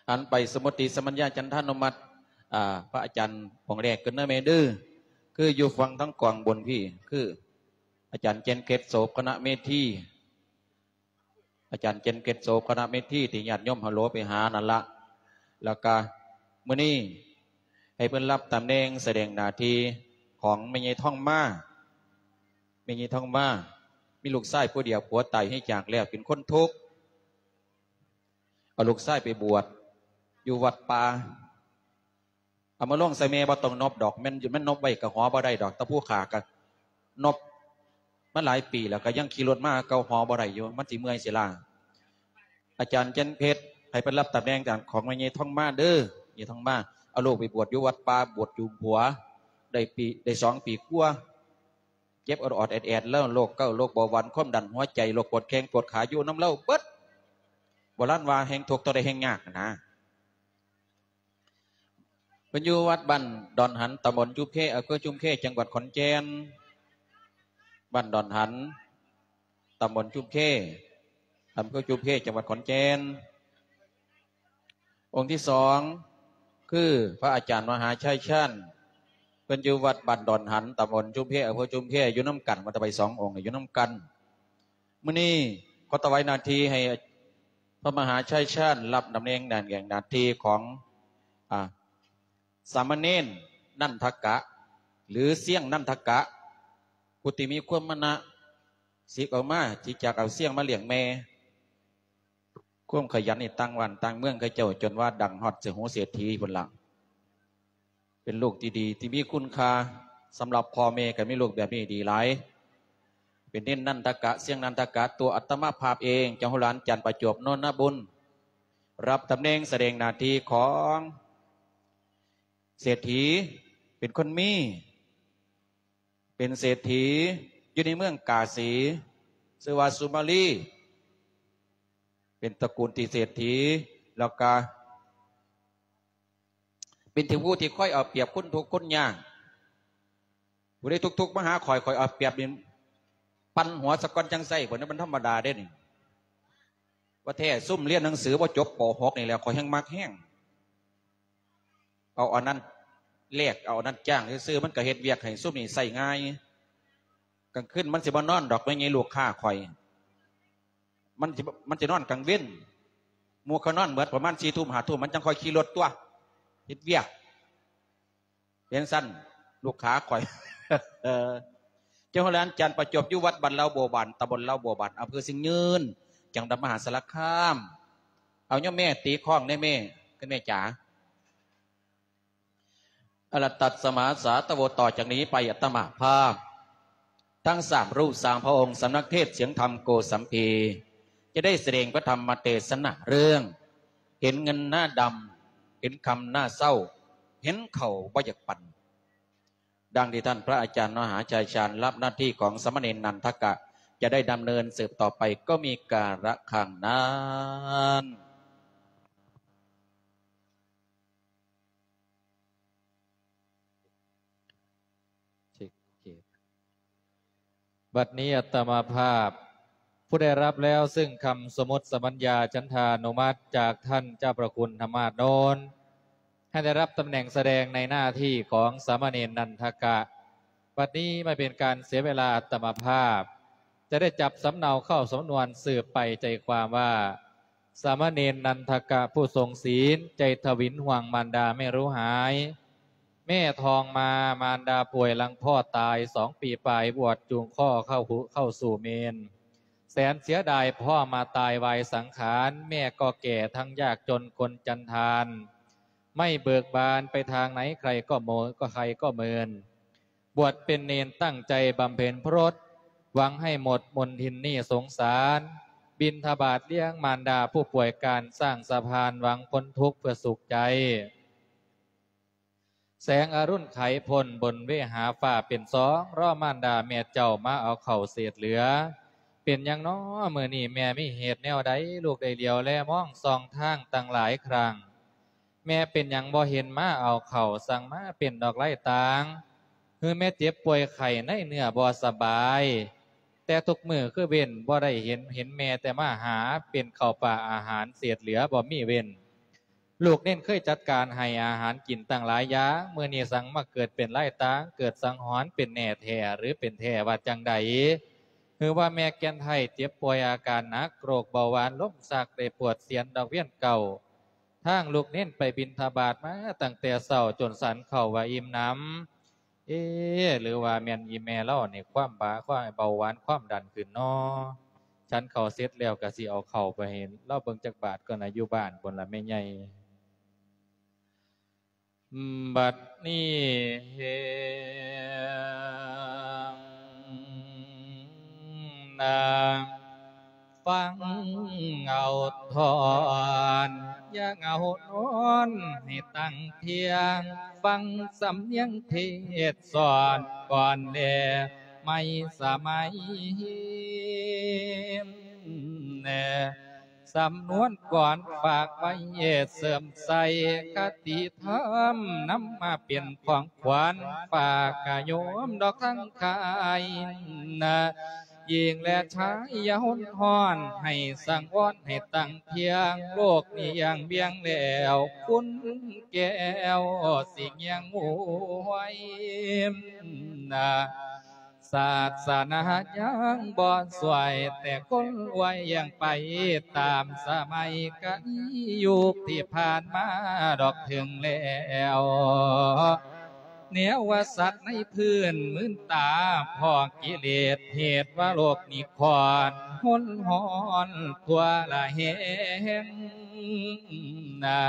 ຫັນໄປສະມຸດຕິສະມັນຍາຈັນທານຸມັດ ອາ ພະອາຈານອົງແລກເກີນເດີແມ່ເດີ ຄືຢູ່ຝັ່ງທາງກອງບົນພີ້ ຄືອາຈານເຈັນເພັດ ໂສພະນະເມທີ ອາຈານເຈັນເພັດ ໂສພະນະເມທີ ທີ່ຍາດໂຍມຮາໂຫຼໄປຫານັ້ນລະ. ແລ້ວກະມື້ນີ້ໃຫ້ເພິ່ນຮັບຕຳແໜ່ງສະແດງໜ້າທີ່ຂອງແມ່ໃຫຍ່ທອງມາ. ແມ່ໃຫຍ່ທອງມາມີລູກຊາຍຜູ້ດຽວ ຜົວຕາຍເສຍຈາກແລ້ວ ເປັນຄົນທຸກ ເອົາລູກຊາຍໄປບວດຢູ່ວັດປ່າ. ເອົາມາລົງໃສ່ແມ່ບໍ່ຕ້ອງນົບດອກ ແມ່ນ ແມ່ນນົບໄວ້ກໍຫໍບໍ່ໄດ້ດອກ ຕາຜູ້ຂ້າກໍນົບມາຫຼາຍປີແລ້ວ ກໍຍັງຂີ່ລົດມາເກົ່າ ຫໍບໍ່ໄດ້ຢູ່ ມັນຊິເມື່ອຍຊິລ້າ. ອາຈານຈັນເພັດ ໃຫ້ເພິ່ນຮັບຕຳແໜ່ງຂອງແມ່ໃຫຍ່ທອງມາເດີ ຍາຍທອງມາ ເອົາລູກໄປບວດຢູ່ວັດປ່າ ບວດຈຸມຜົວ ໄດ້ປີ ໄດ້ສອງປີກວ່າ ເຈັບອອດໆແອດໆ ແລ້ວໂລກເກົາ ໂລກເບົາຫວານ ຄວາມດັນຫົວໃຈ ໂລກປວດແຂ້ງປວດຂາ ຢູ່ນຳລາວເບິດ. ໂບລານວ່າແຮ່ງທຸກເທົ່າໃດແຮ່ງຍາກຫັ້ນນະ. ເພິ່ນຢູ່ວັດບ້ານດອນຫັນ ຕຳບົນຊຸມແຄ ອຳເພີຊຸມແຄ ຈັງຫວັດຂອນແກ່ນ. ບ້ານດອນຫັນ ຕຳບົນຊຸມແຄ ອຳເພີຊຸມແຄ ຈັງຫວັດຂອນແກ່ນ. ອົງທີສອງ ຄືພະອາຈານມະຫາໄຊຊານ ເພິ່ນຢູ່ວັດບ້ານດອນຫັນ ຕຳບົນຊຸມແຄ ອຳເພີຊຸມແຄ ຢູ່ນຳກັນ ມາຖວາຍສອງອົງ ຢູ່ນຳກັນ. ມື້ນີ້ຂໍຖວາຍໜ້າທີ່ໃຫ້ພະມະຫາໄຊຊານ ຮັບຕຳແໜ່ງໜ້າແໜ່ງໜ້າທີ່ຂອງ ອາ ສາມະເນນນັນທະກະ ຫຼື ຊຽງນັນທະກະ ຜູ້ທີ່ມີຄວາມມານະ ສິກອອກມາທີ່ຈະເອົາຊຽງມາລ້ຽງແມ່. ຄວາມຂະຫຍັນນີ້ຕ່າງບ້ານຕ່າງເມືອງເຂົາເຈົ້າ ຈົນວ່າດັງຮອດໃສ່ຫູເສດຖີພຸ້ນລະ. ເປັນລູກທີ່ດີ ທີ່ມີຄຸນຄ່າ ສຳລັບພໍ່ແມ່ກໍມີລູກແບບນີ້ດີຫຼາຍ. ເປັນເນນນັນທະກະ ຊຽງນັນທະກະ ຕົວອາດຕະມະພາບເອງ ເຈົ້າໂຫລານຈັນປະຈວບ ໂນນນະບຸນ ຮັບຕຳແໜ່ງສະແດງໜ້າທີ່ຂອງເສດຖີ ເປັນຄົນມີ ເປັນເສດຖີຢູ່ໃນເມືອງກາສີ ຊື່ວ່າສຸມາລີ ເປັນຕະກູນທີ່ເສດຖີ ແລ້ວກະເປັນທີ່ຜູ້ທີ່ຄອຍເອົາປຽບຄົນທຸກຄົນຍາກ. ຜູ້ໃດທຸກໆມາຫາຂ້ອຍ ຂ້ອຍເອົາປຽບນີ້ ປັ່ນຫົວສາກ່ອນຈັ່ງໃຊ້ ເພິ່ນ ມັນທຳມະດາເດ້ນີ້. ວ່າແທ້ ຊຸມຮຽນໜັງສືບໍ່ຈົບ ປໍຫົກ ນີ້ແຫຼະ ຂ້ອຍແຮ່ງມັກແຮງ. ເອົາອັນນັ້ນແລກ ເອົາອັນນັ້ນຈ້າງຊື່ໆ ມັນກໍເຮັດວຽກໃຫ້ຊຸມນີ້ໃຊ້ງ່າຍ. ກາງຄືນມັນຊິບໍ່ນອນດອກ ແມ່ນຫຍັງລູກຄ້າຂ້ອຍ ມັນຊິ ມັນຊິນອນກາງເວັນ ໝູ່ເຂົານອນເໝິດ ປະມານສີ່ທຸ່ມຫ້າທຸ່ມ ມັນຈັ່ງຄ່ອຍຂີ່ລົດຕົວະ ເຮັດວຽກ. ເປັນຊັ້ນ ລູກຄ້າຂ້ອຍ ເຈົ້າໂຫລານຈັນປະຈວບ ຢູ່ວັດບ້ານລາວບົວບານ ຕຳບົນລາວບົວບານ ອຳເພີຊຽງຍືນ ຈັງຫວັດມະຫາສາລະຄາມ. ເອົາໂຍມແມ່ຕີຄ້ອງແດ່ແມ່ ຄຸນແມ່ຈ໋າ. ອະລະຕັດສະມາສາຕະໂວ ຕໍ່ຈາກນີ້ໄປອາດຕະມາພາບ ທັງສາມຮູບສາມພະອົງ ສຳນັກເທດສຽງທຳໂກສັມພີ ຈະໄດ້ສະແດງພະທຳມະເທດສະໜາເລື່ອງ ເຫັນເງິນໜ້າດຳ ເຫັນຄຳໜ້າເສົ້າ ເຫັນເຂົ້າບໍ່ຢາກປັນ. ດັ່ງທີ່ທ່ານພະອາຈານມະຫາໄຊຊານ ຮັບໜ້າທີ່ຂອງສາມະເນນນັນທະກະ ຈະໄດ້ດຳເນີນສືບຕໍ່ໄປ ກໍມີກາລະຄັງນັ້ນ. ບັດນີ້ອາດຕະມາພາບ ຜູ້ໄດ້ຮັບແລ້ວເຊິ່ງຄຳສົມມຸດສະບັນຍາຈັນທານຸມັດຈາກທ່ານເຈົ້າພະຄຸນທຳມາດໂນນ ໃຫ້ໄດ້ຮັບຕຳແໜ່ງສະແດງໃນໜ້າທີ່ຂອງສາມະເນນນັນທະກະ. ບັດນີ້ບໍ່ເປັນການເສຍເວລາ ອາດຕະມາພາບ ຈະໄດ້ຈັບສຳເນົາເຂົ້າສຳນວນສືບໄປໃຈຄວາມວ່າ ສາມະເນນນັນທະກະຜູ້ຊົງສີນ ໃຈທະວິນຫ່ວງມານດາແມ່ຮູ້ຫາຍ. ແມ່ທອງມາ ມານດາປ່ວຍຫຼັງພໍ່ຕາຍສອງປີປາຍ ບວດຈູງຄໍເຂົ້າຫູ ເຂົ້າສູ່ເມນ. ແສນເສຍດາຍພໍ່ມາຕາຍວາຍສັງຂານ ແມ່ກໍແກ່ທັງຍາກຈົນຄົນຈັນທານ. ໄມ້ເບີກບານໄປທາງໃດໃຄກໍໂມ ກໍໃຄກໍເມີນ. ບວດເປັນເນນຕັ້ງໃຈບຳເພັນພະລົດ ຫວັງໃຫ້ໝົດມົນທິນໜີ້ສົງສານ. ບິນທະບາດລ້ຽງມານດາຜູ້ປ່ວຍການ ສ້າງສະພານຫວັງພົ້ນທຸກເພື່ອສຸກໃຈ. ແສງອະລຸນໄຂພົ້ນບົນເວຫາຟ້າເປັນສອງ ລໍມານດາແມ່ເຈົ້າມາເອົາເຂົ້າເສດເຫຼືອ. ເປັນຫຍັງນໍມື້ນີ້ແມ່ມີເຫດແນວໃດ ລູກໄດ້ຫຼຽວແລມອງສ່ອງທາງຕັ້ງຫຼາຍຄັ້ງ. ແມ່ເປັນຫຍັງບໍ່ເຫັນມາເອົາເຂົ້າ ສັ່ງມາເປັນດອກໄລ່ຕ່າງ ຫຼືແມ່ເຈັບປ່ວຍໄຂ້ໃນເນື້ອບໍ່ສະບາຍ. ແຕ່ທຸກມື້ຄືເວັ້ນບໍ່ໄດ້ເຫັນ ເຫັນແມ່ແຕ່ມາຫາ ເປັນເຂົ້າປາອາຫານເສດເຫຼືອບໍ່ມີເວັ້ນ. ລູກເນນເຄີຍຈັດການໃຫ້ອາຫານກິນຕັ້ງຫຼາຍຢ່າງ, ມື້ນີ້ສັງມາເກີດເປັນລາຍຕ່າງ, ເກີດສັງຫອນເປັນແນ່ແທ້ ຫຼື ເປັນແທ້ວ່າຈັ່ງໃດ? ຫຼືວ່າແມ່ແກ່ນໄທເຈັບປ່ວຍອາການໜັກ, ໂລກເບົາຫວານລົມຊັກ ໄດ້ປວດສຽນດອກວຽນເກົ່າ. ທາງລູກເນນໄປບິນທະບາດມາຕັ້ງແຕ່ເຊົ້າ ຈົນສັນເຂົ້າວ່າອີ່ມໜຳ. ເອ ຫຼືວ່າແມ່ນອີ່ແມ່ລາວນີ້ ຄວາມບາ ຄວາມເບົາຫວານ ຄວາມດັນຂຶ້ນນໍ? ສັນເຂົ້າເສັດແລ້ວກະຊິເອົາເຂົ້າໄປໃຫ້ລາວເບິ່ງຈັກບາດກ່ອນນະ ຢູ່ບ້ານພຸ້ນລະແມ່ໃຫຍ່. ບັດນີ້ເຫັນນາ ຟັງເອົາທ່ອນ ຢ່າເອົານອນໃຫ້ຕັ້ງທ່ຽງ, ຟັງສຳນຽງເທດສອນກ່ອນແລ ໃໝ່ສະໄໝ ສຳນວນກ່ອນຝາກໄວ້ເສີມໃສ່ຄະຕິທຳ, ນຳມາເປັນຂອງຂວັນຝາກກະໂຍມດອກທັງຫຼາຍນະ. ຍິງແລະຊາຍຢ່າຫົນຮ້ອນ ໃຫ້ສັງວອນໃຫ້ຕັ້ງທ່ຽງ, ໂລກນີ້ຢ່າງວຽງແລ້ວ ຄຸນແກ້ວຊິງຽງຫວຍນະ. ສາສະໜາຍັງບໍ່ຊ່ວຍ ແຕ່ຄົນອວຍຍັງໄປຕາມສະໄໝ, ກາລະຍະຍຸກທີ່ຜ່ານມາດອກເຖິງແລ້ວ. ແນວວ່າສັດໃນພື້ນມື່ນຕາ ເພາະກິເລດເຫດວ່າໂລກນີ້ຂອນ ຫົນຮ້ອນທົ່ວລະແຫງນະ.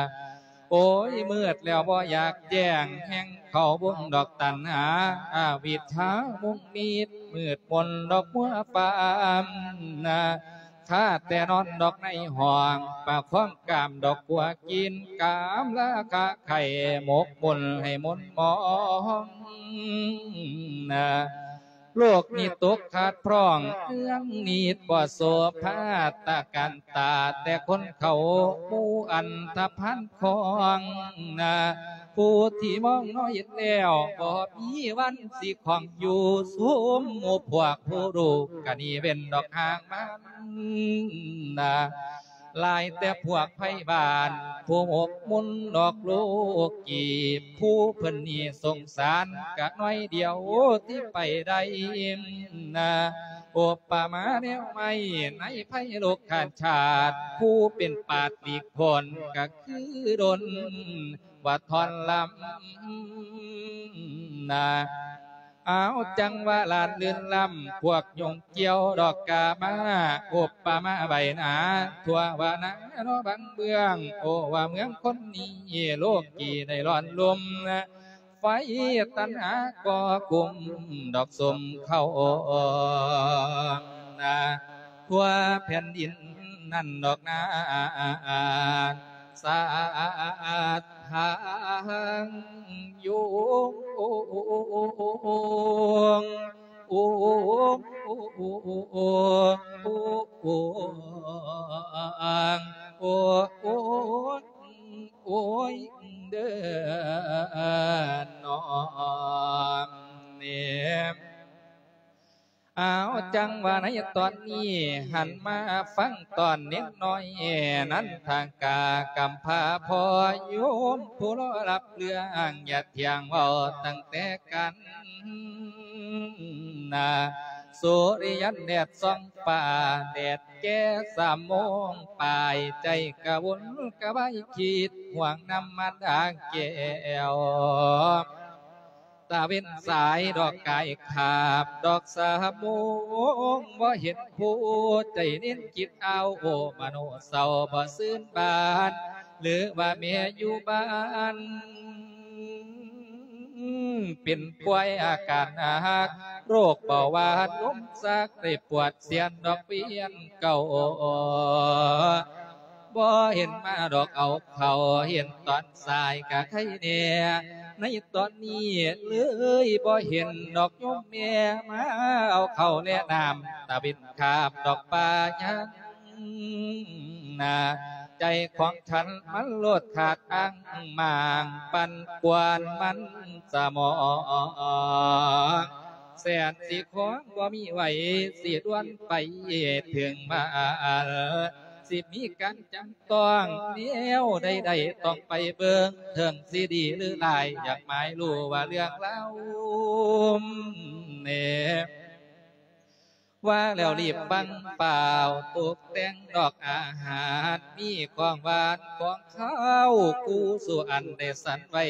ໂອ້ຍ ມືດແລ້ວບໍ່ຢາກແຈ້ງ ແຮ່ງເຂົ້າວົງດອກຕັນຫາ ອະວິດຊາມຸງມິດ ມືດມົນດອກມົວຟາມນະ. ຂ້າແຕ່ນອນດອກໃນຫ້ອງ ປະຄອງກາມດອກກົວກິນ ກາມລາຄາໄຂ່ໝົກມົນໃຫ້ມົນມອງນະ. ໂລກນີ້ຕົກຂາດພຣອງ ເລື່ອງນິດບໍ່ໂສພາ ຕະການຕາແຕ່ຄົນເຂົາ ໝູ່ອັນທະພານຄອງນະ. ຜູ້ທີ່ມອງນ້ອຍແລ້ວ ບໍ່ມີວັນຊິຂອງຢູ່ ຊຸມໝູ່ພວກຜູ້ຮູ້ ກະໜີເວັ້ນດອກຫ່າງມັນນະ. ຫຼາຍແຕ່ພວກໄພບ້ານ ຜູ້ໝົກມົນດອກໂລກີ ຜູ້ເພິ່ນນີ້ສົງສານກະໜ້ອຍດຽວທີ່ໄປໄດ້ນະ. ອຸປະມາແນວໄມ້ໃນໄພໂລກຄາດຊາດ ຜູ້ເປັນປາດຫຼີກພົ້ນກະຄືດົນວ່າທ່ອນລຳນະ. ອ້າວ ຈັງຫວະລານລື່ນລຳ ພວກຍຸງກ່ຽວດອກກາມາ ອຸປະມາໃບໜາ ທົ່ວວ່ານາເນາະບັງເບື້ອງ ໂອ ວ່າເມືອງຄົນນີ້ ໂລກີໄດ້ຮ້ອນລົມນະ ໄຟຕັນຫາກໍ່ກຸມດອກສົມເຂົ້ານະ ທົ່ວແຜ່ນດິນນັ້ນດອກນາ ສາທາງໂຍ ໂອ ໂອ ໂອ ໂອ ໂອ ໂອ ໂອ ໂອຍເດີນອມເນມ. ອ້າວ ຈັງຫວະໃນຕອນນີ້ ຫັນມາຟັງຕອນເນັກນ້ອຍ ນັນທາກາກຳພາພໍ່ໂຍມ ຜູ້ລໍຮັບເລື່ອງ ຢ່າທ່ຽງເວົ້າຕັ້ງແຕ່ກັນນາ. ສຸລິຍັນແດດສ່ອງຟ້າ ແດດແກ່ສາມໂມງປາຍ ໃຈກະວົນກະວາຍຄິດ ຫ່ວງນຳມາດາແກ້ວ. ຕາເວັນສາຍດອກກາຍຄາບ ດອກສາໂມງບໍ່ເຫັນຜູ້ ໃຈເນັນຄິດອ້າວໂອ ມະໂນເສົ້າບໍ່ຊື່ນບານ ຫຼືວ່າແມ່ຢູ່ບ້ານ ເປັນປ່ວຍອາການໜັກ ໂລກເບົາຫວານລົມຊັກ ໄດ້ປວດສຽນດອກວຽນເກົ່າ. ບໍ່ເຫັນມາດອກເອົາເຂົ້າ ເຫັນຕອນສາຍກະໄຄແນ່ ໃນຕອນນີ້ເລີຍບໍ່ເຫັນດອກໂຍມແມ່ ມາເອົາເຂົ້າແລະນ້ຳ ຕາເວັນຄາບດອກປາຍັງນາ ໃຈຂອງສັນມັນໂລດຂາດອ້າງໝາງ ປັ່ນກວນມັນສະໝອງ ແສນຊິຂອງບໍ່ມີໄຫວ ຊິດ່ວນໄປເຖິງບ້ານ ຊິມີການຈຳຕ້ອງແນວໃດໆ ຕ້ອງໄປເບິ່ງເຖິງຊິດີຫຼືຮ້າຍ ຢາກໝາຍຮູ້ວ່າເລື່ອງລາວແນ່ ວ່າແລ້ວລີບຟັງຟ້າວ ຕົກແຕ່ງດອກອາຫານ ມີຂອງຫວານຂອງຄາວ ຄູ່ສູ່ອັນໄດ້ສັນໄວ້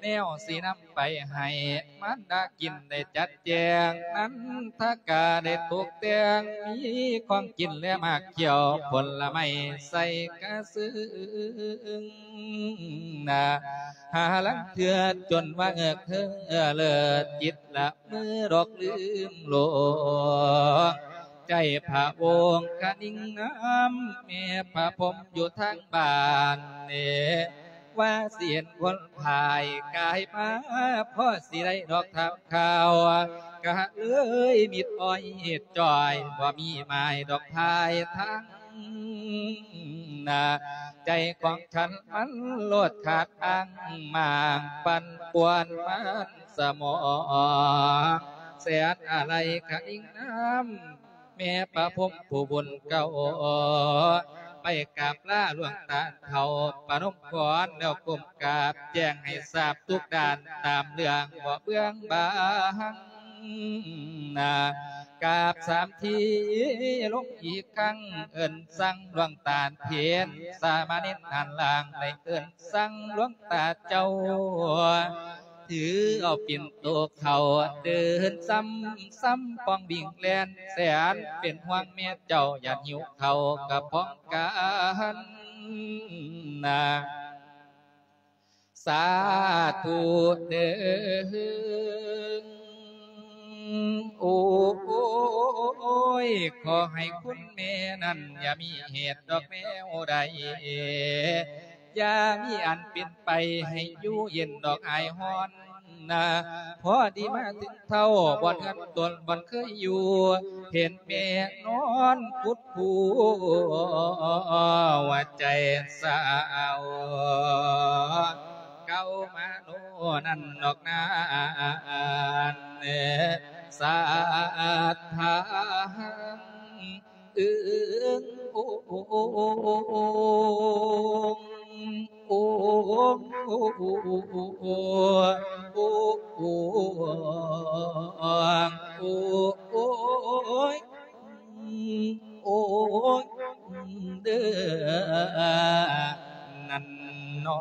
ແນວຊິນຳໄປໃຫ້ມານດາກິນ ໄດ້ຈັດແຈງ ນັນທະກາໄດ້ຕົກແຕ່ງ ມີຂອງກິນແລະໝາກຂຽວ ຜົນລະໄມ້ໃສ່ກະຊຶງນາ ຫາລາງເທື່ອຈົນວ່າເອິກເຮີເລີດ ຈິດລະ ມືດອກລືມໂລກ ໃຈພະອົງຄະນິງງາມ ແມ່ພະພົມຢູ່ທາງບ້ານເນ ວ່າຊິເຫັນຄົນພາຍກາຍມາ ພໍຊິໄດ້ດອກຖາມຂ່າວ ກະເລີຍມິດອ້ອຍເຮັດຈ່ອຍ ບໍ່ມີໝາຍດອກພາຍທາງໜ້າ ໃຈຂອງສັນມັນໂລດຂາດອ້າງໝາງ ປັ່ນປ່ວນມັນ ສະໝອງ ແສນອາໄລຄະນິງນຳ ແມ່ພະພົມຜູ້ບຸນເກົ່າ ໄປກາບລາຫຼວງຕາເຖົ້າ ປະນົມຂອນແລ້ວກົ້ມກາບ ແຈ້ງໃຫ້ຊາບທຸກດ້ານ ຕາມເລື່ອງບໍ່ເບືອງບາງ ນາ ກາບສາມທີລົງອີກຄັ້ງ ເອີ້ນສັ່ງຫຼວງຕາເຖນ ສາມະເນນຫັ້ນລາງ ໄດ້ເອີ້ນສັ່ງຫຼວງຕາເຈົ້າ ຖືເອົາປິ່ນໂຕເຂົ້າ ເດີນຊຳຊຳປ່ອງວິ່ງແລ່ນແສນ ເປັນຫ່ວງແມ່ເຈົ້າ ຢ້ານຫິວເຂົ້າກະພອງກັນນາ ສາທຸເດີ ໂອ້ຍ ຂໍໃຫ້ຄຸນແມ່ນັ້ນ ຢ່າມີເຫດດອກແນວໃດ ຢ່າມີອັນເປັນໄປ ໃຫ້ຢູ່ເຢັນດອກອາຍຮ້ອນນາ ພໍດີມາເຖິງເທົ່າ ບ່ອນເຮືອນຕົນ ບ່ອນເຄີຍຢູ່ ເຫັນແມ່ນອນຄຸດ ຜູ້ວ່າໃຈສາວເກົ່າມາໂນນັ້ນດອກນາ ສາທາງ ອຶງ ໂອງ ໂອງ ໂອງ ໂອງ ໂອງ ໂອງ ໂອງ ໂອງ ໂອງ ໂອງ ໂອງ ເດີ ນັ້ນໜໍ.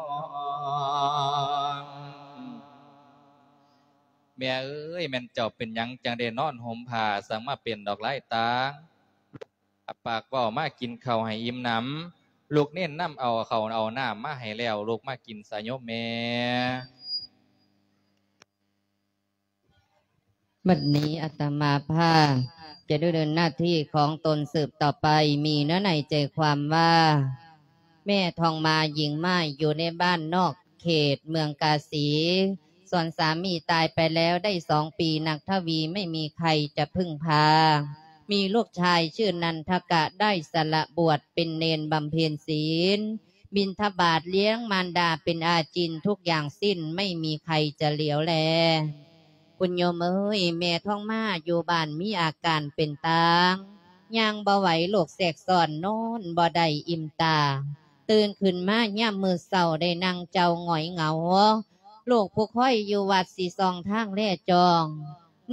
ແມ່ເອີຍ ແມ່ນເຈົ້າເປັນຫຍັງ ຈັ່ງໄດ້ນອນຫົ່ມຜ້າ ຊ່າງມາເປັນດອກລາຍຕ່າງ ປາກເວົ້າມາກິນເຂົ້າໃຫ້ອີ່ມໜຳ ລູກເນນນຳເອົາເຂົ້າເອົານ້ຳມາໃຫ້ແລ້ວ ລູກມາກິນຊະໂຍມແມ່. ບັດນີ້ອາດຕະມາພາບຈະດຳເນີນໜ້າທີ່ຂອງຕົນສືບຕໍ່ໄປ ມີເນື້ອໃນໃຈຄວາມວ່າ ແມ່ທອງມາຍິງໝ້າຍ ຢູ່ໃນບ້ານນອກເຂດເມືອງກາສີ ສ່ວນສາມີຕາຍໄປແລ້ວໄດ້ສອງປີ ນັກທະວີໄມ່ມີໃຄຈະເພິ່ງພາ ມີລູກຊາຍຊື່ນັນທະກະ ໄດ້ສະຫຼະບວດເປັນເນນບຳເພັນສິນ ບິນທະບາດລ້ຽງມານດາເປັນອາຈິນ ທຸກຢ່າງສິ້ນໄມ່ມີໃຄຈະຫຼຽວແລ. ຄຸນໂຍມເອີຍ ແມ່ທອງມາຢູ່ບ້ານມີອາການເປັນຕາງ ຍ່າງບໍ່ໄຫວ ໂລກແຊກຊ້ອນ ນອນບໍ່ໄດ້ອີ່ມຕາ ຕື່ນຂຶ້ນມາຍາມມື້ເຊົ້າ ໄດ້ນັ່ງເຈົ້າຫງອຍເຫງົາ ລູກຜູ້ຄອຍຢູ່ວັດຊິສ່ອງທາງແລຈອງ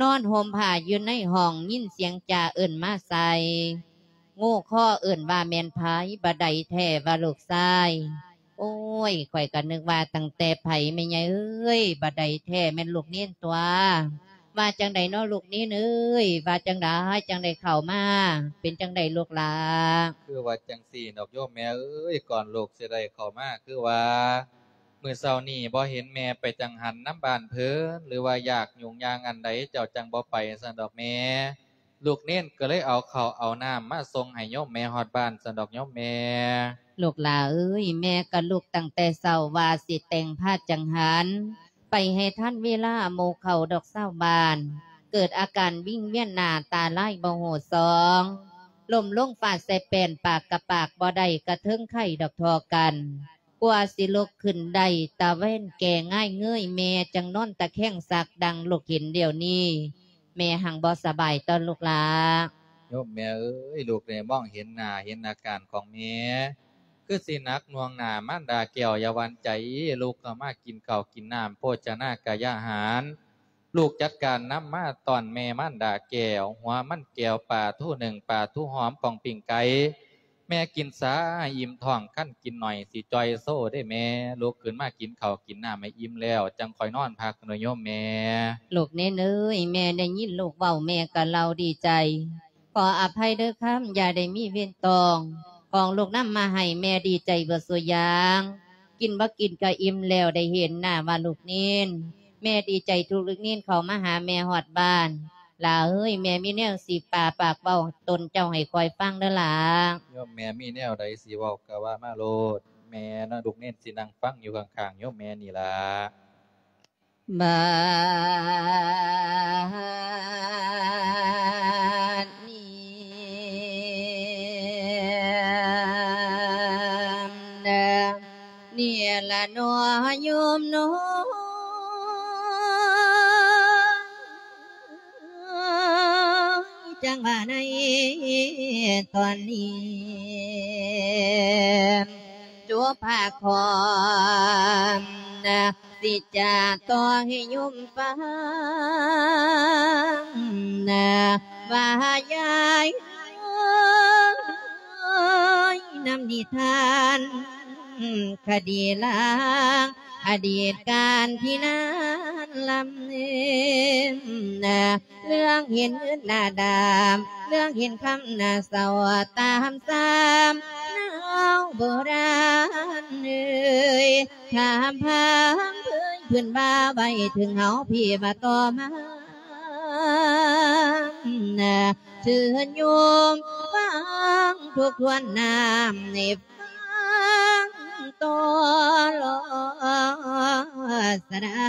ນອນຫົ່ມຜ້າຢູ່ໃນຫ້ອງ ຍິນສຽງຈາເອີ້ນມາໃສ່ ງູຄໍເອີ້ນວ່າແມ່ນໃຜ ບໍ່ໃດແທ້ວ່າລູກຊາຍ. ໂອ້ຍ ຂ້ອຍກະນຶກວ່າຕັ້ງແຕ່ໃຜ ແມ່ໃຫຍ່ເອີຍ ບໍ່ໃດແທ້ແມ່ນລູກເນນຕົວະ. ວ່າຈັ່ງໃດເນາະລູກເນນເອີຍ ວ່າຈັ່ງໃດ ຈັ່ງໄດ້ເຂົ້າມາ ເປັນຈັ່ງໃດລູກຫຼ້າ? ຄືວ່າຈັ່ງຊີ້ດອກໂຍມແມ່ເອີຍ ກ່ອນລູກຊິໄດ້ເຂົ້າມາ ຄືວ່າ ມື້ເຊົ້ານີ້ບໍ່ເຫັນແມ່ໄປຈັງຫັນນຳບ້ານເພິ່ນ ຫຼືວ່າຢາກຫຍຸ້ງຍາກອັນໃດ ເຈົ້າຈັ່ງບໍ່ໄປຊັ້ນດອກແມ່. ລູກເນນກໍເລີຍເອົາເຂົ້າເອົານ້ຳມາສົ່ງໃຫ້ໂຍມແມ່ຮອດບ້ານຊັ້ນດອກໂຍມແມ່. ລູກຫຼ້າເອີຍ ແມ່ກໍລຸກຕັ້ງແຕ່ເຊົ້າວ່າຊິແຕ່ງຜ້າຈັງຫັນ ໄປໃຫ້ທັນເວລາໝູ່ເຂົາດອກຊາວບ້ານ ເກີດອາການວິງວຽນໜ້າຕາລາຍບໍ່ຮູ້ຊ່ອງ ລົ້ມລົງຟາດໃສ່ແປ້ນ ປາກກະປາກບໍ່ໄດ້ ກະເທິງໄຂ້ດອກທໍ່ກັນ ກວ່າຊິລຸກຂຶ້ນໄດ້ ຕາແວ່ນແກ່ງ່າຍເງີຍ ແມ່ຈັ່ງນອນຕະແຄງຊັກ ດັ່ງລູກເຫັນດຽວນີ້ ແມ່ຮັ່ງບໍ່ສະບາຍເນາະລູກຫຼ້າ. ໂຍມແມ່ເອີຍ ລູກໄດ້ມອງເຫັນໜ້າເຫັນອາການຂອງແມ່ ຄືຊິໜັກໜ່ວງໜ້າມານດາແກ້ວ ຢ່າຫວັ່ນໃຈ ລຸກເຂົ້າມາກິນເຂົ້າກິນນ້ຳ ໂພຊະນາກາຍາຫານ ລູກຈັດການນຳມາຕ້ອນແມ່ມານດາແກ້ວ ຫົວມັນແກ້ວ ປາທູໜຶ້ງ ປາທູຫອມ ປ້ອງປີ້ງໄກ່ ແມ່ກິນຊາໃຫ້ອີ່ມທ້ອງ ຄັນກິນໜ້ອຍຊິຈ່ອຍໂຊເດ້ແມ່ ລຸກຂຶ້ນມາກິນເຂົ້າກິນນ້ຳໃຫ້ອີ່ມແລ້ວ ຈັ່ງຄ່ອຍນອນພັກເດີໂຍມແມ່. ລູກເນນເອີຍ ແມ່ໄດ້ຍິນລູກເວົ້າ ແມ່ກະເລົ່າດີໃຈ ຂໍອະໄພເດີຄຳ ຢ່າໄດ້ມີເວນຕ້ອງ ຂອງລູກນຳມາໃຫ້ ແມ່ດີໃຈເບິດສູ່ຢ່າງ ກິນບໍ່ກິນກະອີ່ມແລ້ວ ໄດ້ເຫັນໜ້າວ່າລູກເນນ ແມ່ດີໃຈທີ່ລູກເນນເຂົ້າມາຫາແມ່ຮອດບ້ານ. ຫຼ້າເອີຍ ແມ່ມີແນວຊິປາປາກເວົ້າຕົນເຈົ້າໃຫ້ຂ້ອຍຟັງເດີຫຼ້າ. ໂຍມແມ່ມີແນວໃດຊິເວົ້າກະວ່າມາໂລດ ແມ່ນະ ລູກເນນຊິນັ່ງຟັງຢູ່ຂ້າງໆໂຍມແມ່ນີ້ລະ. ບາດນີ້ ນີ້ລະເນາະໂຍມເນາະ ຈັ່ງວ່າໃນຕອນນີ້ ຈຸພາຄອນ ຊິຈະຕໍ່ໃຫ້ໂຍມຟັງ ວ່າຍາຍ ນຳນິທານຄະດີລາງ ອະດີດການທີ່ນານລຳເລີນ ເລື່ອງເຫັນເງິນໜ້າດຳ ເລື່ອງເຫັນຄຳໜ້າເສົ້າ ຕາມສຳນາວໂບລານເອີຍ ຖາມພັງເຜີຍເພິ່ນວ່າໄວ້ເຖິງເຮົາພີ້ວ່າຕໍ່ມາ ເຊີນໂຍມຟັງທົບທວນນຳໃຫ້ຟັງຕໍ່ລໍສະດັ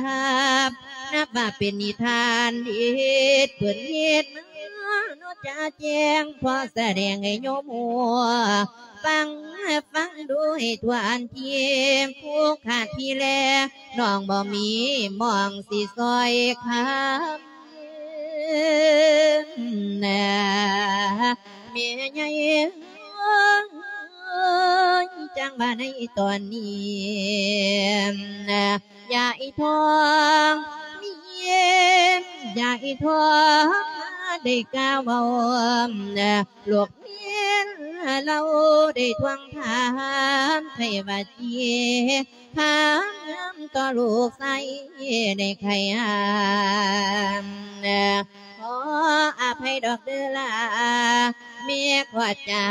ບ ນັບວ່າເປັນນິທານເດັດ ເພິ່ນເຮັດມາເນາະຈະແຈ້ງ ພໍສະແດງໃຫ້ໂຍມຮູ້ ຟັງ ຟັງດູໃຫ້ທົ່ວອັນທີມ ຜູ້ຂາດທີ່ແລ ນ້ອງບໍ່ມີໝ່ອງຊິຊ່ອຍຄຳ ແມ່ໃຫຍ່ເອີຍ ຈັ່ງວ່າໃນຕອນນີ້ ຍາຍທອງ ຍາຍທອງ ໄດ້ກ່າວເວົ້າ ລູກເມນລາວໄດ້ທວງຖາມໄຖ່ວ່າເຈ ຖາມນຳຕໍ່ລູກຊາຍໃນໄຂ່ຫາມ ຂໍອະໄພດອກເດີລາ ແມ່ຂໍຈາ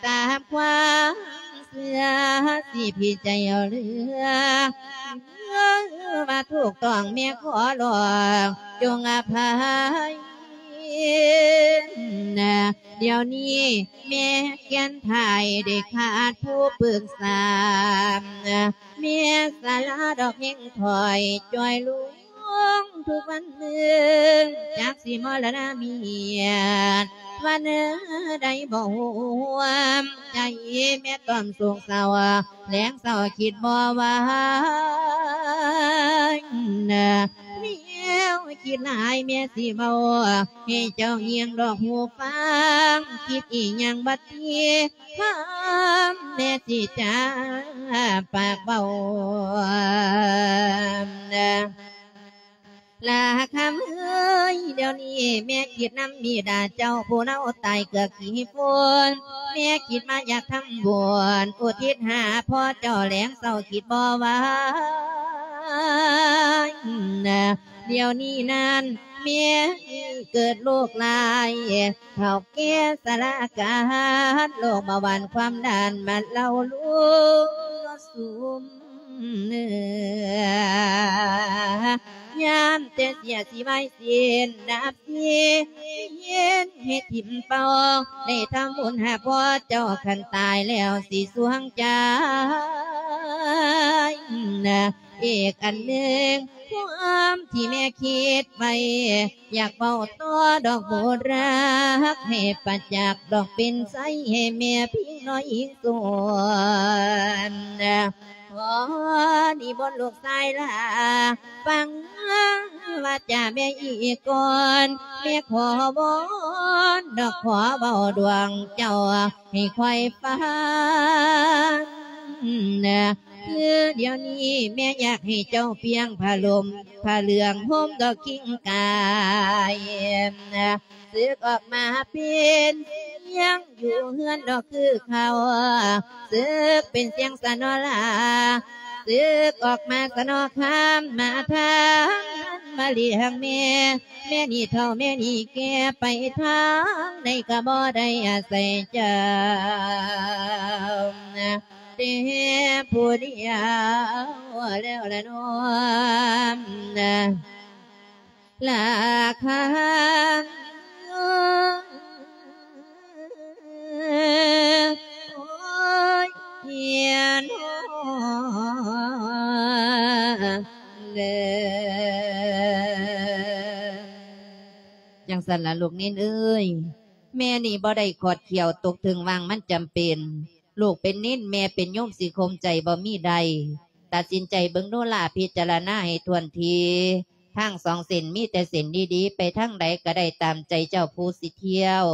ຕາມຄວາມເຊື່ອ ຊິຜິດໃຈເອົາເຫຼືອ ວ່າຖືກຕ້ອງແມ່ຂໍຮ້ອງ ຈົ່ງອະໄພ ດຽວນີ້ແມ່ຂຽນຖ່າຍໄດ້ຂາດຜູ້ປຶກສາ ແມ່ສາລາດອກແຮງຖອຍ ຈ່ອຍລົງທຸກວັນມື້ ຈັກຊິມໍລະນະມຽດ ວັນໃດບໍ່ຮ່ວມໃຈ ແມ່ຕ້ອມໂສກເສົ້າ ແລງເຊົ້າຄິດບໍ່ໄຫວ ແນວຄິດຫຼາຍແມ່ຊິເວົ້າ ໃຫ້ເຈົ້າງຽງດອກຫູຟັງ ຄິດອີ່ຫຍັງບັດນີ້ ຖາມແມ່ຊິຈາປາກເວົ້າ ລາຄຳເອີຍ ດຽວນີ້ແມ່ຄິດນຳບິດາເຈົ້າ ຜູ້ລາວຕາຍເກືອກຂີ້ຝຸ່ນ ແມ່ຄິດມາຢາກທຳບຸນ ອຸທິດຫາພໍ່ເຈົ້າ ແລງເຊົ້າຄິດບໍ່ໄຫວ ດຽວນີ້ນັ້ນ ແມ່ເກີດໂລກຮ້າຍ ເຖົ້າແກ່ຊະລາການ ໂລກເບົາຫວານຄວາມດັນ ມາເລົ່າລູກຊຸມເໜືອ ຍາມແຕ່ເສຍຊິໄວເສັ້ນດັບເສຍ ເຫັນເຮັດຖິ້ມເປົ່າ ໄດ້ທຳບຸນຫາພໍ່ເຈົ້າ ຄັນຕາຍແລ້ວຊິສວງໃຈ ອີກອັນໜຶ່ງ ຄວາມທີ່ແມ່ຄິດໄວ້ ຢາກເວົ້າຕໍ່ດອກໂບດຮັກ ໃຫ້ປະຈັກດອກເປັນໄຊ ໃຫ້ແມ່ພິງນ້ອຍອີກສ່ວນ ຂໍນິມົນລູກຊາຍລາ ຟັງ ວ່າຈາແມ່ອີກກ່ອນ ແມ່ຂໍວອນດອກ ຂໍເວົ້າດວງເຈົ້າໃຫ້ຂ້ອຍຟັງ ຄືດຽວນີ້ແມ່ຢາກໃຫ້ເຈົ້າປ່ຽງຜ້າຫຼົ່ມຜ້າເຫຼືອງ ຫົ່ມດອກຄີງກາຍ ສຶກອອກມາເປັນສຽງຢູ່ເຮືອນດອກຄືເກົ່າ ສຶກເປັນສຽງສະເນາະລາ ສຶກອອກມາສະເນາະຄຳ ມາທາງມາລ້ຽງແມ່ ແມ່ນີ້ເຖົ້າແມ່ນີ້ແກ່ ໄປທາງໃດກໍບໍ່ໄດ້ອາໄສເຈົ້າ ແຕ່ຜູ້ດຽວແລ້ວລະນ້ອງ ລາຄາ ໂອ້ຍ ເຮຍນ ເດີ ຈັ່ງຊັ້ນລະລູກເນນເອີຍ ແມ່ນີ້ບໍ່ໄດ້ຂອດຂຽວຕົກເຖິງວ່າງມັນຈຳເປັນ ລູກເປັນເນນ ແມ່ເປັນໂຍມ ຊິຂົ່ມໃຈບໍ່ມີໄດ້. ຕັດສິນໃຈເບິ່ງດູຫຼ້າ ພິຈາລະນາໃຫ້ຖ້ວນທີ. ທາງສອງເສັ້ນມີແຕ່ເສັ້ນດີໆ ໄປທາງໃດກໍໄດ້ຕາມໃຈເຈົ້າຜູ້ຊິທ່ຽວ.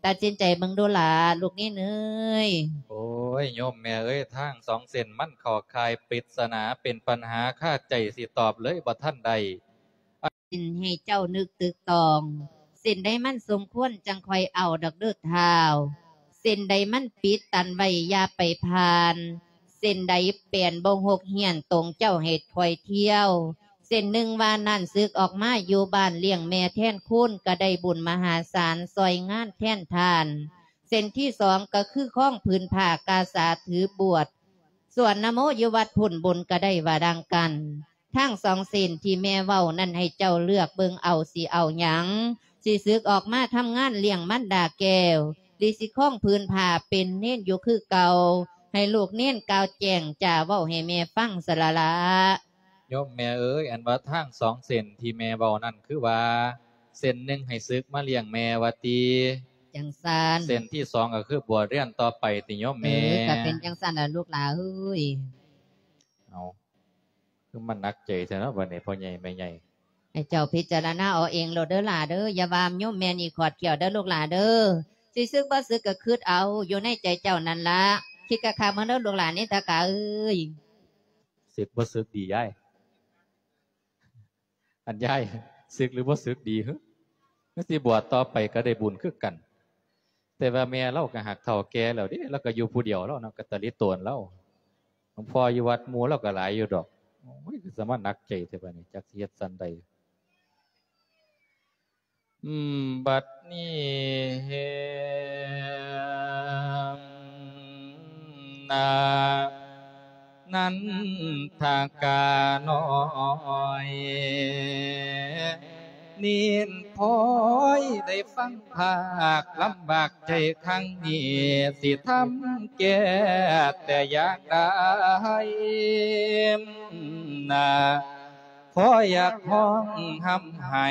ຕັດສິນໃຈເບິ່ງດູຫຼ້າ ລູກເນນເອີຍ. ໂອ້ຍ ໂຍມແມ່ເອີຍ ທາງສອງເສັ້ນມັນເຂົ້າຂ່າຍປິດສະໜາ ເປັນປັນຫາຄາໃຈ ຊິຕອບເລີຍບໍ່ທັນໄດ້. ເສັ້ນໃຫ້ເຈົ້ານຶກຕຶກຕອງ ເສັ້ນໃດມັນສົມຄວນຈັ່ງຄ່ອຍເອົາດອກເດີທ້າວ ເສັ້ນໃດມັນປິດຕັນໄວ້ຢ່າໄປຜ່ານ ເສັ້ນໃດແປນບໍ່ຫົກຫ້ຽນຕົງເຈົ້າໃຫ້ຄ່ອຍທ່ຽວ ເສັ້ນໜຶ່ງວ່ານັ້ນ ສຶກອອກມາຢູ່ບ້ານລ້ຽງແມ່ແທນຄູນ ກໍໄດ້ບຸນມະຫາສານ ຊ່ອຍງານແທນທ່ານ ເສັ້ນທີສອງກໍຄືຄອງຜືນຜ້າກາສາຖືບວດ ສວດນະໂມຢູ່ວັດພຸ້ນ ບຸນກໍໄດ້ວ່າດັ່ງກັນ. ທັງສອງເສັ້ນທີ່ແມ່ເວົ້ານັ້ນໃຫ້ເຈົ້າເລືອກເບິ່ງເອົາ ຊິເອົາຫຍັງ? ຊິສຶກອອກມາທຳງານລ້ຽງມັນດາແກ້ວ ຫຼືຊິຄອງຜືນຜ້າເປັນເນນຢູ່ຄືເກົ່າ? ໃຫ້ລູກເນນກ່າວແຈ້ງຈາເວົ້າໃຫ້ແມ່ຟັງຊະລະລະ. ໂຍມແມ່ເອີຍ ອັນວ່າທາງສອງເສັ້ນທີ່ແມ່ເວົ້ານັ້ນ ຄືວ່າເສັ້ນໜຶ່ງໃຫ້ສຶກມາລ້ຽງແມ່ວ່າຕິ? ຈັ່ງຊັ້ນ. ເສັ້ນທີສອງກໍຄືບວດຮຽນຕໍ່ໄປຕິໂຍມແມ່? ເອີ ກໍເປັນຈັ່ງຊັ້ນລະລູກຫຼາເອີຍ. ເອົາ ຄືມັນໜັກໃຈແທ້ເນາະ ບັດນີ້ພໍ່ໃຫຍ່ແມ່ໃຫຍ່. ໃຫ້ເຈົ້າພິຈາລະນາເອົາເອງໂລດເດີຫຼ້າເດີ ຢ່າວ່າໂຍມແມ່ນີ້ຂອດຂຽວເດີລູກຫຼາເດີ. ຊິສຶກບໍ່ສຶກກໍຄິດເອົາຢູ່ໃນໃຈເຈົ້ານັ້ນລະ ຄິດຄັກໆເບິ່ງເດີລູກຫຼາເນນທະກາເອີຍ. ສຶກບໍ່ສຶກດີຍາຍ? ອັນຍາຍ ສຶກຫຼືບໍ່ສຶກດີຫຶ? ຄືຊິບວດຕໍ່ໄປກໍໄດ້ບຸນຄືກັນ. ແຕ່ວ່າແມ່ລາວກໍຫາກເຖົ້າແກ່ແລ້ວເດ້ ລາວກໍຢູ່ຜູ້ດຽວລາວເນາະ ກະຕະລິໂຕນລາວ. ຫຼວງພໍ່ຢູ່ວັດ ໝູ່ລາວກໍຫຼາຍຢູ່ດອກ. ໂອ້ຍ ຄືສະມາໜັກໃຈແທ້ບາດນີ້ ຈັກຊິເຮັດສັນໃດ. ອືມ ບັດນີ້ ນາ ນັນທະການ້ອຍ ເນນພອຍໄດ້ຟັງພາກລຳບາກໃຈຄັ້ງນີ້ ຊິທຳແກ້ແຕ່ຢ່າງໃດ ນາ ຂໍຢາກຮ້ອງຮ່ຳໄຫ້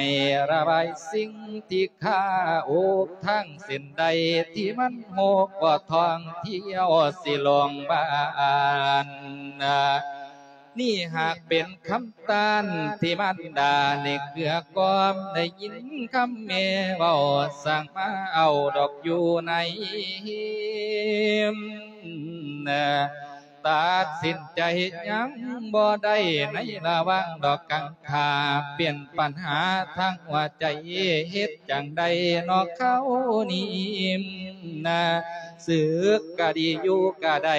ລະບາຍສິ່ງທີ່ຄາອົກ ທາງເສັ້ນໃດທີ່ມັນຮົກ ບໍ່ທ່ອງທ່ຽວຊິລົງບ້ານ. ນີ້ຫາກເປັນຄຳຕ້ານທີ່ມານດາໄດ້ເກື້ອກອມ ໄດ້ຍິນຄຳແມ່ເວົ້າ ສ້າງມາເອົາດອກຢູ່ໃນ ຕັດສິນໃຈຍັງບໍ່ໄດ້ໃນລະຫວ່າງດອກກັງຂາ ປ່ຽນປັນຫາທາງຫົວໃຈເຮັດຈັ່ງໃດເນາະຄາວນີ້ນາ ສຶກກະດີຢູ່ກະໄດ້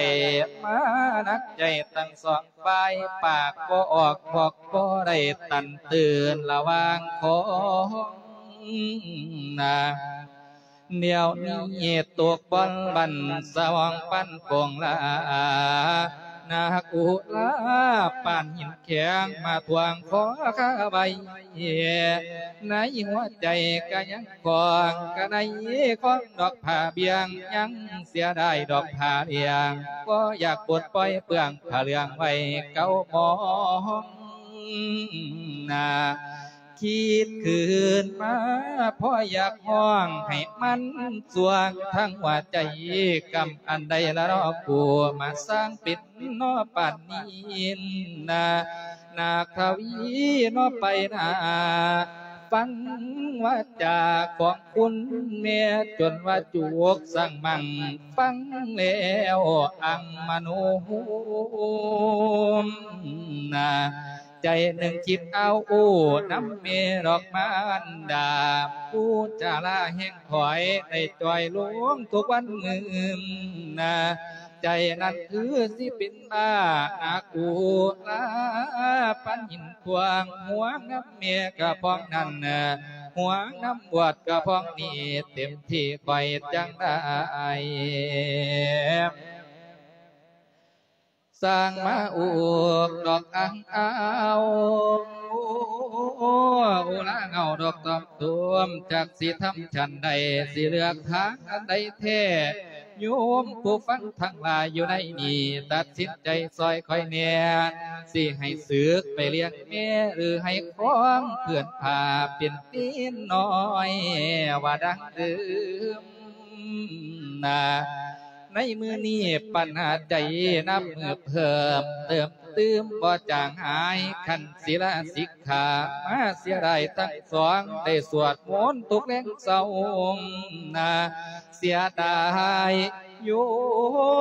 ມາໜັກໃຈທັງສອງຝ່າຍ ປາກບໍ່ອອກບອກບໍ່ໄດ້ຕັນເຕືອນລະຫວ່າງຂອງນາ ດຽວນີ້ຕົກບ່ອນບັນສະຫວ່າງປັນໂກງລາ ໜັກອຸລາປານຫີນແຂງມາທວງຂໍຄາໄວ້ ໃນຫົວໃຈກະຍັງຄອງ ກະໄດ້ຄອງດອກຜ້າບ່ຽງ ຍັງເສຍດາຍດອກຜ້າຫຼຽງ ບໍ່ຢາກປົດປ່ອຍເປືອງຜ້າເຫຼືອງໄວ້ເກົ່າໝອງນາ ຄິດຄືນມາພໍຢາກຮ້ອງໃຫ້ມັນສວງທັງຫົວໃຈ ກຳອັນໃດລະເນາະ ຜູ້ມາສ້າງເປັນເນາະປານນີ້ນາ ນາກທະວີເນາະໄປໜ້າ ຟັງວາຈາຂອງຄຸນແມ່ ຈົນວ່າຈຸກສັງມັງ ຟັງແລ້ວອັງມະໂນໂຮມນາ ໃຈໜຶ່ງຄິດເອົາໂອ້ນຳແມ່ດອກມານດາ ຜູ້ຈາລາແຮງຖອຍໄດ້ຈ່ອຍລົງທຸກວັນມື້ນາ ໃຈນັ້ນຄືຊິເປັນ ມານາກູລາປານຫີນຂວາງ ຫ່ວງນຳແມ່ກະພອງນັ້ນ ຫ່ວງນຳບວດກະພອງນີ້ ເຕັມທີ່ຂ້ອຍຈັ່ງໄດ້ ສ້າງມາອຸກດອກອັງອາວ ໂອລາເງົາດອກຕອມໂຕມ ຈັກຊິທຳຊັ້ນໃດ ຊິເລືອກທາງອັນໃດແທ້ ໂຍມຜູ້ຟັງທັງຫຼາຍຢູ່ໃນນີ້ ຕັດສິນໃຈຊ່ອຍຂ້ອຍແດ່ ຊິໃຫ້ສຶກໄປລ້ຽງແມ່ ຫຼືໃຫ້ຄອງເພື່ອນພາເປັນຕີນນ້ອຍ ວ່າດັ່ງເດີມນາ. ໃນມື້ນີ້ປັນຫາໃຈນັບມື້ເພີ່ມ ເຕີມຕື່ມບໍ່ຈາງຫາຍ ຄັນສິລາສິກຂາມາເສຍດາຍທັງສອງ ໄດ້ສວດມົນທຸກແລງເຊົ້ານາ ເສຍດາຍໂຍ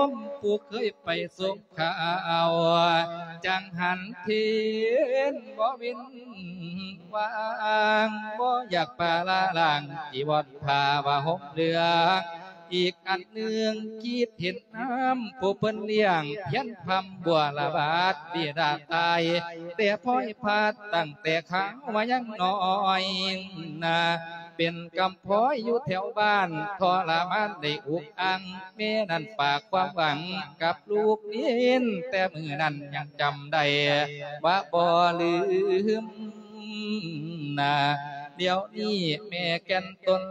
ມຜູ້ເຄີຍໄປສົ່ງຂ່າວ ຈັ່ງຫັນເຫັນບໍ່ເວັ້ນວ່າງ ບໍ່ຢາກປະລະລາງ ຈີວອນຜ້າວ່າຫົ່ມເຫຼືອງ ອີກອັນໜຶ່ງຄິດເຫັນນຳຜູ້ເພິ່ນລ້ຽງ ພຽນພຳບົວລະບາດບິດາຕາຍ ແຕ່ພອຍພາດຕັ້ງແຕ່ຄາວວ່າຍັງນ້ອຍນາ ເປັນກຳພ້ອຍຢູ່ແຖວບ້ານ ທໍລະມານໄດ້ອຸກອັ່ງ ແມ່ນັ້ນຝາກຄວາມຫວັງກັບລູກເນນ ແຕ່ມື້ນັ້ນຍັງຈຳໄດ້ວ່າບໍ່ລືມນາ ດຽວນີ້ແມ່ແກ່ນຕົນ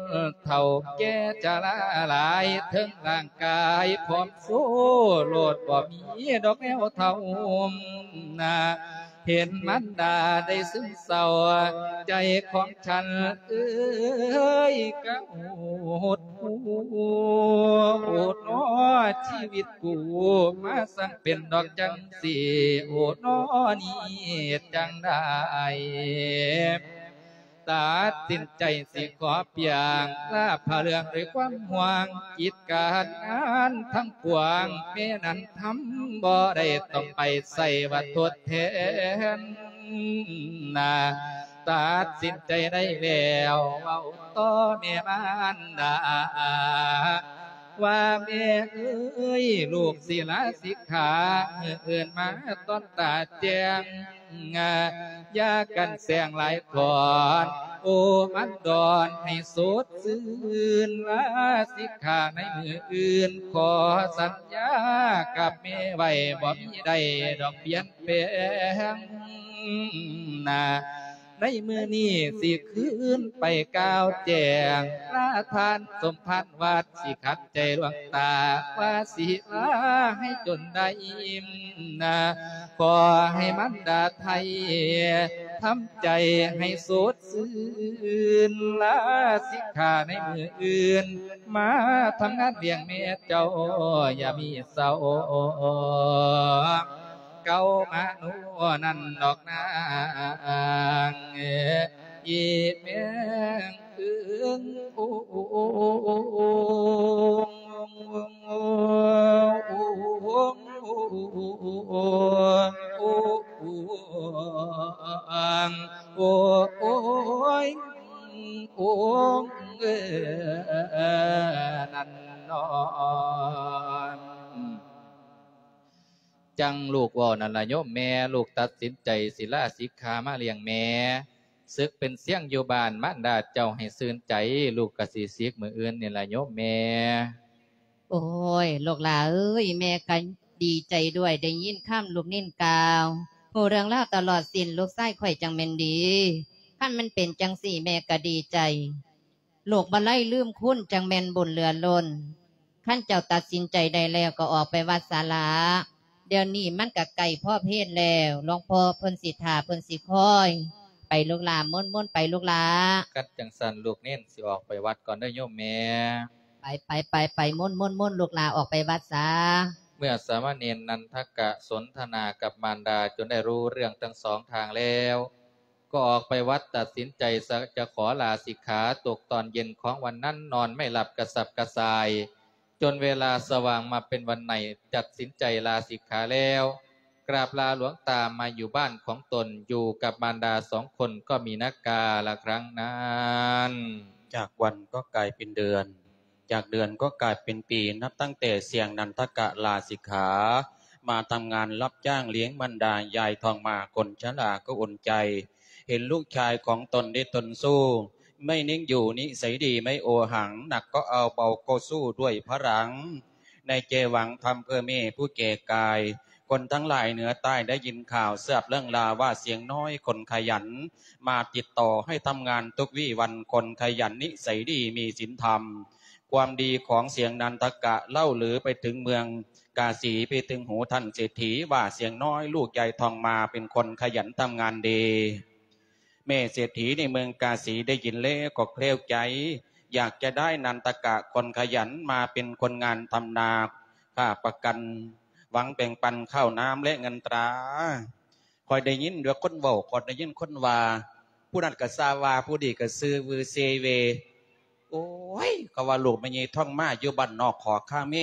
ເຖົ້າແກ່ຊະລາຫຼາຍ ເທິງຮ່າງກາຍຜອມໂຊໂລດ ບໍ່ມີດອກແນວເທົ້ານາ ເຫັນມານດາໄດ້ຊຶມເສົ້າ ໃຈຂອງ ທ່ານເອີຍ ກະຫົດຫູ ໂອນອ ຊີວິດກູມາຊ່າງເປັນດອກຈັ່ງຊີ້ ໂອນອ ນີ້ເຮັດຈັ່ງໃດ ຕັດສິນໃຈຊິຂໍປ່ຽງ ລາພະເລື່ອງດ້ວຍຄວາມຫ່ວງ ກິດການງານທັງປວງ ແມ່ນັ້ນທຳບໍ່ໄດ້ ຕ້ອງໄປໃສ່ວ່າທົດແທນ ນາ ຕັດສິນໃຈໄດ້ແລ້ວ ເວົ້າຕໍ່ແມ່ມານດາ ວ່າແມ່ເອີຍ ລູກສິລາສິກຂາ ມື້ອື່ນມາຕອນຕາແຈ້ງ ຢ່າກັນແສງຫຼາຍກ່ອນ ໂອມັນດອນໃຫ້ສົດຊື່ນ ລາສິກຂາໃນມື້ອື່ນ ຂໍສັນຍາກັບແມ່ໄວ້ ບໍ່ມີໄດ້ດອກປ່ຽນ ແປງນາ ໃນມື້ນີ້ຊິຄືນໄປກ່າວແຈ້ງ ລາທ່ານສົມພານວັດ ຊິຂັດໃຈຫຼວງຕາ ວ່າຊິລາໃຫ້ຈົນໄດ້ນາ ຂໍໃຫ້ມານດາໄທ ທຳໃຈໃຫ້ສົດຊື່ນ ລາສິກຂາໃນມື້ອື່ນ ມາທຳງານລ້ຽງແມ່ເຈົ້າ ຢ່າມີເສົ້າ ເກົ່າມາໂນນັ້ນດອກນາງ ອີແມງເອີງ ໂອ ໂອ ໂອ ໂອຍ ໂອງ ເອີ ນັ້ນເນາະ. ຈັ່ງລູກເວົ້ານັ້ນລະໂຍມແມ່ ລູກຕັດສິນໃຈສິລາສິກຂາມາລ້ຽງແມ່ ສຶກເປັນຊຽງຢູ່ບ້ານ ມານດາເຈົ້າໃຫ້ຊື່ນໃຈ ລູກກະຊິສິກມື້ອື່ນນີ້ລະໂຍມແມ່. ໂອ້ຍ ລູກຫຼ້າເອີຍ ແມ່ກະດີໃຈດ້ວຍ ໄດ້ຍິນຄຳລູກນິນກ່າວ ຮູ້ເລື່ອງລາວຕະຫຼອດສິ້ນ ລູກຊາຍຂ້ອຍຈັ່ງແມ່ນດີ ຄັນມັນເປັນຈັ່ງຊີ້ ແມ່ກະດີໃຈ ລູກບໍ່ໄລລືມຄຸນ ຈັ່ງແມ່ນບຸນເຫຼືອລົ້ນ ຄັນເຈົ້າຕັດສິນໃຈໄດ້ແລ້ວ ກໍອອກໄປວັດສາລະ ດຽວນີ້ມັນກະໃກ້ພໍເພນແລ້ວ ຫຼວງພໍ່ເພິ່ນຊິຖ້າ ເພິ່ນຊິຄອຍ ໄປລູກຫຼ້າ ມົນໆ ໄປລູກຫຼ້າ. ຄັນຈັ່ງຊັ້ນ ລູກເນນຊິອອກໄປວັດກ່ອນເດີໂຍມແມ່. ໄປໆໆໆ ມົນໆໆ ລູກຫຼ້າອອກໄປວັດສາ. มื่อสามเณรนันทกะสนทนากับมารดาจนได้รู้เรื่องทั้งสองทางแล้ว ก็ออกไปวัดตัดสินใจจะขอลาสิกขา ตกตอนเย็นของวันนั้นนอนไม่หลับกระสับกระส่าย จนเวลาสว่างมาเป็นวันใหม่ ตัดสินใจลาสิกขาแล้ว กราบลาหลวงตามาอยู่บ้านของตน อยู่กับมารดาสองคนก็มีนักกาละครั้งนั้น จากวันก็กลายเป็นเดือน จากเดือนก็กลายเป็นปี นับตั้งแต่เสียงนันทกะลาสิกขา มาทำงานรับจ้างเลี้ยงมารดา ยายทองมาคนชราก็อุ่นใจ เห็นลูกชายของตนได้ตนสู้ ไม่นิ่งอยู่นิสัยดีไม่โอหัง หนักก็เอาเบาก็สู้ด้วยพลัง ในใจหวังทำเพื่อแม่ผู้แก่กาย คนทั้งหลายเหนือใต้ได้ยินข่าว ทราบเรื่องราวว่าเสียงน้อยคนขยัน มาติดต่อให้ทำงานทุกวี่วัน คนขยันนิสัยดีมีศีลธรรม ความดีของเสียงนันทกะเล่าลือไปถึงเมืองกาสี ไปถึงหูท่านเศรษฐีว่าเสียงน้อยลูกยายทองมาเป็นคนขยันทำงานดี แม่เศรษฐีในเมืองกาสีได้ยินแล้วก็แคล้วใจ อยากจะได้นันทกะคนขยันมาเป็นคนงานทำนา ค่าประกัน หวังแบ่งปันข้าวน้ำและเงินตรา ข้อยได้ยินว่าคนเว้า ข้อยได้ยินคนว่า ผู้นั้นก็ซาว่า ผู้นี้ก็ซื่อวือเซเว โอ้ย เขาว่าลูกแม่ใหญ่ทองมาอยู่บ้านนอกขอคาเม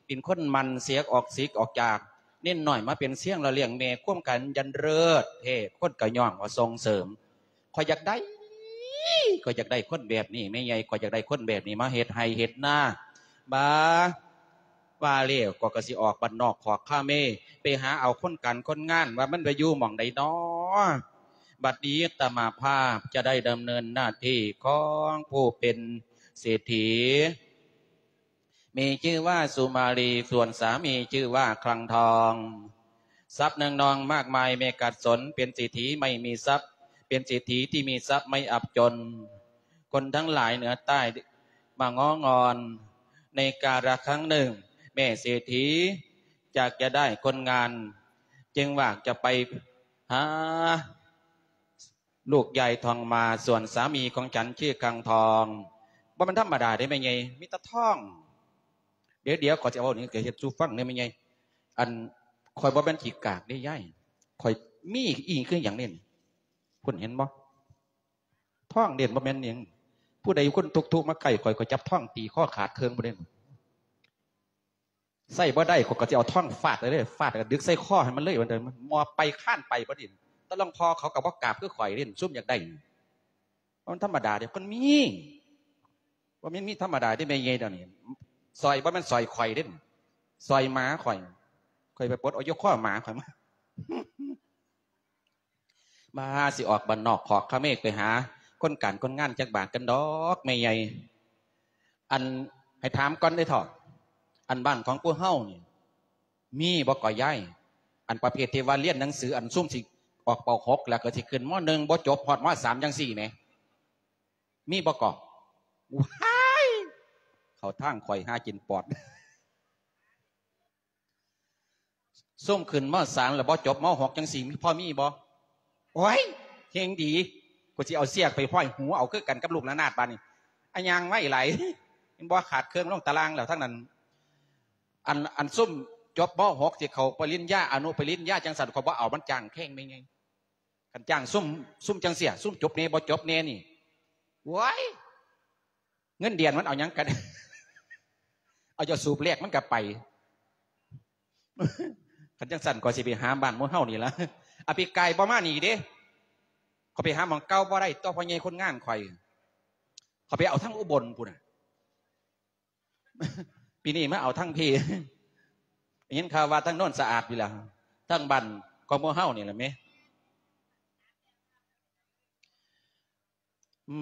เป็นคนหมั่นเสียออกสิกออกจาก เน้นน้อยมาเป็นเสี้ยงหล่อเลี้ยงแม่ ความขยันเลิศแท้ คนก็ย่องว่าส่งเสริม ข้อยอยากได้ ข้อยอยากได้คนแบบนี้แม่ใหญ่ ข้อยอยากได้คนแบบนี้มาเฮ็ดไร่เฮ็ดนา บา ว่าแล้วก็ ก็สิออกบ้านนอกขอกคาเม ไปหาเอาคนการคนงาน ว่ามันไปอยู่หม่องใดน้อ บัดนี้อาตมาภาพจะได้ดำเนินหน้าที่ของผู้เป็นเศรษฐี มีชื่อว่าสุมาลี ส่วนสามีชื่อว่าคลังทอง ทรัพย์เนืองนองมากมายไม่ขาดสน เป็นเศรษฐีไม่มีทรัพย์ เป็นเศรษฐีที่มีทรัพย์ไม่อับจน คนทั้งหลายเหนือใต้มาง้องอน ในกาละครั้งหนึ่ง แม่เศรษฐีอยากจะได้คนงาน จึงอยากจะไปหา ลูกยายทองมา ส่วนสามีของฉันชื่อคังทอง บ่แม่นธรรมดาเด้แม่ใหญ่ มีแต่ทอง เดี๋ยวๆ ข้อยสิเว้านี่ ก็เฮ็ดสู่ฟังเด้แม่ใหญ่ อัน ข้อยบ่แม่นขี้กากเด้ยาย ข้อยมีอีหยังคือหยังนี่ คุณเห็นบ่ ทองเด่นบ่แม่นหยัง ผู้ใดคนทุกข์ๆ มาใกล้ข้อย ข้อยจับทองตีคอขาดเครื่องบ่ได้ ใช้บ่ได้ ข้อยก็สิเอาทองฟาดเลยเด้ ฟาดแล้วก็ดึกใส่คอให้มันเลย ว่าแต่มันมอบไปคานไปบ่ดี แต่หลวงพ่อเขาก็บ่กราบคือข้อยเด้ ซุมอยากได้ มันธรรมดาเด้ คนมี บ่แม่นมีธรรมดาเด้ แม่ใหญ่เดี๋ยวนี้ สร้อยบ่แม่นสร้อยข้อยเด้ สร้อยหมาข้อย ข้อยไปปลดเอาอยู่คอหมาข้อยมา มาสิออกบ้านนอกขอกคาเมไปหาคนการคนงานจักบาทกันดอกแม่ใหญ่ อัน ให้ถามก่อนเด้อเฒ่า อันบ้านของพวกเฮานี่ มีบ่ก่อยาย อันประเภทที่ว่าเรียนหนังสือ อันซุมสิออก ป.หก แล้วก็สิขึ้น ม.หนึ่ง บ่จบฮอด ม.สาม จังซี่แหม มีบ่ก่อ ว้าย เข้าทางข้อยหากินปอด ซุมขึ้น ม.สาม แล้วบ่จบ ม.หก จังซี่ มี พอมีบ่ โอ๊ย แฮ่งดี กูสิเอาเสียกไปห้อยหูเอาคือกันกับลูกระนาดบาดนี้ อะ ย่างไวหลาย เห็นบ่ ขาดเครื่องลงตารางแล้วทั้งนั้น อัน อันซุมจบ ม.หก สิเข้าปริญญา อนุปริญญาจังซั่น ข้อยบ่เอา มันจ้างแพงแม่ใหญ่ คันจ้างซุม ซุมจังซี้ ซุมจบแหน่บ่จบแหน่นี่ โอ๊ย เงินเดือนมันเอาหยังกัน เอาเจ้าสูบแลกมันก็ไป คันจังซั่นข้อยสิไปหาบ้านหมู่เฮานี่ล่ะ อา ปีกายบ่มานี่เด้ ข้อยไปหาหม่องเก่าบ่ได้ ต่อพ่อใหญ่คนงานข้อย ข้อยไปเอาทางอุบลพุ้นน่ะ ปีนี้มาเอาทางพี้ ได้ยินข่าวว่าทางโนนสะอาดพี้ล่ะ ทางบ้านของหมู่เฮานี่ล่ะแหม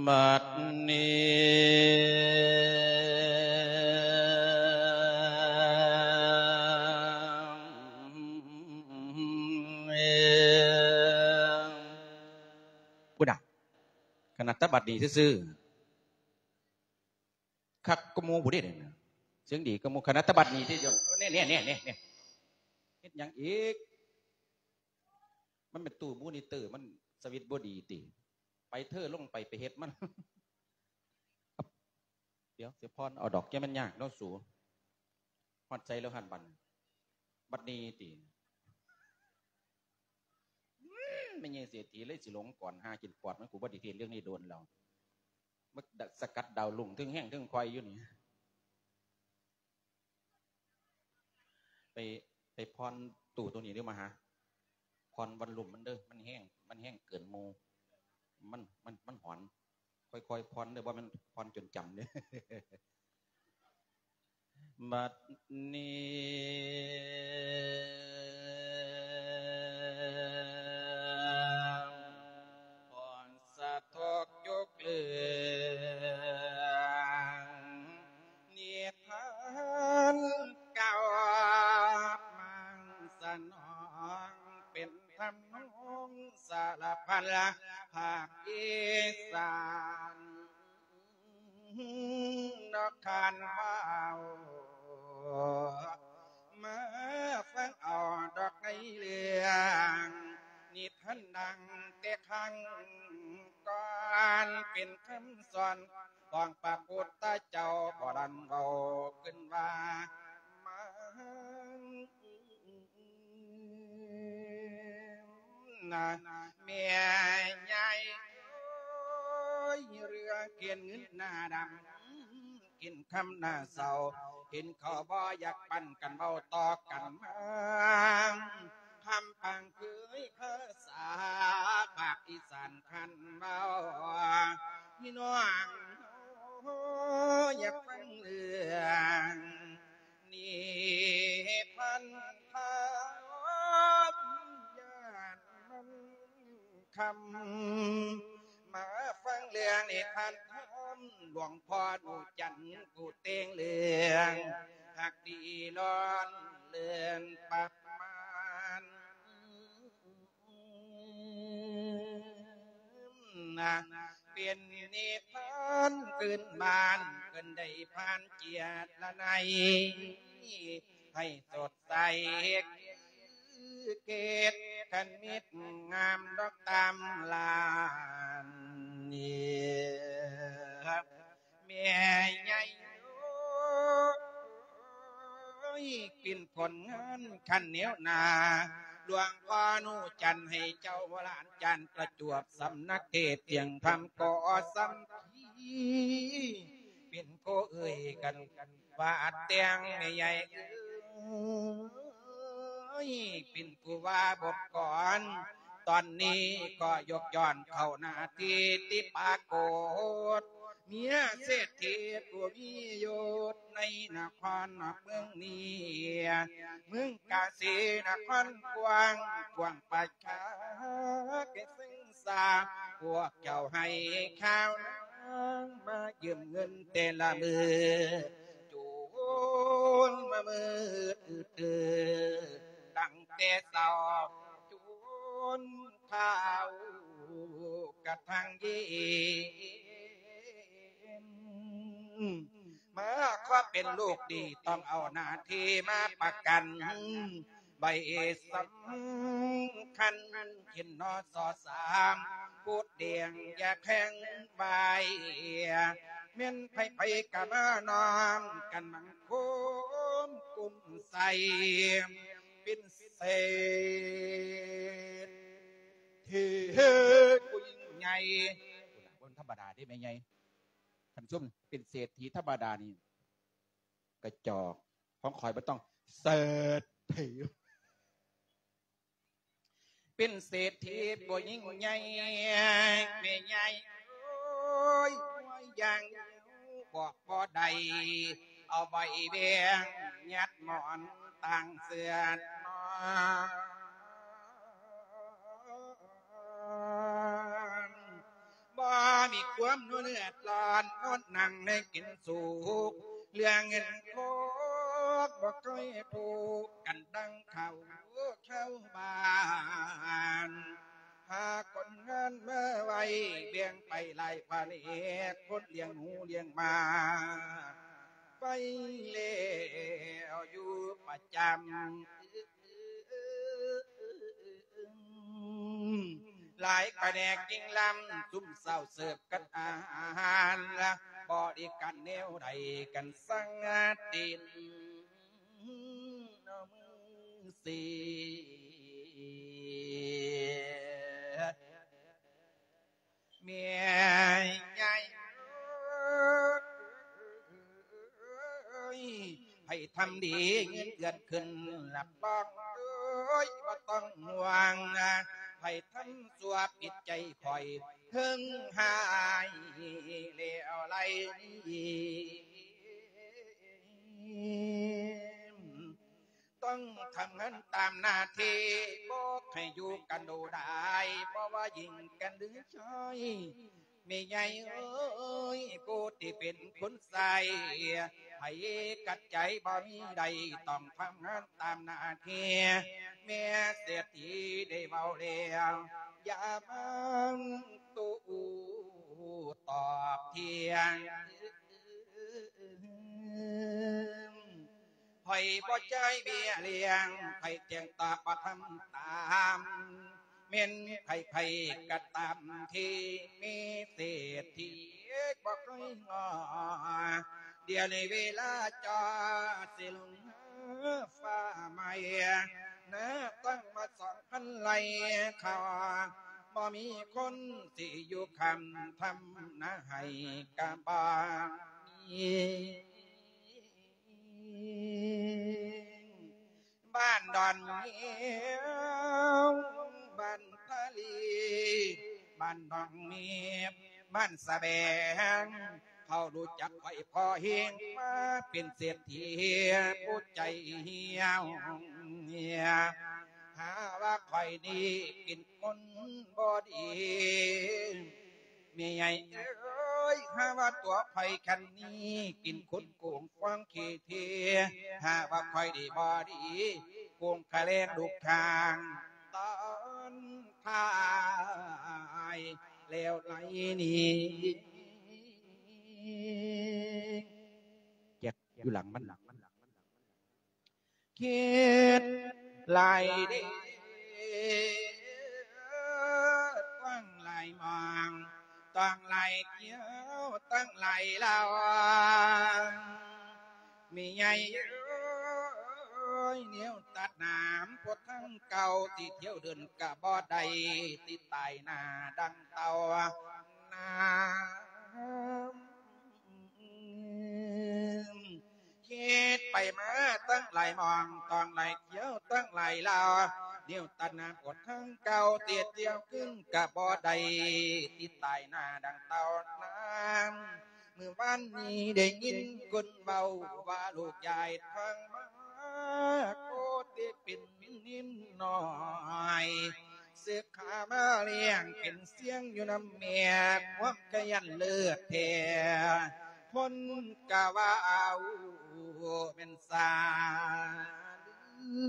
บัดนี้ พุ้นน่ะ ขนาดแต่บัดนี้ซื่อๆ คักกว่าหมู่พุ้นเด้ เสียงดีกว่าหมู่ ขนาดแต่บัดนี้ที่ แน่ๆๆๆ เฮ็ดหยังอีก มันเป็นตู้มอนิเตอร์ มันสวิตช์บ่ดีติ ไปเทอลงไป ไปเฮ็ดมัน เดี๋ยวสิผ่อนเอาดอก อย่ามันยากเนาะสู ฮอดไสแล้วหั่นบัดนี้ ບັດນີ້ຕິ ອືມ ແມ່ໃຫຍ່ເສດຖີເລີຍຊິຫຼົງກ່ອນ ຫາກິນປອດມັນ ກູບໍ່ໄດ້ເທດເລື່ອງນີ້ດົນແລ້ວ ມາສະກັດດາວລຸ້ງເທິງແຮງເທິງຄ່ອຍຢູ່ນີ້. ໄປ ໄປຜ່ອນຕູ້ໂຕນີ້ເດີ້ມະຫາ ຜ່ອນວັນລຸມມັນເດີ້ ມັນແຮງ ມັນແຮງເກີນໝູ່ ມັນ ມັນ ມັນຫອນ ຄ່ອຍໆຜ່ອນເດີ້ ບໍ່ແມ່ນຜ່ອນຈົນຈຳເດີ້. ບັດນີ້ຂໍສະທົກຍົກເລື່ອງນິທານເກົ່າ ມັງສະໜອງເປັນທຳນອງສາລະພັນ ພາກອີສານ ນອກຄານເວົ້າ ມາຟັງເອົາດອກໃນເລື່ອງນິທານ ດັ່ງແຕ່ຄັ້ງກ່ອນ ເປັນຄຳສອນຂອງພະພຸດທະເຈົ້າ ບໍລານເວົ້າຂຶ້ນວ່າ ມາ ນະ ແມ່ໃຫຍ່ເອີຍ ເລື່ອງກິນເງິນໜ້າດຳ ກິນຄຳໜ້າເສົ້າ ກິນເຂົ້າບໍ່ຢາກປັນກັນເວົ້າຕໍ່ກັນມາ ຄຳພັງເຄີຍພາສາພາກອີສານຄັນເວົ້າ ພີ່ນ້ອງຢາກຟັງເລື່ອງ ນິທານທຳ ຢ້ານມັນຄ່ຳ ມາຟັງເລື່ອງນິທານທຳ ຫຼວງພໍ່ໜູຈັນ ຜູ້ແຕ່ງເລື່ອງຮັກດີລ້ອນເລື່ອນປະມານ ນະ ເປັນນິທານພື້ນບ້ານ ເພິ່ນໄດ້ຜ່ານເຈຍລະໄນ ໃຫ້ສົດໃສເກດຄັນມິດງາມດອກຕາມລານນີ້ ແມ່ໃຫຍ່ເອີຍ ປິ່ນຜົນງານຂັ້ນແນວໜ້າ ຫຼວງພໍ່ໜູຈັນໃຫ້ເຈົ້າຫຼານຈານປະຈວບສຳນັກເທດສຽງທຳກໍສຳພີ ເປັນຜູ້ເອີ່ຍກັນວ່າແຕ່ງແມ່ໃຫຍ່ເອີຍ ເປັນຜູ້ວ່າບົດກອນ ຕອນນີ້ກໍຍົກຍ້ອນເຂົ້າໜ້າທີ່ທີ່ປາກົດ ເມຍເສດຖີຜູ້ມີຍົດໃນນະຄອນນອກເມືອງນີ້ ເມືອງກາສີນະຄອນກວ້າງ ກວ້າງປະຊາແກ່ເຊິ່ງສາ ພວກເຈົ້າໃຫ້ຂ່າວນາງມາຢືມເງິນແຕ່ລະມື້ ຈົນມາມືດຕື່ນ ຕັ້ງແຕ່ເຊົ້າຈົນ ເຂົ້າກະທັ່ງເຢັນ ມາຂໍເປັນລູກດີ ຕ້ອງເອົາໜ້າທີ່ມາປະກັນ ໃບສຳຄັນ ເຫັນ ນສ ສາມ ໂຄດແດງ ຢາແຂງໃບ ແມ່ນໃຜໆກະມານ້ອມກັນບັງຄົມກຸມໃສ່ ເປັນເສດຖີຜູ້ຍິ່ງໃຫຍ່ ບໍ່ທຳມະດາເດ້ແມ່ໃຫຍ່ ທ່ານຜູ້ຊົມ ເປັນເສດຖີທຳມະດານີ້ກະຈອກ ຂອງຂ້ອຍມັນຕ້ອງເສດຖີ ເປັນເສດຖີບໍ່ຍິ່ງໃຫຍ່ ແມ່ໃຫຍ່ເອີຍ ຢ່າງບອກບໍ່ໄດ້ ເອົາໃບແບງຍັດໝອນຕ່າງເສືອນອນ ບໍ່ມີຄວາມເດືອດຮ້ອນ ອົດໜັ່ງໄດ້ກິນສຸກ ເລື່ອງເງິນທອງບໍ່ເຄີຍທຸກກັນດັ່ງເຂົາຊາວບ້ານ ຫາຄົນງານມາໄວ້ ແບ່ງໄປຫຼາຍພະແນກ ຄົນລ້ຽງໜູລ້ຽງໝາ ໄປແລ້ວຢູ່ປະຈຳ ຫຼາຍພະແນກຍິ່ງລ້ຳ ຊຸມເຊົາເສີບກັນອາຫານ ບໍລິການແນວໃດກັນສັງຕິນ ມື້ ສ ແມ່ໃຫຍ່ເອີຍ ໃຜທຳດີເງິນເດືອນຂຶ້ນ ຮັບຮອງເອີຍ ບໍ່ຕ້ອງຫ່ວງ ໃຜທຳຊົ່ວຜິດໃຈຂ້ອຍ ເຖິງຮ້າຍແລ້ວໄລນີ້ ຕ້ອງທຳງານຕາມໜ້າທີ່ ບໍ່ໃຫ້ຢູ່ກັນດູດາຍ ບໍ່ວ່າຍິງກັນຫຼືຊາຍ ແມ່ໃຫຍ່ເອີຍ ຜູ້ທີ່ເປັນຄຸນຊາຍ ໃຜຂັດໃຈບໍ່ມີໃດ ຕ້ອງທຳງານຕາມໜ້າທີ່ ແມ່ເສດຖີໄດ້ເວົ້າແລ້ວ ຢ່າມາໂຕ້ຕອບຖຽງ ຂ້ອຍບໍ່ຈ່າຍເບ້ຍລ້ຽງ ຂ້ອຍແຈ້ງຕອບບໍ່ທຳຕາມ ແມ່ນໃຜໆກໍຕາມທີ່ມີເສດຖີບໍ່ຄ່ອຍງໍ ດຽວນີ້ເວລາຈອດຊິລົງຫາຟ້າໃໝ່ ນາຕັ້ງມາສອງພັນໄລ່ເຂົ້າ ບໍ່ມີຄົນຊິຢູ່ຄ້ຳທຳນາໃຫ້ກະບໍ່ມີ ບ້ານດອນແມວ ບ້ານທະເລ ບ້ານໜອງເມບ ບ້ານສະແບງ ເຂົາຮູ້ຈັກຂ້ອຍພໍແຮງ ມາເປັນເສດຖີຜູ້ໃຈຫ່ຽວ ຫາວ່າຂ້ອຍນີ້ເປັນຄົນບໍ່ດີ ແມ່ໃຫຍ່ເອີຍ ຫາວ່າຕົວຂ້ອຍຄັນນີ້ເປັນຄົນໂກງຄວາມຂີ້ເທ ຫາວ່າຂ້ອຍນີ້ບໍ່ດີ ໂກງຄ່າແລງລູກຈ້າງ ຕອນທ້າຍແລ້ວໄລນີ້ ແຈັກຢູ່ຫຼັງມັນ ຄິດຫຼາຍເດ້ ຕ້ອງຫຼາຍມອງ ຕ້ອງຫຼາຍທ່ຽວ ຕ້ອງຫຼາຍລາວ ແມ່ໃຫຍ່ເອີຍ ແນວຕັດນ້ຳ ພວກທັງເກົ່າ ທີ່ທ່ຽວເດີນກະບໍ່ໄດ້ ທີ່ຕາຍໜ້າດັ່ງເຕົ່ານ້ຳ ຄິດໄປມາຕັ້ງຫຼາຍໝ່ອງ ຕ້ອງຫຼາຍທ່ຽວ ຕັ້ງຫຼາຍລາວ ແນວຕັດນ້ຳອດທັງເກົ່າ ເຕຍທ່ຽວຂຶ້ນກະບໍ່ໄດ້ຕິດຕາຍໜ້າດັ່ງເຕົ່ານ້ຳ ມື້ວານນີ້ໄດ້ຍິນຄົນເວົ້າວ່າ ລູກຍາຍທາງມາໂຄດເຕຍເປັນນິນນ້ອຍ ເສືອຂາມາລ້ຽງເປັນສຽງຢູ່ນຳແມ່ ຄວາມຂະຫຍັນເລີດແທ້ ຄົນກະວ່າເອົາແມ່ນສາລື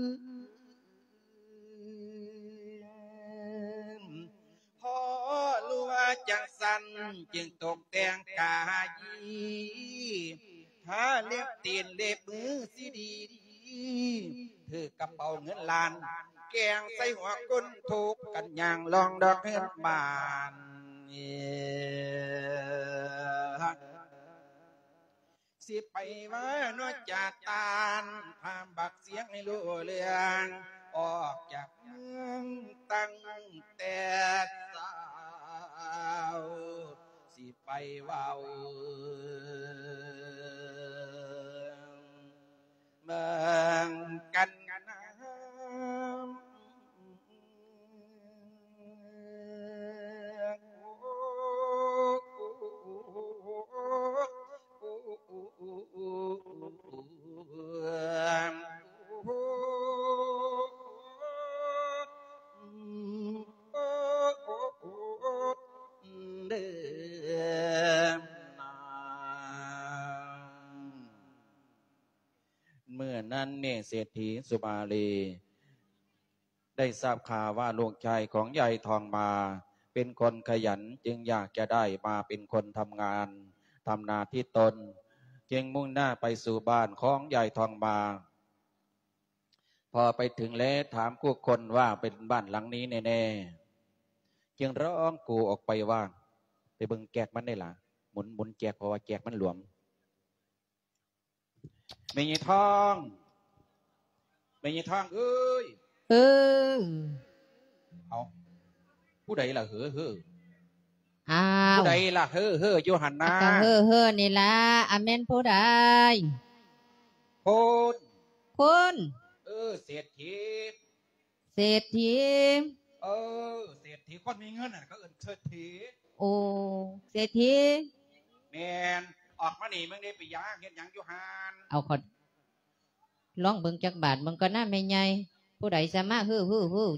ພໍຮູ້ວ່າຈັ່ງຊັ້ນ ຈຶ່ງຕົກແຕ່ງກາຍ ທາເລັບຕີນເລັບມືຊິດີດີ ຖືກກະເປົາເງິນລ້ານ ແກງໃສ່ຫົວຄົນທຸກກັນຍ່າງລອງດອກເຮືອນບ້ານ ຊິໄປວ່າເນາະຈາຕານ ພາບັກສຽງໃຫ້ຮູ້ເລື່ອງ ອອກຈາກເມືອງຕັ້ງແຕ່ເຊົ້າ ຊິໄປເວົ້າເມືອງກັນນາ ເມື່ອນັ້ນເນເສດຖີສຸມາລີ ໄດ້ຊາບຂ່າວວ່າລູກຊາຍຂອງຍາຍທອງມາເປັນຄົນຂະຫຍັນ ຈຶ່ງຢາກຈະໄດ້ມາເປັນຄົນທຳງານ ທຳນາທີ່ຕົນ ຈຶ່ງມຸ່ງໜ້າໄປສູ່ບ້ານຂອງຍາຍທອງມາ. ພໍໄປເຖິງແລ້ວຖາມຜູ້ຄົນວ່າເປັນບ້ານຫຼັງນີ້ແນ່ໆ ຈຶ່ງຮ້ອງກູ່ອອກໄປວ່າ ໄປເບິ່ງແຈກມັນໄດ້ລະ ໝູນ ໝູນແຈກ ເພາະວ່າແຈກມັນຫຼວມ. ແມ່ຍາຍທອງ ຍາຍທອງເອີຍ ເອີ ເອົ້າ ຜູ້ໃດລະເຫີເຫີ? ອ້າວ ຜູ້ໃດລະເຫີເຫີຢູ່ຫັ້ນນາ? ກໍເຫີເຫີນີ້ລະ. ອາ ແມ່ນຜູ້ໃດ? ຄຸນ ຄຸນ ເອີ ເສດຖີ ເສດຖີ ເອີ ເສດຖີ ຄົນມີເງິນຫັ້ນ ເຂົາເອີ້ນເສດຖີ. ໂອ້ ເສດຖີ ແມ່ນ. ອອກມານີ້ ມຶງໄດ້ໄປຢາງເຮັດຫຍັງຢູ່ຫັ້ນ? ເອົາ ຂໍລອງເບິ່ງຈັກບາດເບິ່ງກ່ອນນາແມ່ໃຫຍ່. ຜູ້ໃດສາມາດຮື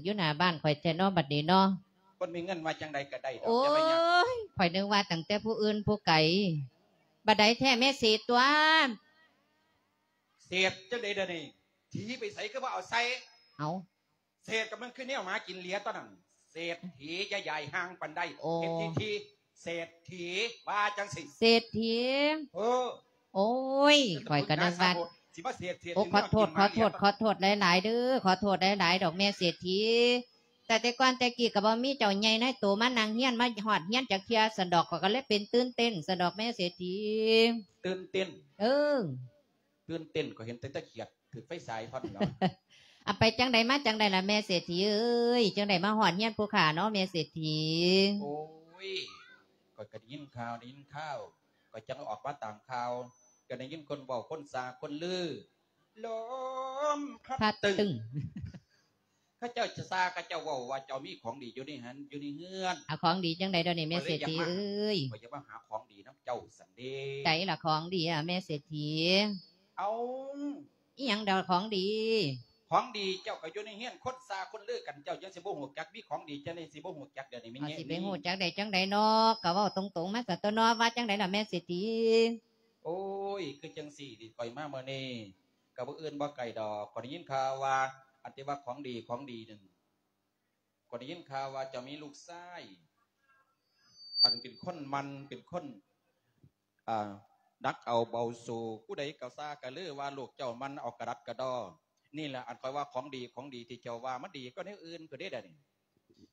ໆຢູ່ໜ້າບ້ານຂ້ອຍແທ້ນໍ ບັດນີ້ນໍ? ຄົນມີເງິນວ່າຈັ່ງໃດກໍໄດ້ດອກ ໂອ້ຍ ຢ່າໄປຍາກ. ຂ້ອຍນຶກວ່າຕັ້ງແຕ່ຜູ້ອື່ນຜູ້ໄກ. ບັດໃດແທ້ແມ່ເສດຕົວະ? ເສດຈັ່ງໃດດຽວນີ້? ຖີໄປໃສຄືບໍ່ເອົາໃສ່? ເອົ້າ ເສດກໍມັນຄືແນວໝາກິນເຫຼຍຕອນນັ້ນ. ເສດຖີຢ່າຢາຍຫ່າງປານໃດ. ໂອ້ ເຮັດທີທີ ເສດຖີ ວ່າຈັ່ງຊີ້ ເສດຖີ. ເອີ ໂອ້ຍ ຂ້ອຍກໍນຶກວ່າ ຊິມາເສດ ເສດ ໂອ້ ຂໍໂທດ ຂໍໂທດ ຂໍໂທດຫຼາຍໆເດີ້ ຂໍໂທດຫຼາຍໆດອກແມ່ເສດຖີ. ແຕ່ແຕ່ກ່ອນແຕ່ກີ້ກໍບໍ່ມີເຈົ້າໃຫຍ່ນາຍໂຕມານັ່ງຮຽນ ມາຮອດຮຽນຈັກເທື່ອຊັ້ນດອກ ຂ້ອຍກໍເລີຍເປັນຕື່ນເຕັ້ນຊັ້ນດອກແມ່ເສດຖີ. ຕື່ນເຕັ້ນ? ເອີ ຕື່ນເຕັ້ນ ຂ້ອຍເຫັນແຕ່ຕາຂຽດຖືກໄຟສາຍເທົ່ານັ້ນແຫຼະ. ອາ ໄປຈັ່ງໃດມາຈັ່ງໃດລະແມ່ເສດຖີເອີຍ? ຈັ່ງໃດມາຮອດຮຽນຜູ້ຂ້າເນາະແມ່ເສດຖີ? ໂອ້ຍ ຂ້ອຍກໍໄດ້ຍິນຂ່າວ ໄດ້ຍິນຂ່າວ ຂ້ອຍຈັ່ງອອກມາຕາມຂ່າວ ກໍໄດ້ຍິນຄົນເວົ້າ ຄົນຊ່າ ຄົນລື ລົມພັດ ພັດຕຶ້ງ ຕຶ້ງ ເຂົາເຈົ້າຈະຊ່າ ເຂົາເຈົ້າເວົ້າວ່າເຈົ້າມີຂອງດີຢູ່ໃນຫັ້ນ ຢູ່ໃນເຮືອນ. ອາ ຂອງດີຈັ່ງໃດດຽວນີ້ແມ່ເສດຖີເອີຍ? ຂ້ອຍຢາກມາຫາຂອງດີນຳເຈົ້າຊັ້ນເດ. ໃສລະຂອງດີອະແມ່ເສດຖີ? ເອົ້າ ອີ່ຫຍັງດອກຂອງດີ? ຂອງດີເຈົ້າກໍຢູ່ໃນເຮືອນ ຄົນຊ່າຄົນລືກັນ ເຈົ້າຈັ່ງຊິບໍ່ຮູ້ຈັກ? ມີຂອງດີຈັ່ງໃດຊິບໍ່ຮູ້ຈັກ ດຽວນີ້ແມ່ໃຫຍ່? ຊິໄປຮູ້ຈັກໄດ້ຈັ່ງໃດເນາະ? ກໍເວົ້າຕົງໆມາຊະຕົວະເນາະ ວ່າຈັ່ງໃດລະແມ່ເສດຖີ? ໂອ້ຍ ຄືຈັ່ງຊີ້ ຂ້ອຍມາມື້ນີ້ ກໍບໍ່ອື່ນບໍ່ໄກດອກ ຂ້ອຍໄດ້ຍິນຂ່າວວ່າ ອັນທີ່ວ່າຂອງດີ ຂອງດີນັ້ນ ຂ້ອຍໄດ້ຍິນຂ່າວວ່າເຈົ້າມີລູກຊາຍ ອັນເປັນຄົນໝັ່ນ ເປັນຄົນ ອ່າ ໜັກເອົາເບົາສູ້ ຜູ້ໃດກໍຊ່າກໍລືວ່າລູກເຈົ້າໝັ່ນເອົາກະດັດກະດໍ. ນີ້ລະ ອັນຂ້ອຍວ່າຂອງດີ ຂອງດີທີ່ເຈົ້າວ່າ ມັນດີກວ່າແນວອື່ນພຸ້ນເດ້ດຽວນີ້.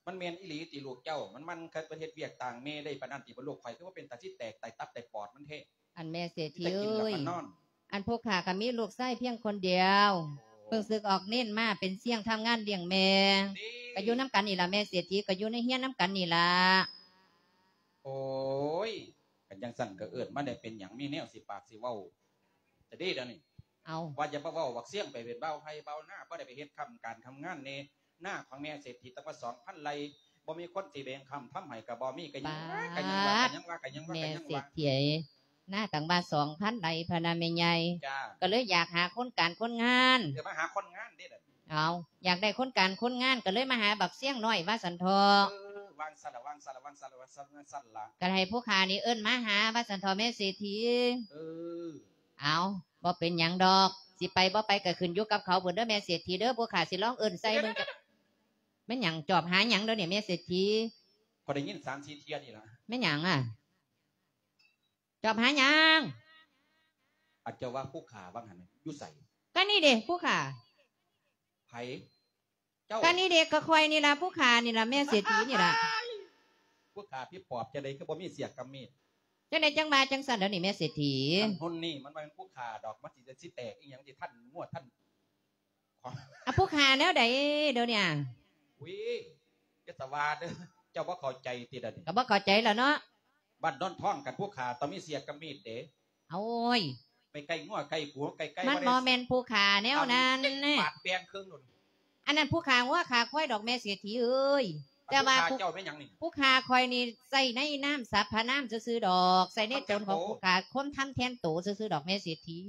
ມັນແມ່ນອີ່ຫຼີຕິລູກເຈົ້າ? ມັນ ມັນເຄີຍໄປເຮັດວຽກຕ່າງແມ່ໄດ້ປານນັ້ນຕິ? ບໍ່ ລູກຂ້ອຍຄືວ່າເປັນຕາຊິແຕກ ຕາຍຕັບຕາຍປອດມັນແທ້. ອັນແມ່ເສດຖີເອີຍ ກິນແລ້ວກໍນອນ. ອັນຜູ້ຂ້າກໍມີລູກຊາຍພຽງຄົນດຽວ ໂອ້ ເພິ່ງສຶກອອກເນນມາເປັນຊຽງທຳງານລ້ຽງແມ່ ນີ້ ກໍຢູ່ນຳກັນນີ້ລະແມ່ເສດຖີ ກໍຢູ່ໃນເຮືອນນຳກັນນີ້ລະ. ໂອ້ຍ ຄັນຈັ່ງຊັ້ນກໍເອີ້ນມາແດ່ ເປັນຫຍັງ ມີແນວຊິປາກຊິເວົ້າ ຈະດີດຽວນີ້. ເອົ້າ ວ່າຢ່າມາເວົ້າບັກຊຽງໄປເປັນບ່າວໄຮ່ບ່າວນາ ບໍ່ໄດ້ໄປເຮັດຄ້ຳການທຳງານແດ່. ນາຂອງແມ່ເສດຖີຕັ້ງວ່າສອງພັນໄຮ່ ບໍ່ມີຄົນຊິແບ່ງຄ້ຳທຳໃຫ້ກໍບໍ່ມີ ກໍຍັງວ່າ ກໍຍັງວ່າ ກໍຍັງວ່າ ກໍຍັງວ່າ ແມ່ເສດຖີ ນາຕັ້ງວ່າສອງພັນໄຮ່ພະນະແມ່ໃຫຍ່. ຈ້າ ກໍເລີຍຢາກຫາຄົນການຄົນງານ ເອີ ມາຫາຄົນງານເດ້. ເອົ້າ ຢາກໄດ້ຄົນການຄົນງານ ກໍເລີຍມາຫາບັກຊຽງນ້ອຍວ່າຊັ້ນເຖາະ. ເອີ ວ່າຊັ້ນລະ ວ່າຊັ້ນລະ ວ່າຊັ້ນລະ ວ່າຊັ້ນລະ ກໍໃຫ້ຜູ້ຂ້ານີ້ເອີ້ນມາຫາວ່າຊັ້ນເຖາະແມ່ເສດຖີ. ເອີ ເອົ້າ ບໍ່ເປັນຫຍັງດອກ ຊິໄປບໍ່ໄປກໍຂຶ້ນຢູ່ກັບເຂົາພຸ້ນເດີແມ່ເສດຖີເດີ. ພວກຂ້າຊິລອງເອີ້ນໃສ່ເບິ່ງ. ແມ່ນຫຍັງ? ຈອບຫາຫຍັງດຽວນີ້ແມ່ເສດຖີ? ຂ້ອຍໄດ້ຍິນສາມສີ່ເທື່ອນີ້ລະ. ແມ່ນຫຍັງອະ? ຈອບຫາຫຍັງ? ອາດຈະວ່າຜູ້ຂ້າວ່າຫັ້ນ ຢູ່ໃສ? ກະນີ້ເດຜູ້ຂ້າ. ໃຜ? ເຈົ້າ? ກະນີ້ເດ ກະຂ້ອຍນີ້ລະ ຜູ້ຂ້ານີ້ລະ ແມ່ເສດຖີນີ້ລະ. ຜູ້ຂ້າຜີປອບຈັ່ງໃດ ຄືບໍ່ມີເສຍກຳມີດ? ຈັ່ງໃດຈັ່ງວ່າຈັ່ງຊັ້ນດຽວນີ້ແມ່ເສດຖີ? ອັນຮຸ່ນນີ້ມັນບໍ່ແມ່ນຜູ້ຂ້າດອກ ມັນຊິ ຊິແຕກອີ່ຫຍັງ ຊິທັນງົວທັນ ອາ ຜູ້ຂ້າແນວໃດດຽວນີ້? ອຸ້ຍ ຢ່າສະຫວາດເດີ ເຈົ້າບໍ່ເຂົ້າໃຈຕິດຽວນີ້? ກໍບໍ່ເຂົ້າໃຈແລ້ວເນາະ. ບ້ານໂນນທອງກັນຜູ້ຂ້າຕ້ອງມີເສຍກຳມີດເດ. ໂອ້ຍ ໄປໃກ້ງົວໃກ້ຂົວໃກ້ໄກ່ ມັນບໍ່ແມ່ນຜູ້ຂ້າແນວນັ້ນ. ບາດແບ່ງເຄິ່ງໂນ້ນ. ອັນນັ້ນຜູ້ຂ້າງົວຂ້າຄວາຍດອກແມ່ເສດຖີເອີຍ. ແຕ່ວ່າຜູ້ຂ້າ ຜູ້ ເຈົ້າແມ່ນຫຍັງນີ້? ຜູ້ຂ້າຂ້ອຍນີ້ໃສ່ໃນນາມສັບພະນາມຊື່ໆດອກ ໃສ່ໃນຕົນຂອງຜູ້ຂ້າ ຄົນທຳແທນໂຕຊື່ໆດອກແມ່ເສດຖີ.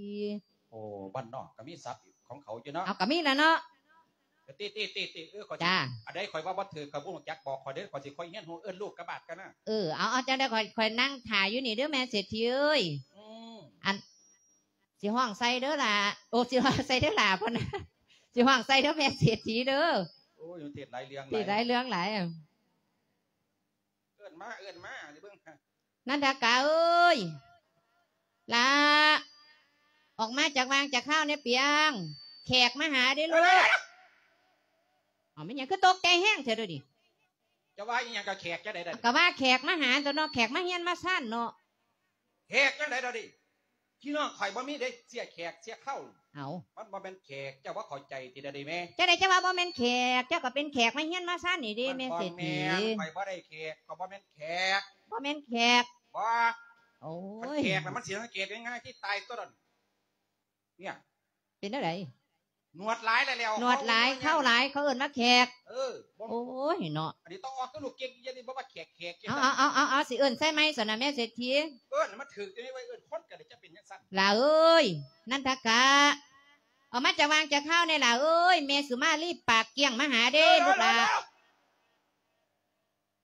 ໂອ້ ບ້ານນອກກໍມີສັບຂອງເຂົາຢູ່ເນາະ. ເອົາ ກໍມີລະເນາະ. ຕິ ຕິ ຕິ ຕິ ເອີ ຂ້ອຍຊິ ອັນໃດຂ້ອຍເວົ້າບໍ່ຖືກ ຂ້ອຍບໍ່ຮູ້ຈັກ ບອກຂ້ອຍເດີ ຂ້ອຍຊິຄ່ອຍຮຽນຮູ້ ເອີ້ນລູກກັບບາດກັນນະ. ເອີ ເອົາ ເອົາ ຈັ່ງໃດຂ້ອຍ ຂ້ອຍນັ່ງຖ້າຢູ່ນີ້ເດີແມ່ເສດຖີເອີຍ. ອືມ ອັນ ຊິຮ້ອງໃສ່ເດີຫຼ້າ ໂອ້ ຊິຮ້ອງໃສ່ເດີຫຼ້າ ເພິ່ນ ຊິຮ້ອງໃສ່ເດີແມ່ເສດຖີເດີ. ໂອ້ຍ ເທດຫຼາຍເລື່ອງ ເທດຫຼາຍເລື່ອງຫຼາຍ. ເອີ້ນມາ ເອີ້ນມາຊິເບິ່ງ. ນັນທະກາເອີຍ ຫຼ້າ ອອກມາຈາກຫວ່າງຈາກຄາວແດ່ປຽງ ແຂກມາຫາເດ້ລູກ. ເອົ້າ ແມ່ນຫຍັງຄືຕົກໃຈແຮງແທ້ດຽວນີ້? ຈະວ່າອີ່ຫຍັງ ກໍແຂກຈັ່ງໃດດຽວນີ້? ກໍວ່າແຂກມາຫາຕົວະເນາະ ແຂກມາເຮືອນມາຊານເນາະ. ແຂກຈັ່ງໃດດຽວນີ້? ພີ່ນ້ອງຂ້ອຍບໍ່ມີເດ້ ເສຍແຂກເສຍເຂົ້າ. ເອົາ ມັນບໍ່ແມ່ນແຂກ ເຈົ້າບໍ່ເຂົ້າໃຈຕິລະເດແມ່? ຈັ່ງໃດຈັ່ງວ່າບໍ່ແມ່ນແຂກ? ເຈົ້າກໍເປັນແຂກມາເຮືອນມາຊານນີ້ເດ້ ແມ່ເສດຖີ. ມັນບໍ່ແມ່ນ ຂ້ອຍບໍ່ໄດ້ແຂກ ຂ້ອຍບໍ່ແມ່ນແຂກ. ບໍ່ແມ່ນແຂກ? ບໍ່. ໂອ້ຍ ຄັນແຂກນະມັນຊິສັງເກດງ່າຍໆ ທີ່ຕາຍຕົວນັ້ນ. ເປັນແນວໃດ? ໜວດຫຼາຍແລ້ວ ໜວດຫຼາຍ ເຂົ້າຫຼາຍ ເຂົາເອີ້ນວ່າແຂກ. ເອີ ບໍ່ ໂອ້ຍເນາະ ອັນນີ້ຕ້ອງອອກຕົວລູກເກັ່ງ ຢ່າໄດ້ບໍ່ວ່າແຂກ ແຂກ. ເອົາ ເອົາ ເອົາ ເອົາ ຊິເອີ້ນໃສ່ໃໝ່ຊັ້ນນະ ແມ່ເສດຖີ. ເອີ້ນໃຫ້ມັນຖືກ ຈະໄດ້ວ່າເອີ້ນຄົນກໍໄດ້ ຈະເປັນຈັ່ງຊັ້ນ. ຫຼ້າເອີຍ ນັນທະກະ ອອກມາຈາກວ່າງຈາກຄາວແດ່ຫຼ້າເອີຍ ແມ່ສຸມາລີປາກກ້ຽງມາຫາເດ້ ເອີ ລູກຫຼ້າ.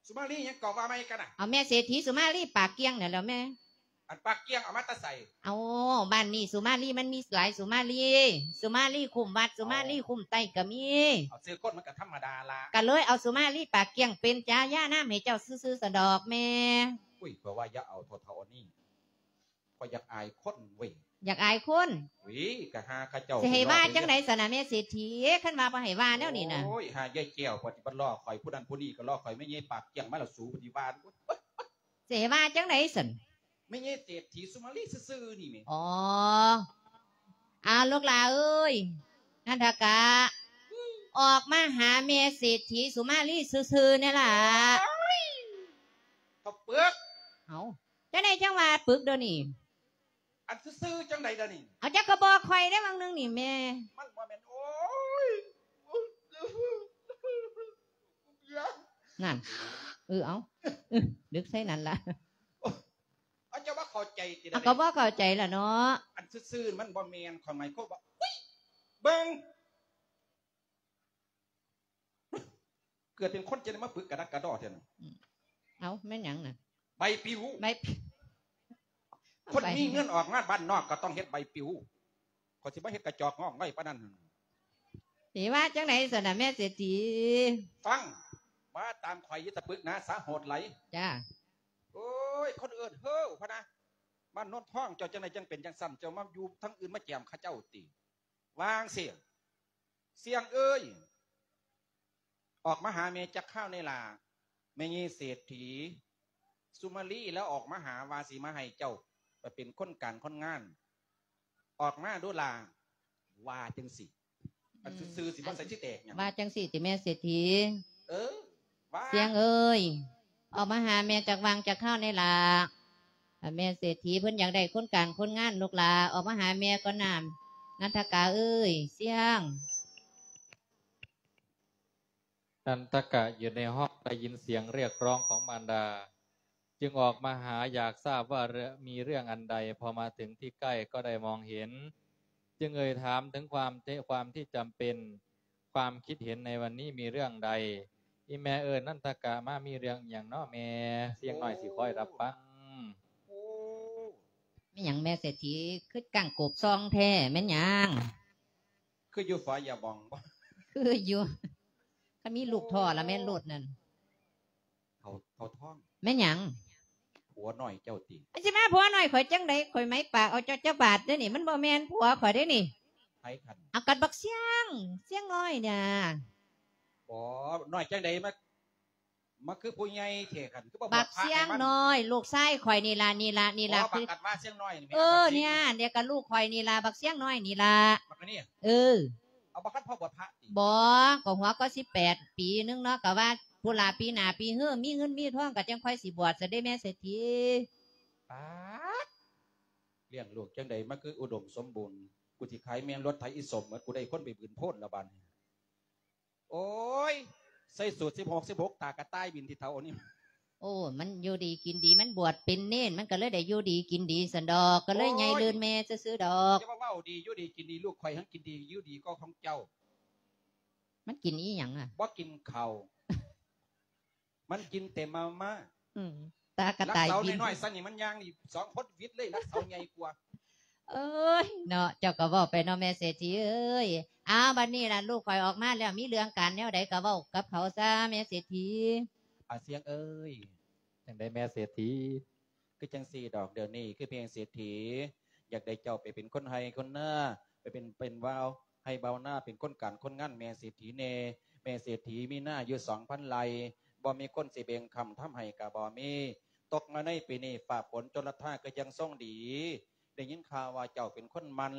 ສຸມາລີຫຍັງກໍວ່າໃໝ່ກັນນະ? ເອົາ ແມ່ເສດຖີສຸມາລີປາກກ້ຽງນັ້ນແຫຼ້ວແມ່. ອັນປາກກ້ຽງເອົາມາແຕ່ໃສ? ເອົາ ບ້ານນີ້ສຸມາລີມັນມີຫຼາຍສຸມາລີ ສຸມາລີຄຸ້ມວັດ ສຸມາລີຄຸ້ມໄຕ້ກໍມີ. ເອົາ ຊື່ຄົນມັນກໍທຳມະດາລະ ກໍເລີຍເອົາສຸມາລີປາກກ້ຽງເປັນຈາຍານາມໃຫ້ເຈົ້າຊື່ໆ ຊັ້ນດອກແມ່. ອຸ້ຍ ຂ້ອຍວ່າຢ່າເອົາເຖົ້າໆ ອັນນີ້ ຂ້ອຍຢາກອາຍຄົນເວີຍ. ຢາກອາຍຄົນ? ອຸ້ຍ ກະຫາເຂົາເຈົ້າ ຊິໃຫ້ວ່າຈັ່ງໃດຊັ້ນນະແມ່ເສດຖີ ຄັນວ່າບໍ່ໃຫ້ວ່າແນວນີ້ນະ? ໂອ້ຍ ຫາຍາຍແກ້ວ ປະຕິບັດລໍ້ຂ້ອຍ ຜູ້ນັ້ນຜູ້ນີ້ກໍລໍ້ຂ້ອຍ ແມ່ໃຫຍ່ປາກກ້ຽງມາແລ້ວ ສູປະຕິວ່າ. ຊິໃຫ້ວ່າຈັ່ງໃດຊັ້ນ? ແມ່ໃຫຍ່ເສດຖີສຸມາລີຊື່ໆ ນີ້ແໝ່. ອໍ ອາ ລູກຫຼ້າເອີຍ ນັນທະກະ ອອກມາຫາແມ່ເສດຖີສຸມາລີຊື່ໆ ແດ່ຫຼ້າ. ໂອ້ຍ ເຖົ້າປຶກ. ເອົາ ຈັ່ງໃດຈັ່ງວ່າປຶກດຽວນີ້? ອັນຊື່ໆ ຈັ່ງໃດດຽວນີ້? ເອົາ ເຈົ້າກໍບອກຂ້ອຍເດ້ຫວ່າງໜຶ່ງນີ້ແມ່. ມັນບໍ່ແມ່ນ ໂອ້ຍ ນັ້ນ ເອີ ເອົາ ເອີ ດຶກໃສ່ນັ້ນລະ. ເອົາ ເຈົ້າບໍ່ເຂົ້າໃຈຕິລະ? ເອົາ ກໍບໍ່ເຂົ້າໃຈລະເນາະ. ອັນຊື່ໆ ມັນບໍ່ແມ່ນ ຄວາມໝາຍ ຄົນບອກ ອຸ້ຍ ເບິ່ງ ເກີດເປັນຄົນຈັ່ງໃດມາປຶກກະດັກກະດໍ້ແທ້ນະ. ເອົາ ແມ່ນຫຍັງນະ? ໃບປິວ ໃບປິວ. ຄົນມີເງິນອອກງານບ້ານນອກກໍຕ້ອງເຮັດໃບປິວ ຂ້ອຍຊິມາເຮັດກະຈອກງອກໄວ້ປານນັ້ນ. ຊິວ່າຈັ່ງໃດຊັ້ນນະແມ່ເສດຖີ? ຟັງ ວ່າຕາມຂ້ອຍ ຢ່າຕະປຶກນາສາໂຫດຫຼາຍ. ຈ້າ. ໂອ້ຍ ຄົນເອີ້ນເຮີ້ພະນະ ບ້ານໂນນທອງ ເຈົ້າຈັ່ງໃດຈັ່ງເປັນຈັ່ງຊັ້ນ ເຈົ້າມາຢູ່ທາງອື່ນມາແຈມເຂົາເຈົ້າຕິ? ວ່າຈັ່ງຊີ້ ສ່ຽງເອີຍ ອອກມາຫາແມ່ຈັກຄາວແດ່ຫຼ້າ. ແມ່ໃຫຍ່ເສດຖີ ສຸມາລີລາວອອກມາຫາ ວ່າຊິມາໃຫ້ເຈົ້າໄປເປັນຄົນການຄົນງານ. ອອກມາດູຫຼ້າ ວ່າຈັ່ງຊີ້. ອັນຊື່ໆ ຊິບໍ່ໃສ່ຊິແຕກຫຍັງ. ວ່າຈັ່ງຊີ້ຕິແມ່ເສດຖີ? ເອີ ວ່າ ສ່ຽງເອີຍ ອອກມາຫາແມ່ຈັກຫວ່າງຈັກຄາວແດ່ຫຼ້າ. ແມ່ເສດຖີເພິ່ນຢາກໄດ້ຄົນການຄົນງານ ລູກຫຼ້າ ອອກມາຫາແມ່ກ່ອນນາ ນັນທະກະເອີຍ. ສ່ຽງ. นันทกะอยู่ในห้องได้ยินเสียงเรียกร้องของมารดา จึงออกมาหา อยากทราบว่าเรื่อง มีเรื่องอันใด พอมาถึงที่ใกล้ก็ได้มองเห็น จึงเอ่ยถามถึงความเท- ความที่จำเป็น ความคิดเห็นในวันนี้มีเรื่องใด อีแม่เอิ้นนันทกะมา มีเรื่องหยังน้อแม่ เสียงน้อยสิคอยรับฟัง. โอ้ แม่นหยังแม่เศรษฐี คือก้างโกบซองแท้ แม่นหยัง? คืออยู่ฝายาหม่องบ่? คืออยู่ คันมีลูกท่อละแม่นโลดนั่น เฒ่า เฒ่าทอง แม่นหยัง? ผัวน้อยเจ้าติ มันสิมาผัวน้อยข้อยจั่งใด ข้อยไหมปากเอาเจ้าจักบาทเด้อนี่ มันบ่แม่นผัวข้อยเด้อนี่ ไผคัน เอากันบักเสี้ยง เสี้ยงน้อยเนี่ย บ่ น้อยจั่งใดมา มาคือผู้ใหญ่แท้คัน คือบ่บวชพระให้มัน บักเสี้ยงน้อย ลูกชายข้อยนี่ล่ะ นี่ล่ะ นี่ล่ะ อ๋อ คือ บักอันมาเสี้ยงน้อยนี่แม่ เออ บักเสี้ยง เนี่ย เดี๋ยวก็ลูกข้อยนี่ล่ะ บักเสี้ยงน้อยนี่ล่ะ บักอันนี้ เออ เอาบักคันพ่อบวชพระติ บ่ ก็หัวก็สิบแปดปีนึงเนาะ ก็ว่าพุ้นล่ะปีหน้าปีเฮือ มีเงินมีทองก็จั่งค่อยสิบวชซะเด้แม่เศรษฐี ป๊าด เลี้ยงลูกจั่งใดมาคืออุดมสมบูรณ์ กูสิขายแม่นรถไถอีสมหมด กูได้คนไปบืนโพนแล้วบาดนี้ โอ้ย ใส่สูทสิบหก สิบหก ตากระต่ายบินที่เฒ่านี่ โอ้ มันอยู่ดีกินดี มันบวชเป็นเณร มันก็เลยได้อยู่ดีกินดีซั้นดอก ก็เลยใหญ่ลื่นแม่ซื่อๆดอก อย่ามาเว้าดี อยู่ดีกินดี ลูกข้อยหั้นกินดี อยู่ดีกว่าของเจ้า มันกินอีหยังอะ บ่กินข้าว มันกินแต่มาม่า อืม ตากระต่ายบิน ลักเสาน้อยๆ ซั่นนี่มันย่างนี่สองคนวิดเลย ลักเสาใหญ่กว่า เอ้ย เนาะ เจ้าก็เว้าไปเนาะแม่เศรษฐีเอ้ย อ้าว บัดนี้ล่ะลูกข้อยออกมาแล้ว มีเรื่องการแนวใดก็เว้ากับเขาซะแม่เศรษฐี อาเสียงเอ้ย จั่งใดแม่เศรษฐี คือจั่งซี้ดอก เดี๋ยวนี้คือแม่เศรษฐี อยากได้เจ้าไปเป็นคนไฮ่คนนา ไปเป็น เป็นบ่าวไฮ่บ่าวนา เป็นคนการคนงานแม่เศรษฐีแน่ แม่เศรษฐีมีนาอยู่สองพันไร่ บ่มีคนสิแบ่งค้ำทำไฮ่ก็บ่มี ตกมาในปีนี้ฟ้าฝนจนละทาก็ยังทรงดี ได้ยินข่าวว่าเจ้าเป็นคนหมั่น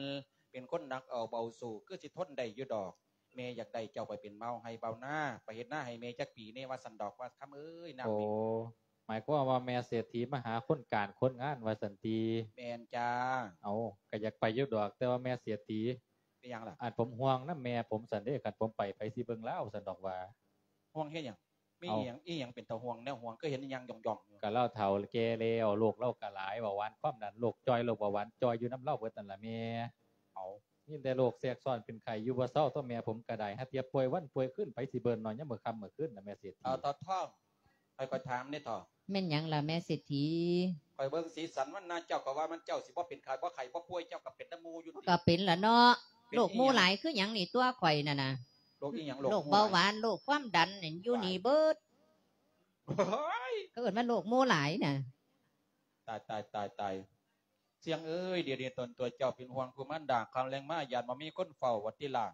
ປັນຄົນໜັກເອົາເບົາສູ້ ຄືຊິທົນໄດ້ຢູ່ດອກ. ແມ່ຢາກໄດ້ເຈົ້າໄປເປັນບ່າວໄຮ່ບ່າວນາ ໄປເຮັດນາໃຫ້ແມ່ຈັກປີແດ່ວ່າຊັ້ນດອກ ວ່າຄຳເອີຍ. ນຳ ໂອ້ ນີ້ ໝາຍຄວາມວ່າແມ່ເສດຖີມາຫາຄົນການຄົນງານວ່າຊັ້ນຕິ? ແມ່ນຈ້າ. ເອົາ ກະຢາກໄປຢູ່ດອກ ແຕ່ວ່າແມ່ເສດຖີ ເປັນຫຍັງລະ? ອັນ ຜົມຫ່ວງນຳແມ່ຜົມຊັ້ນເດ້ ຄັນຜົມໄປ ໃຜຊິເບິ່ງລາວຊັ້ນດອກວ່າ. ຫ່ວງເຮັດຫຍັງ? ມີ ເອົ້າ ອີ່ຫຍັງ ອີ່ຫຍັງເປັນຕາຫ່ວງ ແນວຫ່ວງ ຄືເຫັນຍ່າງຢ່ອງໆຢູ່? ກະລາວເຖົ້າແກ່ແລ້ວ ໂລກລາວກະຫຼາຍ ເບົາຫວານຄວາມດັນ ໂລກຈ່ອຍ ໂລກເບົາຫວານຈ່ອຍ ຢູ່ນຳລາວເບິດນັ້ນລະແມ່. ເອົ້າ ມີແຕ່ໂລກແຊກຊ້ອນເປັນໄຂ້ຢູ່ບໍ່ເຊົາ ຕົວແມ່ຜົມກະໄດ້ ຫາເທື່ອປ່ວຍວັນປ່ວຍຄືນ ໃຜຊິເບິ່ງເນາະ ຍາມມື້ຄ່ຳມື້ຄືນນະແມ່ເສດຖີ. ເອົາ ເຖົ້າທອງ ຂ້ອຍກໍຖາມແດ່ເຖົ້າ. ແມ່ນຫຍັງລະແມ່ເສດຖີ? ຂ້ອຍເບິ່ງສີສັນວັນນາເຈົ້າກໍວ່າມັນ ເຈົ້າຊິບໍ່ເປັນໄຂ້ ບໍ່ໄຂ້ບໍ່ປ່ວຍ ເຈົ້າກໍເປັນນຳໝູ່ຢູ່ຕິ. ກໍເປັນລະເນາະ. ເປັນອີ່ຫຍັງ? ໂລກໝູ່ຫຼາຍຄືຫຍັງນີ້ຕົວະຂ້ອຍນັ້ນນະ. ໂລກອີ່ຫຍັງ? ໂລກໝູ່ຫຼາຍ ໂລກເບົາຫວານ ໂລກຄວາມດັນນີ້ ຢູ່ນີ້ເບິດ. ໂອ້ຍ ເຂົາເອີ້ນວ່າໂລກໝູ່ຫຼາຍນະ. ຕາຍ ຕາຍ ຕາຍ ຕາຍ. ຊຽງເອີຍ ດຽວນີ້ຕົນຕົວເຈົ້າເປັນຫ່ວງຜູ້ມານດາ ຄ່ຳແລງມາຢ້ານບໍ່ມີຄົນເຝົ້າວ່າຕິລະ.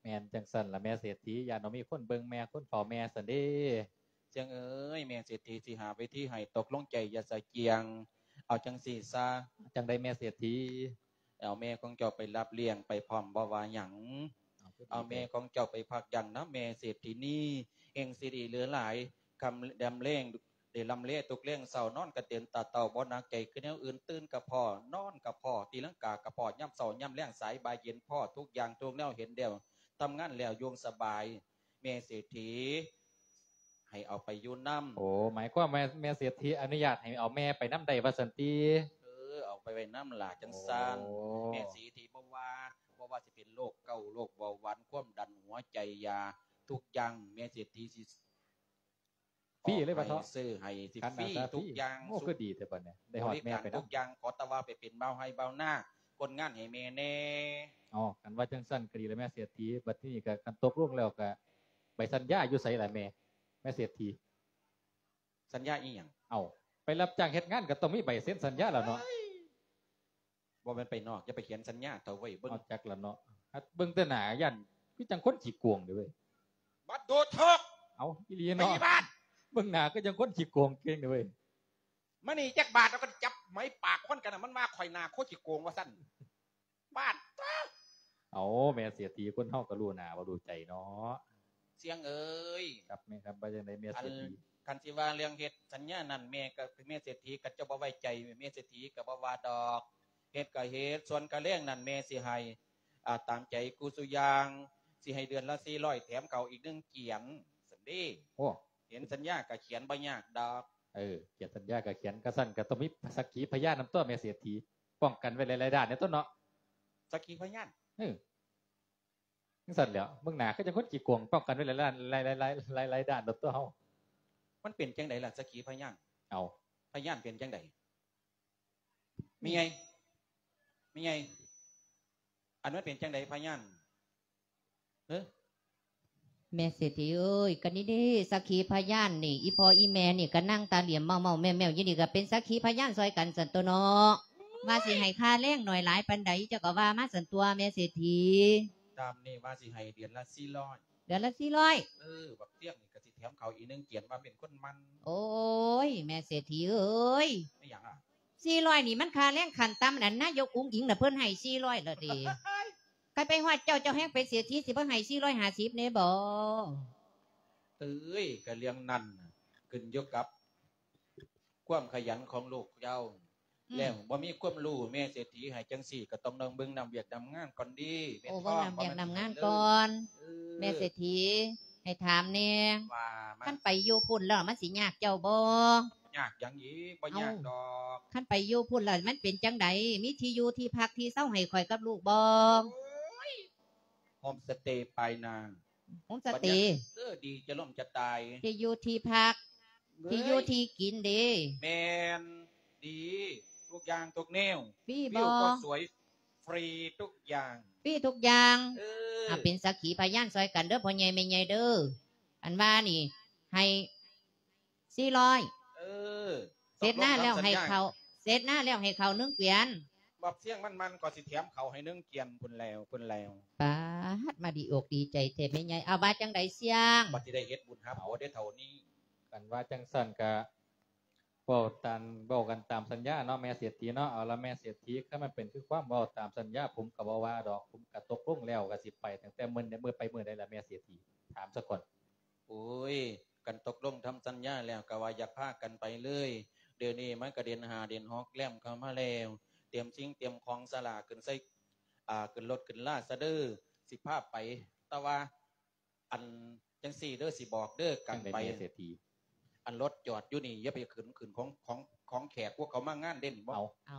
ແມ່ນຈັ່ງຊັ້ນລະແມ່ເສດຖີ ຢ້ານບໍ່ມີຄົນເບິ່ງແມ່ຄົນເຝົ້າແມ່ຊັ້ນເດ້. ຊຽງເອີຍ ແມ່ເສດຖີຊິຫາເວທີໃຫ້ ຕົກລົງໃຈຢ່າສະກຽງ. ເອົາຈັ່ງຊີ້ຊະ. ຈັ່ງໃດແມ່ເສດຖີ? ເອົາແມ່ຂອງເຈົ້າໄປຮັບລ້ຽງໄປພ້ອມ ບໍ່ວ່າຫຍັງ. ເອົາ ເອົາແມ່ຂອງເຈົ້າໄປພັກຢ່າງນຳແມ່ເສດຖີນີ້ ແຫ່ງຊິໄດ້ເຫຼືອຫຼາຍ ຄ່ຳດຳແລງ ໄດ້ລ່ຳເລທຸກແລງເຊົ້າ ນອນກະເຕັນຕາເຕົ້າ ບໍ່ໜັກໃຈຄືແນວອື່ນ ຕື່ນກະພໍ້ ນອນກະພໍ້ ຕີລັງກາກະພໍ້ ຍາມເຊົ້າຍາມແລງ ສາຍບ່າຍເຢັນພໍ້ ທຸກຢ່າງທຸກແນວເຫັນແລ້ວ ທຳງານແລ້ວຢູ່ສະບາຍ ແມ່ເສດຖີ ໃຫ້ເອົາໄປຢູ່ນຳ. ໂອ້ ໝາຍຄວາມວ່າແມ່ເສດຖີອະນຸຍາດໃຫ້ເອົາແມ່ໄປນຳໄດ້ວ່າຊັ້ນຕິ? ເອີ ເອົາໄປໄວ້ນຳຫຼ້າຈັ່ງຊັ້ນ. ໂອ້ ແມ່ເສດຖີບໍ່ວ່າ ບໍ່ວ່າຊິເປັນໂລກເກົາ ໂລກເບົາຫວານ ຄວາມດັນ ຫົວໃຈຢາ ທຸກຢ່າງແມ່ເສດຖີຊິ ຟຣີເລີຍວ່າເຖາະ ຊື້ໃຫ້ ຊິຟຣີທຸກຢ່າງ. ໂອ້ ຄືດີແທ້ບັດນີ້ ໄດ້ຮອດແມ່ໄປນຳ ບໍລິການທຸກຢ່າງ. ຂໍແຕ່ວ່າໄປເປັນບ່າວໄຮ່ບ່າວນາ ຄົນງານໃຫ້ແມ່ແດ່. ອໍ ຄັນວ່າຈັ່ງຊັ້ນກໍດີລະແມ່ເສດຖີ. ບັດທີນີ້ກໍຄັນຕົກລົງແລ້ວກໍ ໃບສັນຍາຢູ່ໃສລະແມ່ ແມ່ເສດຖີ? ສັນຍາອີ່ຫຍັງ? ເອົ້າ ໄປຮັບຈ້າງເຮັດງານກໍຕ້ອງມີໃບເຊັນສັນຍາລະເນາະ. ບໍ່ແມ່ນໄປນອກ ຢ່າໄປຂຽນສັນຍາເຖົ້າເວີຍ. ເບິ່ງ ເອົາ ຈັກລະເນາະ ເບິ່ງແຕ່ໜ້າຢ້ານຄືຈັ່ງຄົນຂີ້ໂກງເດ້ເວີຍ. ບັດໂດດເຖາະ. ເອົ້າ ອີ່ຫຼີເນາະ ໄປບ້ານ. ເບິ່ງໜ້າຄືຈັ່ງຄົນຂີ້ໂກງເກັ່ງເດ້ເວີຍ. ມານີ້ຈັກບາດ ແລ້ວກໍຈັບໄໝປາກຄົນກັນນະ ມັນວ່າຂ້ອຍໜ້າໂຄຂີ້ໂກງວ່າຊັ້ນ. ບາດ ເອົ້າ ແມ່ເສດຖີ ຄົນເຮົາກໍຮູ້ໜ້າບໍ່ຮູ້ໃຈເນາະ ຊຽງເອີຍ. ຄັບແມ່ຄັບ ວ່າຈັ່ງໃດແມ່ເສດຖີ? ຄັນຊິວ່າເລື່ອງເຮັດສັນຍານັ້ນ ແມ່ກໍ ແມ່ເສດຖີກໍຈະບໍ່ໄວ້ໃຈ ແມ່ເສດຖີກໍບໍ່ວ່າດອກ. ເຮັດກໍເຮັດ ສ່ວນຄ່າແລງນັ້ນແມ່ຊິໃຫ້ ອາ ຕາມໃຈກູສູ່ຢ່າງ ຊິໃຫ້ເດືອນລະສີ່ຮ້ອຍ ແຖມເຂົ້າອີກໜຶ່ງກຽນຊັ້ນເດ້. ໂອ້ ເຫັນສັນຍາກໍຂຽນບໍ່ຍາກດອກ. ເອີ ຂຽນສັນຍາກໍຂຽນ ຄັນຊັ້ນກໍຕ້ອງມີສັກຂີພະຍານນຳຕົວະແມ່ເສດຖີ ປ້ອງກັນໄວ້ຫຼາຍໆດ້ານແດ່ຕົວະເນາະ. ສັກຂີພະຍານ? ເອີ ຈັ່ງຊັ້ນແຫຼ້ວ ເບິ່ງໜ້າຄືຈັ່ງຄົນຂີ້ໂກງ ປ້ອງກັນໄວ້ຫຼາຍໆດ້ານ ຫຼາຍໆ ຫຼາຍໆດ້ານໂລດຕົວະເຮົາ. ມັນເປັນຈັ່ງໃດລະສັກຂີພະຍານ? ເອົ້າ ພະຍານເປັນຈັ່ງໃດ? ແມ່ໃຫຍ່ ແມ່ໃຫຍ່ ອັນມັນເປັນຈັ່ງໃດພະຍານ? ເອີ ແມ່ເສດຖີເອີຍ ກະນີ້ເດ້ສັກຂີພະຍານນີ້ ອີ່ພໍ່ອີ່ແມ່ນີ້ກະນັ່ງຕາຫຼ້ຽມເມົ້າໆແມ່ວໆຢູ່ນີ້ ກະເປັນສັກຂີພະຍານຊ່ອຍກັນຊັ້ນຕົວະເນາະ. ວ່າຊິໃຫ້ຄ່າແລງໜ້ອຍຫຼາຍປານໃດ ເຈົ້າກະວ່າມາຊັ້ນຕົວະແມ່ເສດຖີ. ຕາມນີ້ວ່າຊິໃຫ້ເດືອນລະສີ່ຮ້ອຍ. ເດືອນລະສີ່ຮ້ອຍ? ເອີ ບັກຊຽງນີ້ກະຊິແຖມເຂົ້າອີກໜຶ່ງກຽນ ວ່າເປັນຄົນໝັ່ນ. ໂອ້ຍ ແມ່ເສດຖີເອີຍ. ແມ່ນຫຍັງອະ? ສີ່ຮ້ອຍນີ້ມັນຄ່າແລງຂັ້ນຕ່ຳ ອັນນາຍົກອຸ້ງອິງນະເພິ່ນໃຫ້ສີ່ຮ້ອຍລະເດ. ຄັນໄປຮອດເຈົ້າ ເຈົ້າແຮ່ງເປັນເສດຖີ ຊິບໍ່ໃຫ້ສີ່ຮ້ອຍຫ້າສິບແດ່ບໍ? ເອີຍ ກະເລື່ອງນັ້ນຂຶ້ນຢູ່ກັບຄວາມຂະຫຍັນຂອງລູກເຈົ້າ. ອືມ ແລ້ວບໍ່ມີຄວາມຮູ້ ແມ່ເສດຖີໃຫ້ຈັ່ງຊີ້ ກະຕ້ອງເບິ່ງນຳວຽກນຳງານກ່ອນເດ້. ໂອ້ ເບິ່ງນຳວຽກນຳງານກ່ອນ. ເອີ ແມ່ເສດຖີ ໃຫ້ຖາມແດ່ ວ່າມາ ຄັນໄປຢູ່ພຸ້ນແລ້ວມັນຊິຍາກເຈົ້າບໍ່? ຍາກຫຍັງອີກ? ບໍ່ຍາກດອກ. ເອົ້າ ຄັນໄປຢູ່ພຸ້ນແລ້ວມັນເປັນຈັ່ງໃດ? ມີທີ່ຢູ່ທີ່ພັກທີ່ເຊົາໃຫ້ຂ້ອຍກັບລູກບໍ່? ໂອ້ຍ ໂຮມສະເຕປາຍນາ. ໂຮມສະເຕ? ບັນຍາ ເອີ ດີຈະລົ້ມຈະຕາຍ. ທີ່ຢູ່ທີ່ພັກ ເອີຍ ທີ່ຢູ່ທີ່ກິນເດ? ແມ່ນ ດີ ທຸກຢ່າງທຸກແນວ. ຟຣີບໍ່? ວິວກໍສວຍ ຟຣີທຸກຢ່າງ. ຟຣີທຸກຢ່າງ. ເອີ ອາ ເປັນສັກຂີພະຍານຊ່ອຍກັນເດີ ພໍ່ໃຫຍ່ແມ່ໃຫຍ່ເດີ. ອັນວ່ານີ້ໃຫ້ສີ່ຮ້ອຍ. ເອີ ເສັດນາແລ້ວໃຫ້ເຂົ້າ ເສັດນາແລ້ວໃຫ້ເຂົ້າໜຶ່ງກຽນ. ບັກຊຽງມັນໆ ກໍຊິແຖມເຂົ້າໃຫ້ໜຶ່ງກຽນພຸ້ນແລ້ວ ພຸ້ນແລ້ວ. ປາດ ມາດີອົກດີໃຈແທ້ແມ່ໃຫຍ່. ເອົາ ວ່າຈັ່ງໃດຊຽງ? ບັດຊິໄດ້ເຮັດບຸນຫາຜົວໄດ້ເທົ່ານີ້. ຄັນວ່າຈັ່ງຊັ້ນກະ ເວົ້າຕາມ ເວົ້າກັນຕາມສັນຍາເນາະ ແມ່ເສດຖີເນາະ. ເອົາລະ ແມ່ເສດຖີ ຄັນມັນເປັນຄືຄວາມເວົ້າຕາມສັນຍາ ຜົມກໍບໍ່ວ່າດອກ ຜົມກໍຕົກລົງແລ້ວ ກໍຊິໄປຕັ້ງແຕ່ມື້ໃດ ໄປມື້ໃດລະ ແມ່ເສດຖີ? ຖາມສາກ່ອນ. ໂອ້ຍ ຄັນຕົກລົງທຳສັນຍາແລ້ວ ກໍວ່າຢາກພາກັນໄປເລີຍ. ດຽວນີ້ມັນກໍເດືອນຫ້າເດືອນຫົກແລ້ວ ເຂົ້າມາແລ້ວ ຕຽມສິ່ງຕຽມຂອງສາລາຂຶ້ນໃສ່ ອ່າ ຂຶ້ນລົດຂຶ້ນລາຊະເດີ ຊິພາໄປ. ແຕ່ວ່າ ອັນ ຈັ່ງຊີ້ເດີ ຊິບອກເດີ ກັນໄປ ອັນລົດຈອດຢູ່ນີ້ ຢ່າໄປຂຶ້ນ ຂຶ້ນຂອງ ຂອງ ຂອງແຂກ ພວກເຂົາມາງານເດ້ ບໍ່ ເອົາ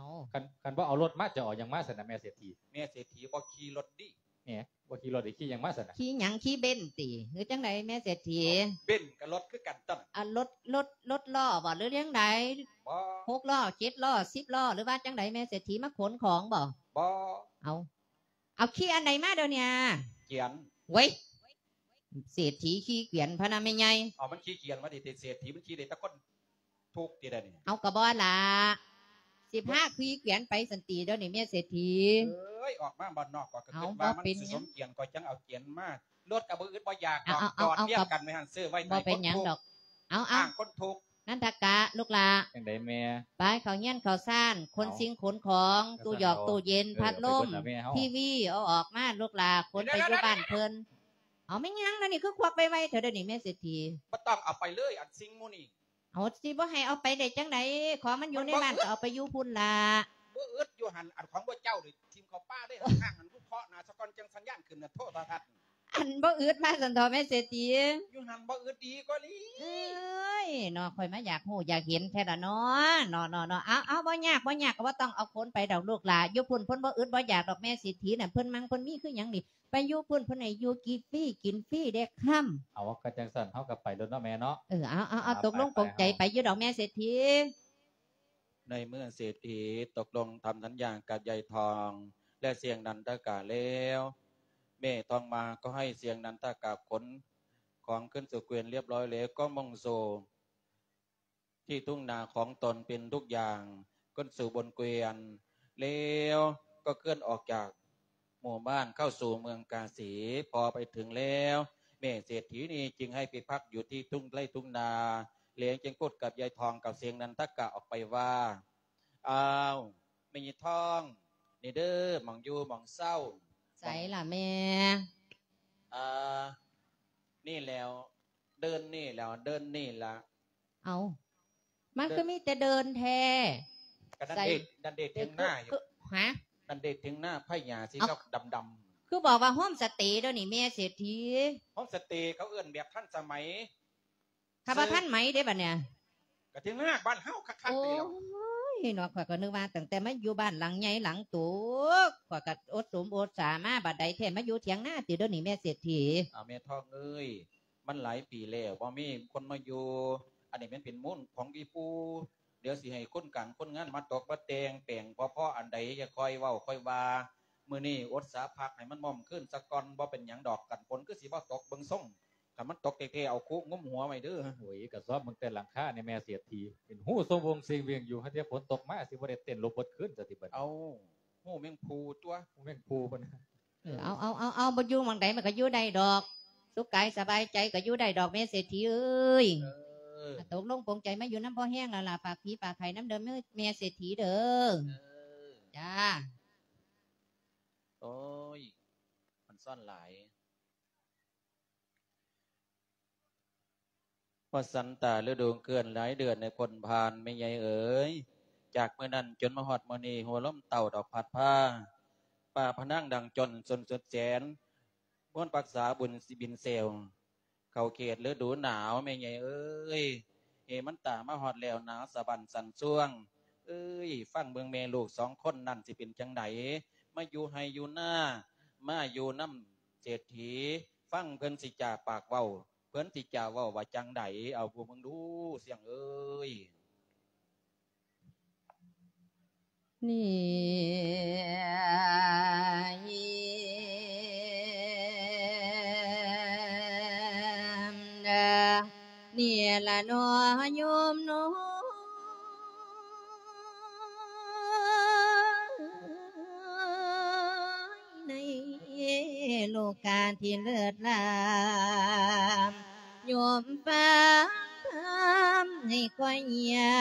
ຄັນ ຄັນບໍ່ເອົາລົດມາ ຈະເອົາຫຍັງມາຊັ້ນນະ ແມ່ເສດຖີ? ແມ່ເສດຖີບໍ່ຂີ່ລົດຕິ ແໝ ບໍ່ຂີ່ລົດໄດ້ຂີ່ຫຍັງມາຊັ້ນນະ? ຂີ່ຫຍັງ? ຂີ່ເບັນຕິ ຫຼືຈັ່ງໃດແມ່ເສດຖີ? ເບັນກໍລົດຄືກັນຕົ໋ວະ ອ່າ ລົດ ລົດ ລົດລໍ້ບໍ່ ຫຼືຈັ່ງໃດ? ບໍ່ ຫົກລໍ້ ເຈັດລໍ້ ສິບລໍ້ ຫຼືວ່າຈັ່ງໃດ ແມ່ເສດຖີ ມາຂົນຂອງບໍ່? ບໍ່ ເອົາ ເອົາຂີ່ອັນໃດມາດຽວນີ້? ກຽນ ເວີຍ ເສດຖີຂີ່ກຽນພະນະແມ່ໃຫຍ່. ເອົາ ມັນຂີ່ກຽນມາຕິ ເສດຖີມັນຂີ່ໄດ້ແຕ່ຄົນທຸກຕິດຽວນີ້. ເອົາ ກໍບໍ່ລະ ຊິພາຂີ່ກຽນໄປຊັ້ນຕິດຽວນີ້ແມ່ເສດຖີ. ເອີຍ ອອກມາບ້ານນອກ ຂ້ອຍກໍຄິດວ່າມັນຊິສົມກຽນ ຂ້ອຍຈັ່ງເອົາກຽນມາ. ລົດກໍບໍ່ອຶດບໍ່ຢາກດອກ ຈອດລຽງກັນໄວ້ຫັ້ນ ຊື້ໄວ້ໃຫ້ຄົນທຸກ ບໍ່ເປັນຫຍັງດອກ. ເອົາ ເອົາ ອ້າງຄົນທຸກ. ນັນທະກະ ລູກຫຼ້າ ຈັ່ງໃດແມ່? ໄປເຂົ້າເຮືອນເຂົ້າຊານ ຂົນສິ່ງຂົນຂອງ ຕູ້ຫຍອກຕູ້ເຢັນ ພັດລົມ ທີວີ ເອົາອອກມາລູກຫຼ້າ ຂົນໄປຢູ່ບ້ານເພິ່ນ. ເອົາ ແມ່ນຫຍັງລະນີ້ ຄືຄວັກໄວໆແທ້ດຽວນີ້ແມ່ເສດຖີ? ບໍ່ຕ້ອງເອົາໄປເລີຍ ອັນສິ່ງໝູ່ນີ້. ເອົາ ຊິບໍ່ໃຫ້ເອົາໄປໄດ້ຈັ່ງໃດ? ຂອງມັນຢູ່ໃນບ້ານກໍເອົາໄປຢູ່ພຸ້ນລະ. ບໍ່ອຶດຢູ່ຫັ້ນ ອັນຂອງພວກເຈົ້ານີ້ ຖິ້ມເຂົ້າປ່າເລີຍ. ຫ້າງຫັ້ນ ວິເຄາະໜ້າສາກ່ອນ ຈັ່ງສັນຍານຂຶ້ນນະ ໂທລະທັດ. ອັນບໍ່ອຶດມາຊັ້ນເທາະແມ່ເສດຖີ? ຢູ່ຫັ້ນບໍ່ອຶດດີກວ່ານີ້. ເອີຍເນາະ ຂ້ອຍມາຢາກຮູ້ຢາກເຫັນແທ້ລະເນາະ ເນາະ ເນາະ ເນາະ. ເອົາ ເອົາ ບໍ່ຍາກ ບໍ່ຍາກ ກໍບໍ່ຕ້ອງເອົາຂົນໄປດອກລູກຫຼ້າ ຢູ່ພຸ້ນເພິ່ນບໍ່ອຶດບໍ່ຢາກດອກແມ່ເສດຖີນະ ເພິ່ນມັ່ງເພິ່ນມີຄືຫຍັງນີ້ ໄປຢູ່ພຸ້ນເພິ່ນໃຫ້ຢູ່ກິນຟຣີກິນຟຣີເດ້ຄຳ. ເອົາ ກໍຈັ່ງຊັ້ນເຮົາກໍໄປໂລດເນາະແມ່ເນາະ. ເອີ ເອົາ ເອົາ ເອົາ ຕົກລົງປົງໃຈໄປຢູ່ດອກແມ່ເສດຖີ. ໃນເມື່ອເສດຖີຕົກລົງທຳສັນຍາກັບຍາຍທອງ ແລະ ສ່ຽງນັນທະກະແລ້ວ ແມ່ທອງມາກໍໃຫ້ສ່ຽງນັນທະກະຂົນຂອງຂຶ້ນສູ່ເກວີຍນລຽບຮ້ອຍແລ້ວ ກໍມຸ່ງສູ່ທີ່ທົ່ງນາຂອງຕົນເປັນທຸກຢ່າງ ຂຶ້ນສູ່ບົນເກວີຍນແລ້ວ ກໍເຄື່ອນອອກຈາກ ໝູ່ບ້ານເຂົ້າສູ່ເມືອງກາສີ. ພໍໄປເຖິງແລ້ວ ແມ່ເສດຖີນີ້ຈຶ່ງໃຫ້ໄປພັກຢູ່ທີ່ທົ່ງໄຮ່ທົ່ງນາ ແລ້ວຈຶ່ງພູດກັບຍາຍທອງກັບສ່ຽງນັນທະກະອອກໄປວ່າ ອ້າວ ແມ່ຍາຍທອງ ນີ້ເດີ ໝ່ອງຢູ່ໝ່ອງເຊົາ. ໃສລະແມ່? ອ່າ ນີ້ແລ້ວ ເດີ່ນນີ້ແລ້ວ ເດີ່ນນີ້ລະ. ເອົ້າ ມັນຄືມີແຕ່ເດີ່ນແທ້? ກະນັ້ນເດ ນັ້ນເດ ຖຽງນາຢູ່. ຮະ? ນັ້ນເດ ຖຽງນາໄຜ່ຫຍ້າສີດຳໆ. ຄືບອກວ່າໂຮມສະເຕເດີນີ້ແມ່ເສດຖີ. ໂຮມສະເຕເຂົາເອີ້ນແບບທັນສະໄໝ. ຖ້າວ່າທັນໃໝເດ້ບັດນີ້ ກະຖຽງນາບ້ານເຮົາຄັກໆນີ້ແຫຼະ. ໂອ້ຍເນາະ ຂ້ອຍກໍນຶກວ່າຕັ້ງແຕ່ມາຢູ່ບ້ານຫຼັງໃຫຍ່ຫຼັງໂຕ ຂ້ອຍກໍອົດສົມອົດສາມາ ບັດໃດແທ້ມາຢູ່ຖຽງນາຕິເດີນີ້ແມ່ເສດຖີ. ອາ ແມ່ທອງເອີຍ ມັນຫຼາຍປີແລ້ວ ບໍ່ມີຄົນມາຢູ່. ອັນນີ້ແມ່ນເປັນມູນຂອງອີ່ປູ່. ດຽວຊິໃຫ້ຄົນການຄົນງານມາຕົກມາແຕ່ງແປງ ພໍ ພໍອັນໃດ ຢ່າຄ່ອຍເວົ້າຄ່ອຍວ່າ. ມື້ນີ້ອົດສາພັກໃຫ້ມັນໝ້ອມຄືນສາກ່ອນ. ບໍ່ເປັນຫຍັງດອກ ກັນຝົນຄືຊິບໍ່ຕົກ ເບິ່ງຊົງ ຄັນມັນຕົກແທ້ໆ ເອົາຄຸງຸ້ມຫົວໄວ້ເດີ. ໂອ້ຍ ກະຊອບເບິ່ງແຕ່ຫຼັງຄານີ້ແມ່ເສດຖີ ເປັນຮູຊົງວົງເຊງເວງຢູ່. ຫາແຕ່ຝົນຕົກມາ ຊິບໍ່ໄດ້ເຕັ້ນລົບເບິດຄືນຊະຕິບັດນີ້. ເອົ້າ ຮູແມງພູຕົວະ ຮູແມງພູພຸ້ນ. ເອີ ເອົາ ເອົາ ເອົາ ເອົາ ບໍ່ຢູ່ໝ່ອງໃດມັນກໍຢູ່ໄດ້ດອກ ສຸກກາຍສະບາຍໃຈກໍຢູ່ໄດ້ດອກແມ່ເສດຖີເອີຍ. ເອີ ຕົກລົງປົງໃຈມາຢູ່ນຳພໍ່ແຮງແລ້ວລະ ຝາກຜີຝາກໄຂ່ນຳເດີແມ່ເສດຖີເດີ. ເອີ ຈ້າ. ໂອ້ຍ ມັນຊ້ອນຫຼາຍ. ວ່າສັນຕາລະດູເຄື່ອນຫຼາຍເດືອນໃນພົ້ນຜ່ານແມ່ໃຫຍ່ເອີຍ. ຈາກມື້ນັ້ນຈົນມາຮອດມື້ນີ້ ຫົວລົມເຕົ້າດອກພັດພາ ຟ້າພະນັງດັງຈົນສຸນສຸດແສນ ມວນປັກສາບຸນຊິບິນແຊວ ເຂົ້າເຂດລະດູໜາວແມ່ໃຫຍ່ເອີຍ. ເຮມັນຕາມາຮອດແລ້ວໜາວສະບັ້ນສັ່ນຊວງເອີຍ. ຟັງເບິ່ງແມ່ລູກສອງຄົນນັ້ນຊິເປັນຈັ່ງໃດ ມາຢູ່ໄຮ່ຢູ່ນາ ມາຢູ່ນຳເສດຖີ. ຟັງເພິ່ນຊິຈາປາກເວົ້າ ເພິ່ນຊິຈາເວົ້າວ່າຈັ່ງໃດ ເອົາເບິ່ງດູສ່ຽງເອີຍ. ນີ້ ນີ້ລະເນາະໂຍມເນາະ ໃນໂລກາທີ່ເລີດລາ ໂຍມຟັງທຳ ໃຫ້ຄວາຍຍ່າ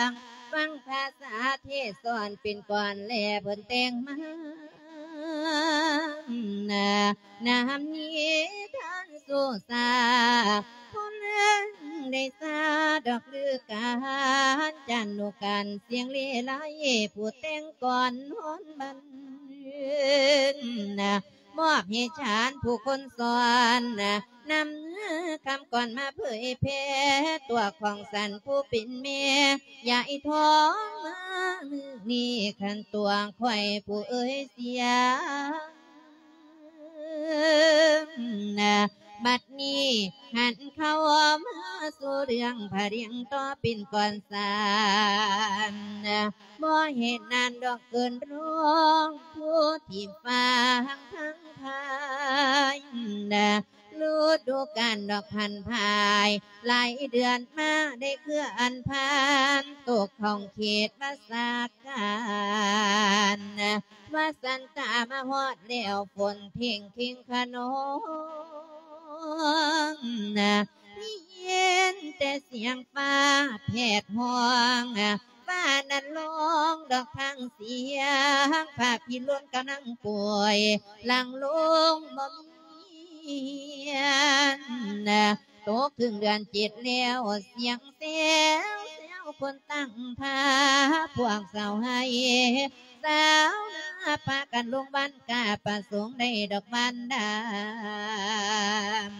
ງ ຟັງພາສາເທດສອນເປັນກ່ອນແລເພິ່ນແຕ່ງມາ ນຳນິທານສຸສາ ຜູ້ເລື່ອງໄດ້ສາດອກລືການ ຈັນນຸການສຽງເລໄລ ຜູ້ແຕ່ງກ່ອນຮອນບັນ ມອບໃຫ້ຊານຜູ້ຄົນສອນ ນຳຄຳກ່ອນມາເຜີຍແຜ່ ຕົວຂອງສັນຜູ້ເປັນແມ່ ຍາຍທອງມາມື້ນີ້ ຄັນຕົວຂ້ອຍຜູ້ເອີຍສຽງ ບັດນີ້ຫັນເຂົ້າມາສູ່ເລື່ອງພະລຽງຕໍ່ເປັນກ່ອນສານ ບໍ່ເຫັນນານດອກເກີນຮ້ອງ ຜູ້ທີ່ຟັງທັງພາຍ ລະດູການດອກພັນພາຍ ຫຼາຍເດືອນມາໄດ້ເຄື່ອນຜ່ານ ຕົກຂອງເຂດວາສາການ ວ່າສັນຕາມາຮອດແລ້ວ ຝົນເພງເຄັ່ງຂະນອງ ໄດ້ຍິນແຕ່ສຽງຟ້າແຜດຮ້ອງ ຟ້ານັ້ນຮ້ອງດອກທາງສຽງ ພະພິລຸນກຳລັງປ່ວຍ ຫຼັງລົງບໍ່ມີ ຕົກເຖິງເດືອນເຈັດແລ້ວ ສຽງແຊວແຊວຄົນຕັ້ງທ່າ ພວກຊາວໄຮ່ຊາວນາ ພາກັນລົງບ້ານກາ ປະສົງໄດ້ດອກບ້ານດຳ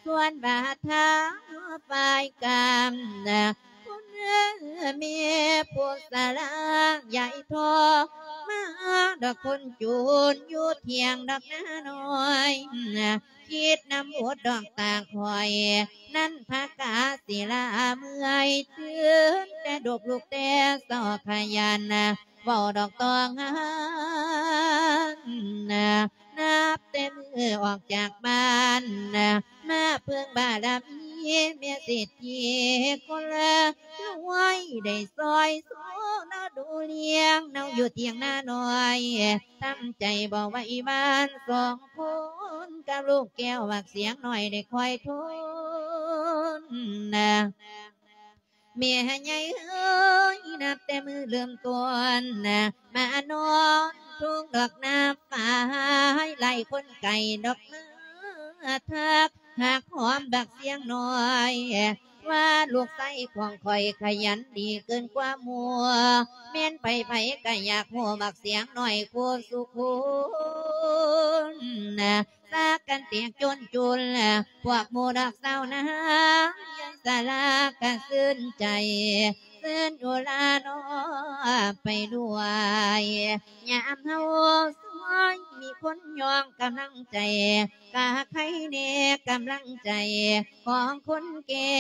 ສ່ວນວ່າທາງຝ່າຍກາມ ຄຸນແມ່ຜູ້ສາລາ ຍາຍທອງມາດອກຄົນຈູນ ຢູ່ຖຽງດອກນານ້ອຍ ຄິດນຳບົດດອກຕາຂ້ອຍ ນັນທະກາສິລາເມື່ອຍ ຕື່ນແຕ່ດົບລຸກແຕ່ເຊົ້າຂະຫຍັນ ເວົ້າດອກຕ້ອງງານ ນັບແຕ່ມື້ອອກຈາກບ້ານ ມາເພິ່ງບາລະມີແມ່ເສດຖີຄົນລວຍ ໄດ້ຊ່ອຍຊູເນາະດູລ້ຽງ ເນາະຢູ່ຖຽງນານ້ອຍ ທຳໃຈບໍ່ໄຫວຫວານ ສອງຄົນກັບລູກແກ້ວບັກສຽງນ້ອຍໄດ້ຄອຍທົນ ແມ່ໃຫຍ່ເອີຍ ນັບແຕ່ມື້ເລີ່ມຕົ້ນ ມານອນທຸງດອກນາຝາຍ ໄລ່ຄົນໄກ່ດອກມາທັກ ຮັກຫອມບັກສຽງນ້ອຍ ວ່າລູກຊາຍຂອງຂ້ອຍຂະຫຍັນດີເກີນກວ່າໝູ່ ແມ່ນໃຜໆກໍຢາກຮູ້ບັກສຽງນ້ອຍຄູ່ສູ່ຄົນ ຊາກກັນແຕກຈົນຈຸນ ພວກໝູ່ດອກສາວນາງ ຍາຍສາລາກະຊື່ນໃຈ ຊື່ນອຸລານອໄປດ້ວຍ ຍາມເຮົາຊອຍມີຄົນຍ້ອງກຳລັງໃຈ ກະໃຄແດ່ກຳລັງໃຈຂອງຄົນແກ່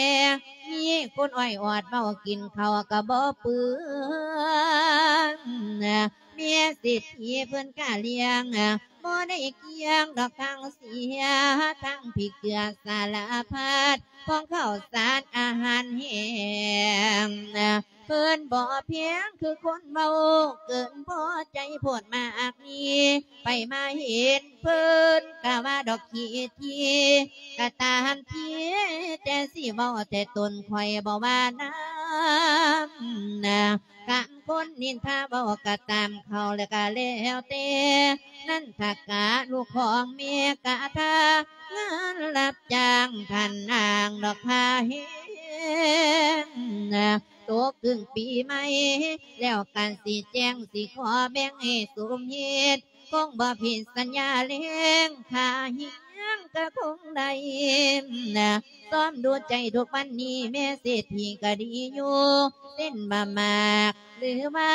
ມີຄົນອ້ອຍອອດເວົ້າ ກິນເຂົ້າກະບໍ່ເປືອນ ແມ່ເສດຖີເພິ່ນກະລ້ຽງ ບໍ່ໄດ້ກ່ຽງດອກທັງເສຍ ທັງພິກເກືອສາລະພັດ ຂອງເຂົ້າສານອາຫານແຫ້ງ ເພິ່ນບໍ່ແພງຄືຄົນເວົ້າ ເກີນພໍໃຈໂພດມາກມີ ໃຜມາເຫັນເພິ່ນກະວ່າດອກຂີ້ຖີ່ ກະຕາມທີ ແຕ່ຊິເວົ້າແຕ່ຕົນຂ້ອຍບໍ່ວ່ານຳ ກະຄົນນິນທາເວົ້າກະຕາມເຂົາ ແລະກະແລ້ວແຕ່ ນັນທະກະລູກຂອງແມ່ກະທາ ງານຮັບຈ້າງທ່ານນາງດອກພາແຮງ ຕົກເຖິງປີໃໝ່ ແລ້ວກະຊິແຈ້ງ ຊິຂໍແບ່ງໃຫ້ສົມເຫດ ຄົງບໍ່ຜິດສັນຍາແລງ ຄ່າຮຽງກະຄົງໄດ້ ຊອມດູໃຈທຸກວັນນີ້ ແມ່ເສດຖີກະດີຢູ່ ເຊັ່ນວ່າໝາກ ຫຼືວ່າ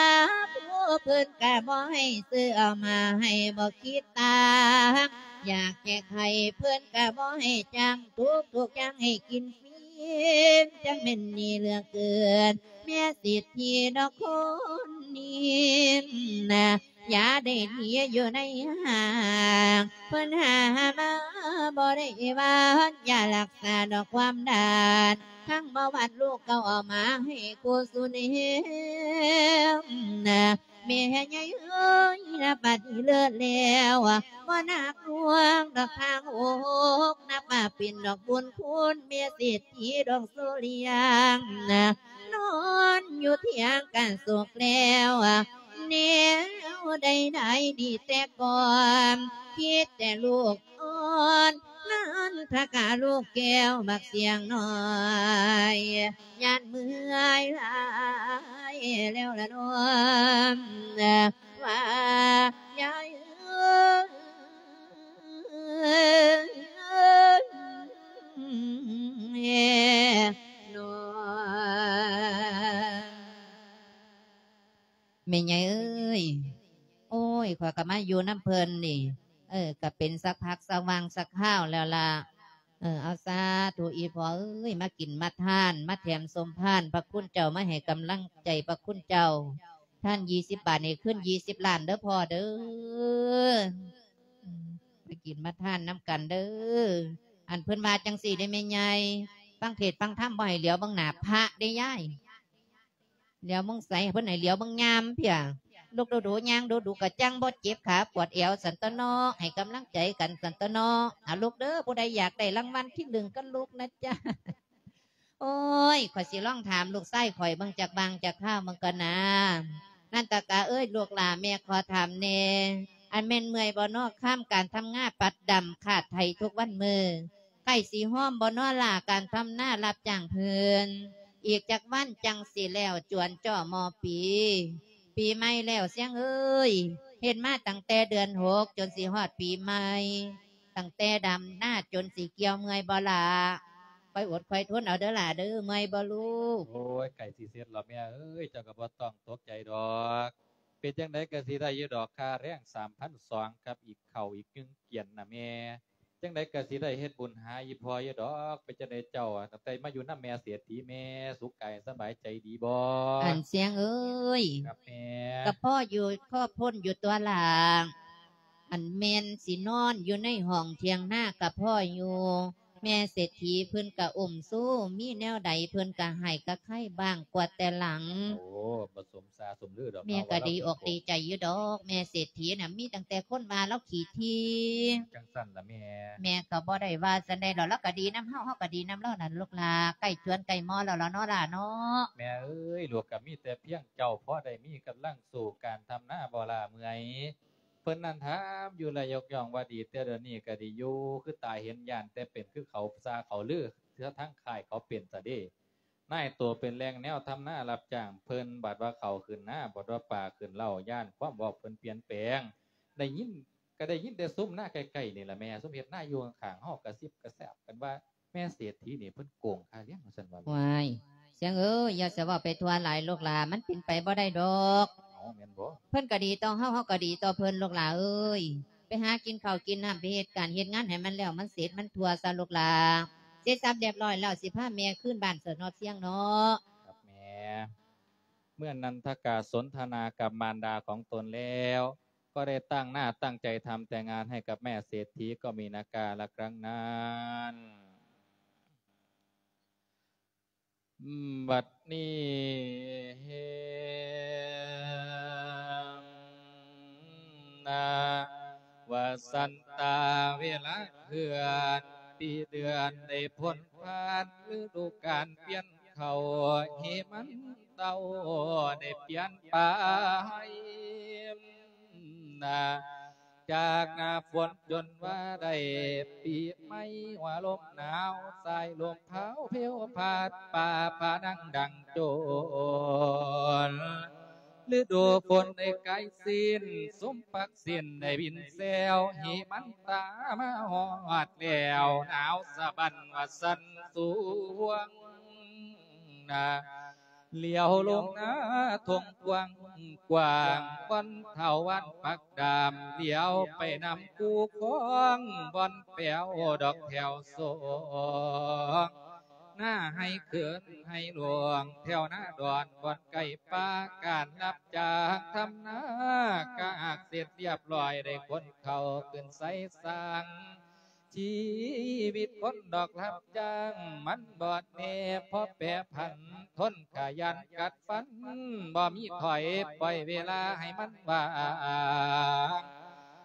ຜູ້ເພິ່ນກະບໍ່ໃຫ້ຊື້ເອົາມາໃຫ້ ບໍ່ຄິດຕາງ ຢາກແຈກໃຫ້ເພິ່ນກະບໍ່ໃຫ້ຈ້າງ ທຸກໆຢ່າງໃຫ້ກິນຟຣີ ຈັ່ງແມ່ນດີເຫຼືອເກີນ ແມ່ເສດຖີດອກຄົນນີ້ ຢາໄດ້ດີຢູ່ໃນຫ້າງ ເພິ່ນຫາມາບໍ່ໄດ້ວ່າ ຢາລັກສາດອກຄວາມດ້ານ ທັງເບົາຫວານລູກເຂົາເອົາມາໃຫ້ຄູ່ສູ່ແນມ. ແມ່ໃຫຍ່ເອີຍ ນັບບັດນີ້ເລີດແລ້ວ ບໍ່ໜັກໜ່ວງດອກທາງໂອກ ນັບວ່າເປັນດອກບຸນຄຸນ ແມ່ເສດຖີດອງສຸລິຍັງ ນອນຢູ່ທຽງການໂສກແລ້ວ ແນວໃດໆດີແຕ່ກ່ອນ ຄິດແຕ່ລູກອ່ອນ ນັນທະກາລູກແກ້ວບັກສຽງນ້ອຍ ຢ້ານເມື່ອຍຫຼາຍແລ້ວລະນ້ອງ ວ່າຍາຍເອີຍ ນ້ອງ ແມ່ໃຫຍ່ເອີຍ ໂອ້ຍ ຂ້ອຍກໍມາຢູ່ນຳເພິ່ນນີ້ ເອີ ກໍເປັນສັກພັກສັກຫວ່າງສັກຄາວແລ້ວລະ. ເອີ ເອົາ ສາທຸ ອີ່ພໍ່ເອີຍ ມາກິນມາທານ ມາແຖມສົມພານພະຄຸນເຈົ້າ ມາໃຫ້ກຳລັງໃຈພະຄຸນເຈົ້າ. ທານ ຊາວ ບາດນີ້ ຄືນ ຊາວ ລ້ານເດີພໍ່ເດີ ອືມ ມາກິນມາທານນຳກັນເດີ. ອັນ ເພິ່ນວ່າຈັ່ງຊີ້ເດ້ແມ່ໃຫຍ່ ຟັງເທດຟັງທຳ ບໍ່ໃຫ້ຫຼຽວເບິ່ງໜ້າພະເດ້ຍາຍ. ຫຼຽວເບິ່ງໃສ ເພິ່ນໃຫ້ຫຼຽວເບິ່ງຍາມເພຍ. ລຸກດູໆ ຍ່າງດູໆ ກະຈັ່ງບໍ່ເຈັບຂາປວດແອວ ຊັ້ນຕົວະເນາະ ໃຫ້ກຳລັງໃຈກັນ ຊັ້ນຕົວະເນາະ. ອາ ລຸກເດີ ຜູ້ໃດຢາກໄດ້ລາງວັນທີໜຶ່ງກໍລຸກນະຈ໊ະ. ໂອ້ຍ ຂ້ອຍຊິລອງຖາມລູກຊາຍຂ້ອຍເບິ່ງຈັກຫວ່າງຈັກຄາວເບິ່ງກ່ອນນາ. ນັນຕະກາເອີຍ ລູກຫຼ້າ ແມ່ຂໍຖາມແດ່ ອັນແມ່ນເມື່ອຍບໍ່ເນາະ ຄາມການທຳນາປັດດຳຄາດໄຖທຸກວັນມື້? ໃກ້ຊິຮອມບໍ່ນໍຫຼ້າ ການທຳນາຮັບຈ້າງເພິ່ນ? ອີກຈັກວັນຈັ່ງຊິແລ້ວ ຈວນຈໍ່ມໍ່ປີ ປີໃໝ່ແລ້ວ ຊຽງເອີຍ. ເຮັດມາຕັ້ງແຕ່ເດືອນຫົກ ຈົນຊິຮອດປີໃໝ່, ຕັ້ງແຕ່ດຳນາຈົນຊິກ່ຽວ ເມື່ອຍບໍ່ຫຼ້າ? ຄ່ອຍອົດຄ່ອຍທົນເອົາເດີຫຼ້າເດີ. ເມື່ອຍບໍ່ລູກ? ໂອ້ຍ ໃກ້ຊິເສັດແລ້ວແມ່ເອີຍ, ເຈົ້າກໍບໍ່ຕ້ອງຕົກໃຈດອກ. ເປັນຈັ່ງໃດກໍຊິໄດ້ຢູ່ດອກ ຄ່າແຮງສາມພັນສອງ ກັບອີກເຂົ້າອີກໜຶ່ງກຽນນະແມ່. ຈັ່ງໃດກໍຊິໄດ້ເຮັດບຸນຫາອີ່ພໍ່ຢູ່ດອກ. ເປັນຈັ່ງໃດເຈົ້າ ຕັ້ງແຕ່ມາຢູ່ນຳແມ່ເສດຖີ ແມ່ສຸກກາຍສະບາຍໃຈດີບໍ່? ອັນຊຽງເອີຍ ຄັບແມ່. ກໍພໍຢູ່ ພໍພົ້ນຢູ່ຕົວະຫຼ້າ. ອັນແມ່ນຊິນອນຢູ່ໃນຫ້ອງຖຽງນາກໍພໍຢູ່. ແມ່ເສດຖີເພິ່ນກະອຸ້ມຊູ ມີແນວໃດເພິ່ນກະໃຫ້ກະໄຄບ້າງກວາດແຕ່ຫຼັງ. ໂອ້ ບໍ່ສົມສາສົມລືດອກ. ແມ່ກະດີອົກດີໃຈຢູ່ດອກ ແມ່ເສດຖີນະ ມີຕັ້ງແຕ່ຄົນວ່າລາວຂີ້ຖີ່. ຈັ່ງຊັ້ນລະແມ່. ແມ່ກໍບໍ່ໄດ້ວ່າຈັ່ງໃດດອກ ລາວກະດີນຳເຮົາ ເຮົາກະດີນຳລາວນັ້ນລູກຫຼ້າ. ໃກ້ຈວນໃກ້ມໍ່ແລ້ວລະເນາະຫຼ້າເນາະ. ແມ່ເອີຍ ລູກກະມີແຕ່ພຽງເຈົ້າ ພໍໄດ້ມີກຳລັງສູ້ການທຳນາບໍ່ລ້າເມື່ອຍ. ເພິ່ນນັ້ນຖາມຢູ່ແລະຍົກຍ້ອງວ່າດີ ແຕ່ດຽວນີ້ກໍດີຢູ່ ຄືຕາເຫັນ ຢ້ານແຕ່ເປັນຄືເຂົາຊ່າເຂົາລື ເສຍທາງຄ້າຍເຂົາເປັນຊະເດ. ນາຍໂຕເປັນແຫຼ່ງແນວທຳນາຮັບຈ້າງເພິ່ນ ບາດວ່າເຂົ້າຂຶ້ນນາ ບາດວ່າປາຂຶ້ນເລົ້າ ຢ້ານຄວາມເວົ້າເພິ່ນປ່ຽນແປງ. ໄດ້ຍິນ ກໍໄດ້ຍິນແຕ່ຊຸມນາໃກ້ໆນີ້ລະແມ່ ຊຸມເຮັດນາຢູ່ຂ້າງໆ ເຮົາກະຊິບກະແຊບກັນວ່າ ແມ່ເສດຖີນີ້ເພິ່ນໂກງຄ່າລ້ຽງວ່າຊັ້ນວ່າແມ່. ວ້າຍ ຊຽງເອີຍ ຢ່າສະເວົ້າໄປທົ່ວຫຼາຍລູກຫຼ້າ ມັນເປັນໄປບໍ່ໄດ້ດອກ. ເອົ້າ ແມ່ນບໍ່? ເພິ່ນກໍດີຕໍ່ເຮົາ ເຮົາກໍດີຕໍ່ເພິ່ນລູກຫຼ້າເອີຍ. ໄປຫາກິນເຂົ້າກິນນ້ຳ ໄປເຮັດການເຮັດງານໃຫ້ມັນແລ້ວມັນເສັດມັນທົ່ວຊະລູກຫຼ້າ. ເສັດສັບຮຽບຮ້ອຍແລ້ວ ຊິພາແມ່ຄືນບ້ານຊະເນາະຊຽງເນາະ. ຄັບແມ່. ເມື່ອນັນທະກາສົນທະນາກັບມານດາຂອງຕົນແລ້ວ ກໍໄດ້ຕັ້ງໜ້າຕັ້ງໃຈທຳແຕ່ງງານໃຫ້ກັບແມ່ເສດຖີ ກໍມີນາກາລະຄັ້ງນັ້ນ. ບັດນີ້ເຫັນນາ ວ່າສັນຕາເວລາເຄື່ອນ ປີເດືອນໄດ້ພົ້ນຜ່ານ ລະດູການປ່ຽນ ເຂົ້າເຮມັນເຕົ້າໄດ້ປ່ຽນໄປນາ ຈາກໜ້າຝົນຈົນວ່າໄດ້ປີໃໝ່ ວ່າລົມໜາວສາຍລົມພາວເພວພັດ ຟ້າຜ່າດັງດັງໂຈນ ລະດູຝົນໄດ້ກາຍສິ້ນ ສົມປັກ ສິ້ນໄດ້ບິນແຊວ ເຮມັນຕາມາຮອດແລ້ວ ໜາວສະບັ້ນວ່າສັ່ນສວງນາ ຫຼຽວລົງໜ້າທົ່ງກວ້າງກວ້າງ ບ່ອນທ້າວວັນປັກດາມ ຫຼຽວໄປນຳຄູຄອງ ບ່ອນແປວດອກແຖວສອງ ນາໄຮ່ເຂືອນໄຮ່ຫຼວງ ແຖວນາດອນບ່ອນໃກ້ປ່າ ການຮັບຈ້າງທຳນາກະຫາກເສັດລຽບລ້ອຍ ໄດ້ຂົນເຂົ້າຂຶ້ນໃສ່ສ້າງ ຊີວິດຄົນດອກຮັບຈ້າງ ມັນບອດແນ່ພໍແປຜັນ ທົນກະຢ້ານກັດຟັນ ບໍ່ມີຖອຍ ປ່ອຍເວລາໃຫ້ມັນວ່າງ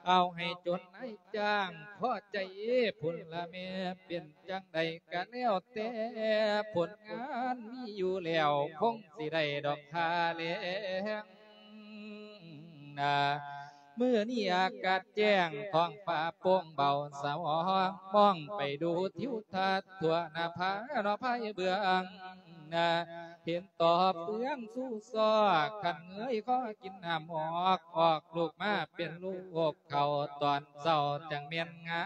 ເອົາໃຫ້ຈົນນາຍຈ້າງພໍໃຈພຸ້ນລະແມ່ ເປັນຈັ່ງໃດກະແລ້ວແຕ່ ຜົນງານມີຢູ່ແລ້ວ ຄົງຊິໄດ້ດອກຄ່າແລງນາ. ມື້ນີ້ອາກາດແຈ້ງ ທ້ອງຟ້າໂປ່ງເບົາສະຫວ່າງ ມອງໄປດູທິວທັດ ທົ່ວໜ້າຜາເນາະພາຍເບື້ອງນາ ເຫັນຕໍ່ເຟືອງຊູຊອກ ຄັນເງີຍຄໍກິນນ້ຳອອກ ອອກລູກມາເປັນລູກເຂົ້າ ຕອນເຊົ້າຈັ່ງແມ່ນງາ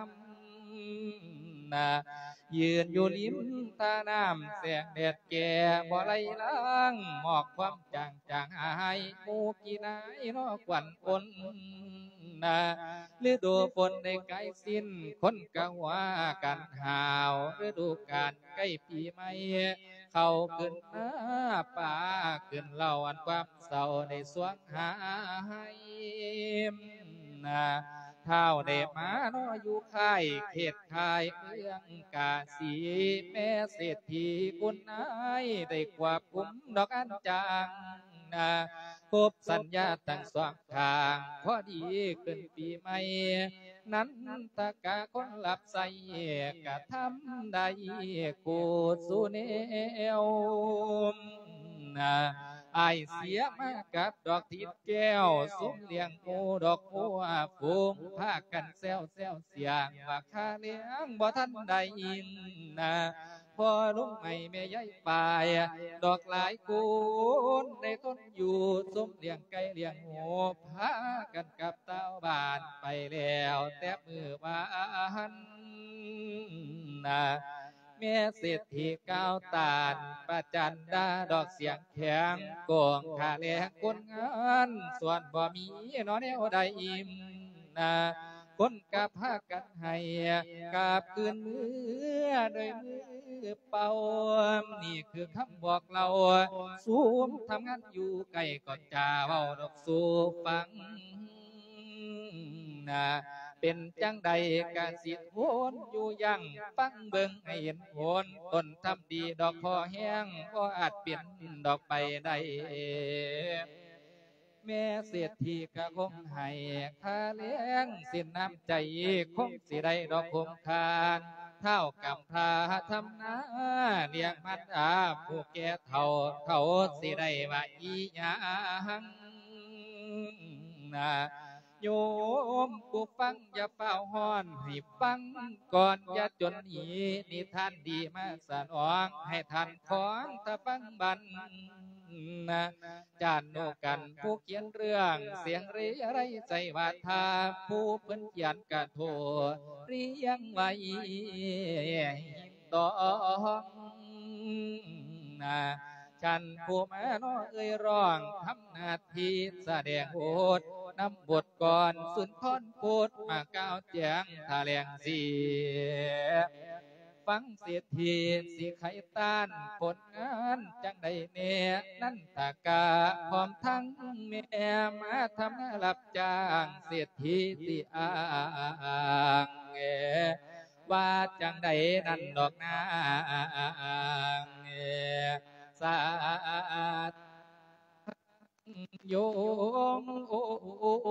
ມນາ ຢືນຢູ່ລິມທ່ານ້ຳ ແສງແດດແກ່ບໍ່ໄຫຼລາງ ໝອກຄວັນຈາງຈາງຫາຍ ໝູ່ຂີ້ນາຍເນາະຄວັນອົນນາ ລະດູຝົນໄດ້ກາຍສິ້ນ ຄົນກະວ່າກັນຫາວ ລະດູການໃກ້ປີໃໝ່ ເຂົ້າຂຶ້ນນາ ປາຂຶ້ນເລົ້າ ອັນຄວາມເສົ້າໄດ້ສວງຫາຍນາ ທ້າວໄດ້ມາເນາະຢູ່ຄ້າຍເຂດຄ້າຍເມືອງກາສີ ແມ່ເສດຖີຄຸນນາຍ ໄດ້ຄວບຄຸມດອກອັນຈາງນາ ຄົບສັນຍາທັງສອງຂ້າງ ພໍດີຂຶ້ນປີໃໝ່ ນັນທະກະຄົນຮັບໃຊ້ ກະທຳໄດ້ຄູ່ສູ່ແນວນາ ອ້າຍເສຍມາກັບດອກທິດແກ້ວ ຊຸມລ້ຽງໝູ່ດອກຫົວຝູງ ພາກັນແຊວແຊວສຽງວ່າ ຄ່າແລງບໍ່ທັນໄດ້ນາ ພໍ່ລຸງໃໝ່ແມ່ຍາຍປາຍ ດອກຫຼາຍຄົນໄດ້ທົນຢູ່ ຊຸມລ້ຽງໄກ່ລ້ຽງໝູ ພາກັນກັບຕ່າວບ້ານໄປແລ້ວແຕ່ມື້ວານນາ ແມ່ເສດຖີກ່າວຕ້ານ ປະຈັນດາດອກສຽງແຂງ ໂກງຄ່າແລງຄົນງານ ສ່ວນບໍ່ມີເນາະແນວໃດນາ ຄົນກະພາກັນໄຫ້ ກັບຄືນເມືອດ້ວຍມືເປົ່າ ນີ້ຄືຄຳບອກເລົ່າ ຊຸມທຳງານຢູ່ໃກ້ກໍຈາເວົ້າດອກສູ່ຟັງນາ ເປັນຈັ່ງໃດກະຊິທົນຢູ່ຢັ້ງ ຟັງເບິ່ງໃຫ້ເຫັນຜົນ ຕົ້ນທຳດີດອກພໍແຮງ ບໍ່ອາດເປັນດອກໄປໄດ້ ແມ່ເສດຖີກະຄົງໃຫ້ຄ່າແລງ ສິນນ້ຳໃຈຄົງຊິໄດ້ດອກຄົງຄານ ທ້າວກຳພ້າທຳນາລ້ຽງມານດາຜູ້ແກ່ເຖົ້າ ເຂົາຊິໄດ້ວ່າອີ່ຫຍັງນາ ໂຍມຜູ້ຟັງຢ່າຟ້າວຮ້ອນ ໃຫ້ຟັງກ່ອນຢ່າຈົນໜີ ນິທານດີມາສະໜອງ ໃຫ້ທ່ານຄອງຖ້າຟັງບັນນາ ຈານໂນກັນຜູ້ຂຽນເລື່ອງ ສຽງເຣໄລໃຈວາທາ ຜູ້ເພິ່ນຂຽນກະໂທລຽງໄວ້ ດອງນາ ທ່ານຜູ້ມາເນາະເອີ່ຍຮ້ອງ ທຳໜ້າທີ່ສະແດງບົດ ນຳບົດກອນສຸນທອນພຸດ ມາກ່າວແຈງຖະແຫຼງສຽງ ຟັງເສດຖີຊິໄຂຕ້ານ ຜົນງານຈັ່ງໃດແນ່ ນັນທະກະພ້ອມທັງແມ່ ມາທຳງານຮັບຈ້າງ ເສດຖີຊິອ້າງ ວ່າຈັ່ງໃດນັ້ນດອກນາງ ສາ ໂຍມ ໂອ ໂອ ໂອ ໂ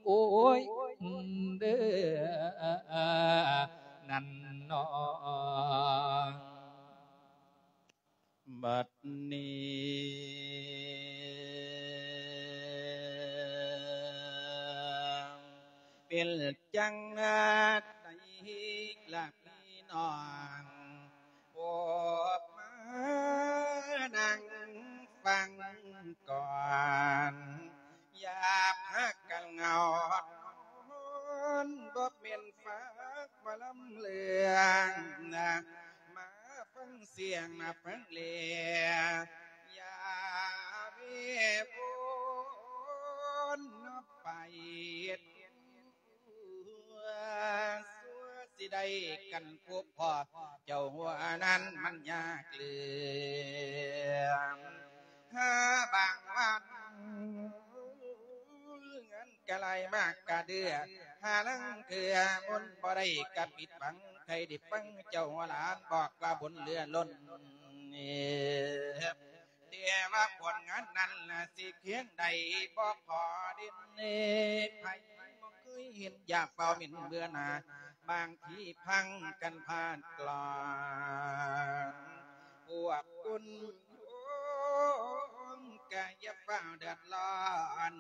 ອ້ຍ ເດີ ນັ້ນເນາະ. ບັດນີ້ເປັນຈັ່ງໃດລະພີ່ນ້ອງ ພວກມານັ່ງຟັງກ່ອນ ຢ່າພາກັນເຫງົານອນ ບໍ່ແມ່ນຟັງໝໍລຳເລື່ອງນະ ມາ ງສຽງມາຟັງແລ ຢ່າເວວົນໄປ ຊົ່ວຊິໄດ້ກັນພົບພໍ້ ເຈົ້າຫົວນັ້ນມັນຍາກເຫຼືອ ຫາບາງວັນ ເງິນກະໄຫຼມາກະເດືອ ຫາລາງເທື່ອບຸນບໍ່ໄດ້ກະຜິດຫວັງ ໃຜໄດ້ຟັງເຈົ້າຫົວຫຼານບອກວ່າບຸນເຫຼືອລົ້ນ ແຕ່ວ່າຜົນງານນັ້ນລະຊິພຽງໃດ ບໍ່ພໍເດັ່ນໃຜບໍ່ເຄີຍເຫັນ ຢ່າຟ້າວເໝັ້ນເບື່ອໜ່າ ບາງທີພັງກັນພາດກລອນ ພວກຄຸນໂຍມກະຢ່າຟ້າວເດືອດຮ້ອນ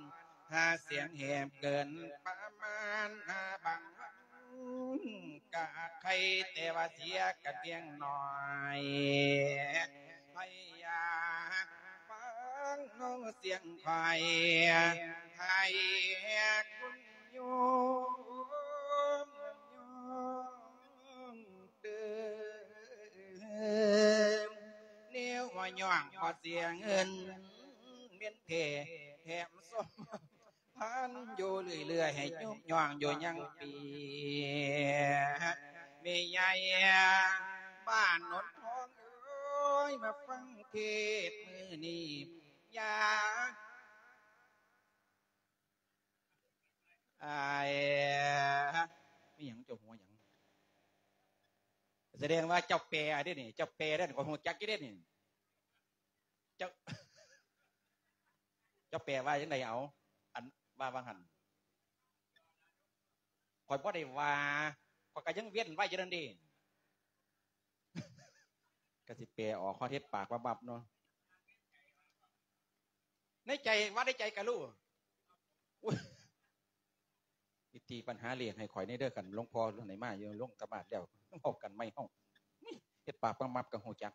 ຫາສຽງແຫບເກີນປະມານ ຫາບາງວັນກະໄຄ ແຕ່ວ່າເສຍກັນພຽງໜ້ອຍ ໃຜຢາກຟັງນ້ອງສຽງຂ້ອຍ ໃຫ້ຄຸນໂຍມຍ້ອງເດີ ແນວວ່າຍ້ອງບໍ່ເສຍເງິນ ເມັນແທ້ແຖມສົມ ພັນຢູ່ເລື້ອຍໆ ໃຫ້ຍຸກຍ້ອງຢູ່ຍັງປີ ແມ່ໃຫຍ່ບ້ານໂນນທອງເອີຍ ມາຟັງເທດມື້ນີ້ ຢ່າ ອ້າຍ ມີຫຍັງ ເຈົ້າຫົວຫຍັງ? ສະແດງວ່າເຈົ້າແປເດ້ນີ້ ເຈົ້າແປເດ້ນີ້ ຂ້ອຍຮູ້ຈັກຢູ່ເດ້ນີ້ ເຈົ້າ ເຈົ້າແປວ່າຈັ່ງໃດເອົາ? ອັນວ່າວ່າຫັ້ນ ຂ້ອຍບໍ່ໄດ້ວ່າ ຂ້ອຍກະຍັງເວັ້ນໄວ້ຢູ່ນັ້ນເດ້ ກະຊິແປອອກ ເຮັດປາກວັບໆເນາະ ໃນໃຈ ວ່າໃນໃຈກະຮູ້ ໂອ້ຍ ຊິຕີປັນຫາເລກໃຫ້ຂ້ອຍແດ່ເດີ ຄັນຫຼວງພໍ່ໃຫ້ມາຢູ່ ລົງຕະໝາດແລ້ວ ເວົ້າກັນໃໝ່ເຮົາ ເຮັດປາກປັບໆກະຮູ້ຈັກ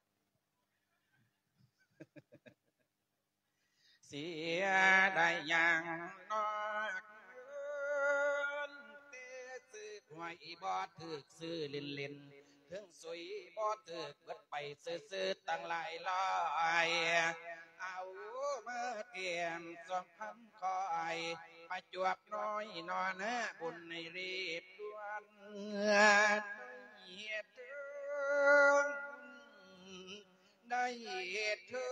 ເສຍດາຍຢ່າງນອກເງິນ ແຕ່ຊື້ຫວຍບໍ່ຖືກ ຊື້ຫຼິ້ນໆ ເຖິງສຸຍບໍ່ຖືກ ເບິດໄປຊື່ໆ ຕັ້ງຫຼາຍຮ້ອຍ ເອົາມາແຖມສອງພັນ ຂ້ອຍປະຈວບນ້ອຍໜໍ່ນາ ບຸນໃຫ້ຣີບດ່ວນ ໄດ້ເຮັດເຖິ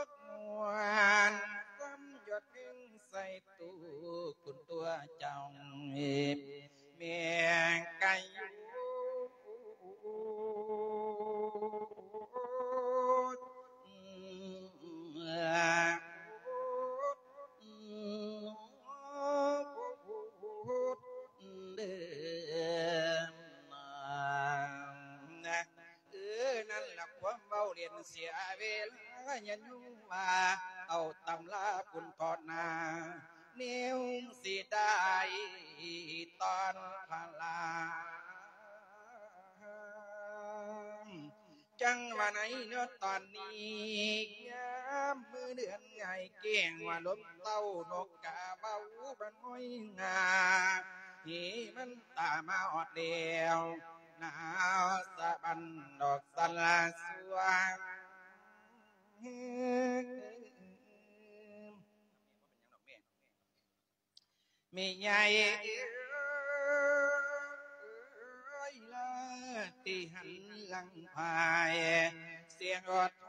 ງມ່ວນ ສ່ຳຍອດເພັງໃສ່ຕູ້ຄຸນຕົວເຈົ້າ ແມ່ນກະຢູ່ ເອີ ນັ້ນລະຄວາມເວົ້າຫຼິ້ນເສຍເວລາ ຢ່າຍົງວ່າເອົາຕຳລາບຸນທອດໜ້າ ແນວເສຍດາຍຕອນພະລາ ຈັ່ງວ່າໃນເນາະຕອນນີ້ ຍາມມື້ເດືອນງ່າຍແຈ້ງ ວ່າລົມເຕົ້ານົກກາເວົ້າບັນຫ້ອຍງາ ເຮມັນຕາມາຮອດແລ້ວ ໜາວສະບັນດອກສະລາສວງ ແມ່ໃຫຍ່ເອີຍ ລາຕິຫັນຫຼັງພາຍ ສຽງອອດໄພ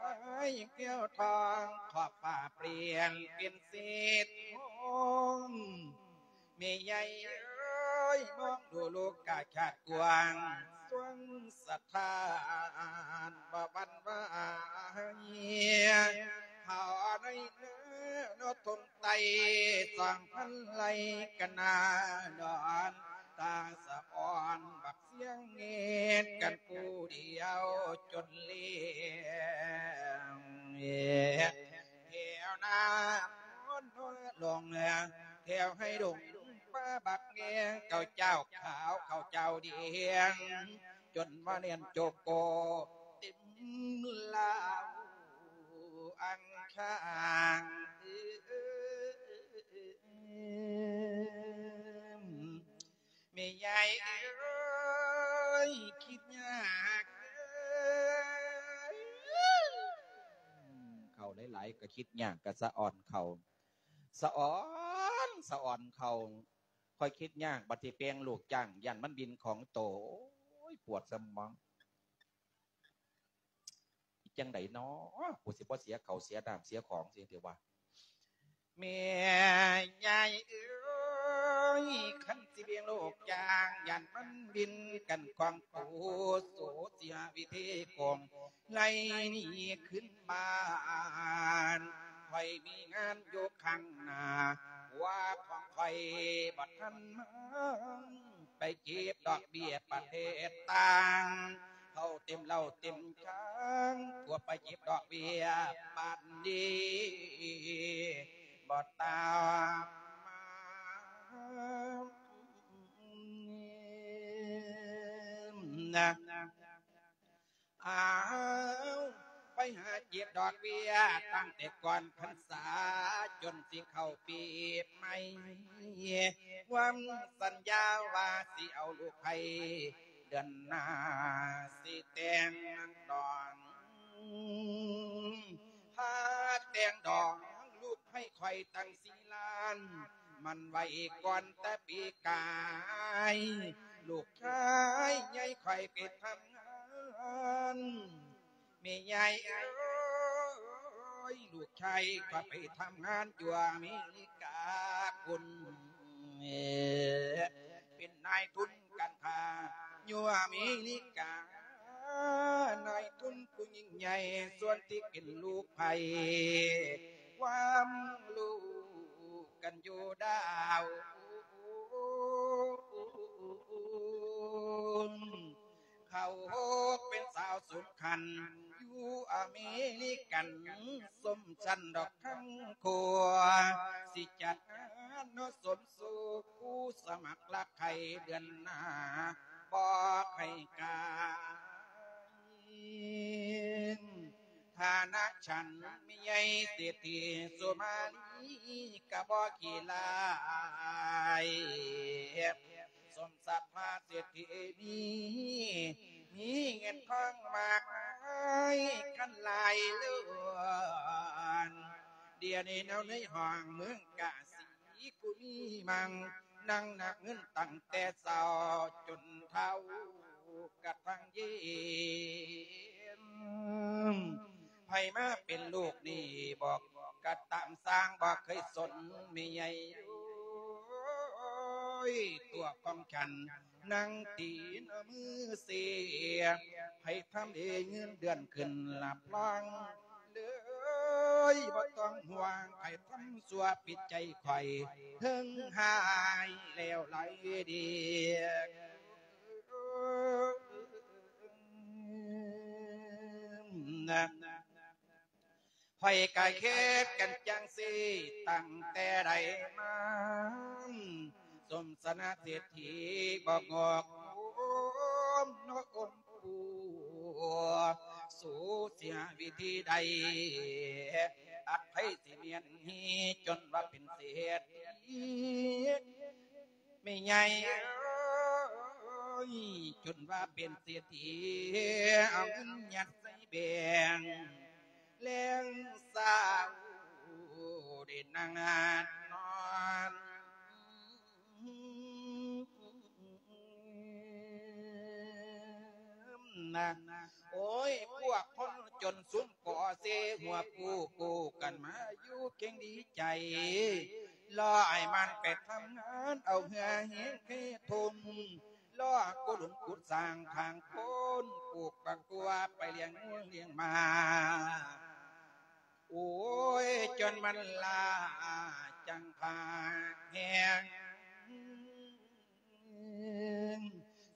ແກ້ວທອງ ຂອບຟ້າປ່ຽນເປັນເສດທອງ ແມ່ໃຫຍ່ເອີຍ ມອງດູໂລກາຊາດກວ້າງ ສວງສະຖານບໍ່ຫວັ່ນໄຫວ ເຮົາໃນເໜືອນອກທົ່ງໃຕ້ ສອງພັນໄລ່ກັນໜ້ານອນ ຕາສະອອນບັກສຽງເງືອດກັນຜູ້ດຽວຈົນເລວ ແຖວໜ້າໂພນໂພນລົງ ແຖວໄຮ່ດົງປ່າບັກແງ ເຂົາເຈົ້າຂາວເຂົາເຈົ້າແດງ ຈົນວ່າແໜ້ນໂຈໂກເຕັມລາວອັງຄານ ແມ່ໃຫຍ່ເອີຍ ຄິດຍາກເດີ ຫຼາຍກໍຄິດຍາກ ກໍສະອອນເຂົ້າ ສະອອນ ສະອອນເຂົ້າ. ຂ້ອຍຄິດຍາກ ບັດຊິແປງລູກຈ້າງ ຢ້ານມັນບິນຂອງໂຕ. ໂອ້ຍ ປວດສະໝອງ. ຈັ່ງໃດນໍ ກູຊິບໍ່ເສຍເຂົ້າເສຍນ້ຳເສຍຂອງຊິຕິວ່າ. ແມ່ຍາຍເອີຍ ຄັນຊິລ້ຽງລູກຈ້າງ ຢ້ານມັນບິນກັນຂອງໂຕ ໂສເສຍວິທີກອງ ໄລ່ໜີຂຶ້ນບ້ານ. ຂ້ອຍມີງານຢູ່ຂ້າງໜ້າ ຜົວຂອງຂ້ອຍບໍ່ທັນມາ ໄປເກັບດອກເບ້ຍປະເທດຕ່າງ ເຂົ້າເຕັມເຫຼົ້າເຕັມຈາງ ຜົວໄປເກັບດອກເບ້ຍປານດີ ບໍ່ຕາມມານະ. ອ້າວ ໄປຫາເກັບດອກເບ້ຍ ຕັ້ງແຕ່ກ່ອນພັນສາ ຈົນຊິເຂົ້າປີໃໝ່ ຫວັງສັນຍາວ່າຊິເອົາລູກໃຫ້ ເດືອນໜ້າຊິແຕ່ງດອງ ພາແຕ່ງດອງ ລູກໃຫ້ຂ້ອຍຕັ້ງສີ່ລ້ານ ໝັ້ນໄວ້ກ່ອນແຕ່ປີກາຍ ລູກຊາຍໃຫຍ່ຂ້ອຍໄປທຳງານ. ແມ່ຍາຍເອີຍ ລູກຊາຍຂ້ອຍໄປທຳງານຢູ່ອາເມລິກາພຸ້ນ ເປັນນາຍທຶນການຄ້າຢູ່ອາເມລິກາ ນາຍທຶນຜູ້ຍິ່ງໃຫຍ່ ສ່ວນທີ່ເປັນລູກໃຜ ຄວາມຮູ້ກັນຢູ່ດາວ ເຂົາເປັນສາວສົຳຄັນຢູ່ອາເມລິກັນ ສົມຊັ້ນດອກທັງຄົວ ຊິຈັດງານເນາະ ສົມສູ່ຜູ້ສະໝັກລັກໃຄ່ ເດືອນໜ້າບໍ່ໃຫ້ກາຍ. ຖານະຊັ້ນແມ່ໃຫຍ່ເສດຖີສຸມາລີ ກະບໍ່ຂີ້ລາຍ ສົມສັດພະເສດຖີມີ ມີເງິນທອງມາກມາຍຄັນຫຼາຍລ້ານ. ດຽວນີ້ເນາະໃນຫ້ອງເມືອງກາສີ ຜູ້ມີມັງນັ່ງນັບເງິນຕັ້ງແຕ່ເຊົ້າຈົນເທົ້າກະທັ່ງເຢັນ. ໃຜມາເປັນລູກນີ້ບໍ່ກະຕາມສ້າງ ບໍ່ເຄີຍສົນແມ່ໃຫຍ່ ໂອ້ຍ ຕົວຂອງສັນນັ່ງຕີນເອົາມືເຊຍ ໃຜທຳເອເງິນເດືອນຂຶ້ນຮັບຮອງ ເອີຍ ບໍ່ຕ້ອງຫ່ວງ ໃຜທຳຊົ່ວຜິດໃຈຂ້ອຍ ເຖິງຫາຍແລ້ວໄຫຼເດ ນະ. ຂ້ອຍກະເຮັດກັນຈັ່ງຊີ້ຕັ້ງແຕ່ໃດມາ ສົມຖານະເສດຖີບໍ່ງອກງາມເນາະ ອົມ ຜູ້ ສູ້ເສຍວິທີໃດ ອັດໃຜຊິມ້ຽນຮີ ຈົນວ່າເປັນເສດຖີ ແມ່ໃຫຍ່ເອີຍ ຈົນວ່າເປັນເສດຖີ ເອົາເງິນຍັດໃສ່ແບງ ແລງເຊົ້າໄດ້ນັ່ງນອນ ນະ. ໂອ້ຍ ພວກຄົນຈົນຊຸມກໍເຊ ຫົວປູກູກັນມາຢູ່ເກັ່ງດີໃຈ ລໍໃຫ້ມັນໄປທຳງານ ເອົາເຫື່ອແຮງເທທຸ່ມ ລໍກຸລຸມກຸດສ້າງທາງໂພ້ນ ປູກບັກຖົ່ວໄປລ້ຽງງົວລ້ຽງໝາ. ໂອ້ຍ ຈົນມັນລ້າຈັ່ງພາກແຮງ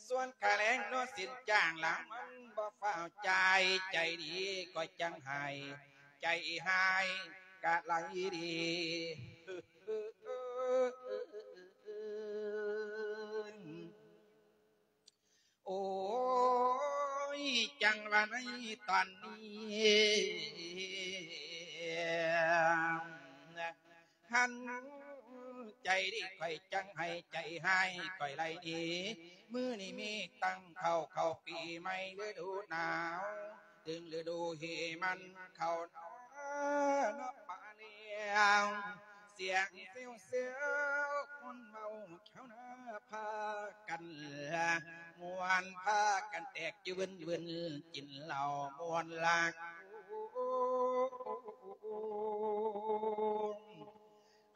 ສ່ວນຄ່າແຮງເນາະ ສິ້ນຈ້າງລະມັນບໍ່ຟ້າວຈ່າຍ ໃຈດີກໍຈັ່ງໃຫ້ ໃຈຮ້າຍກະໄລ່ດີ. ໂອ້ຍ ຈັ່ງວ່າໃນຕອນນີ້ ຫັ້ນ ໃຈດີຂ້ອຍຈັ່ງໃຫ້ ໃຈຮ້າຍຂ້ອຍໄລ່ໜີ ມື້ນີ້ມີຕັ້ງເຂົ້າ ເຂົ້າປີໃໝ່ລະດູໜາວ ເຖິງລະດູເຫມັນເຂົ້າໜາ ນະປາແລ້ວ ສຽງເຊວໆ ຄົນເວົ້າແຖວໜ້າພາກັນມ່ວນ ພາກັນແຕກຈື່ວືນໆ ກິນເຫຼົ້າມ່ວນລາກ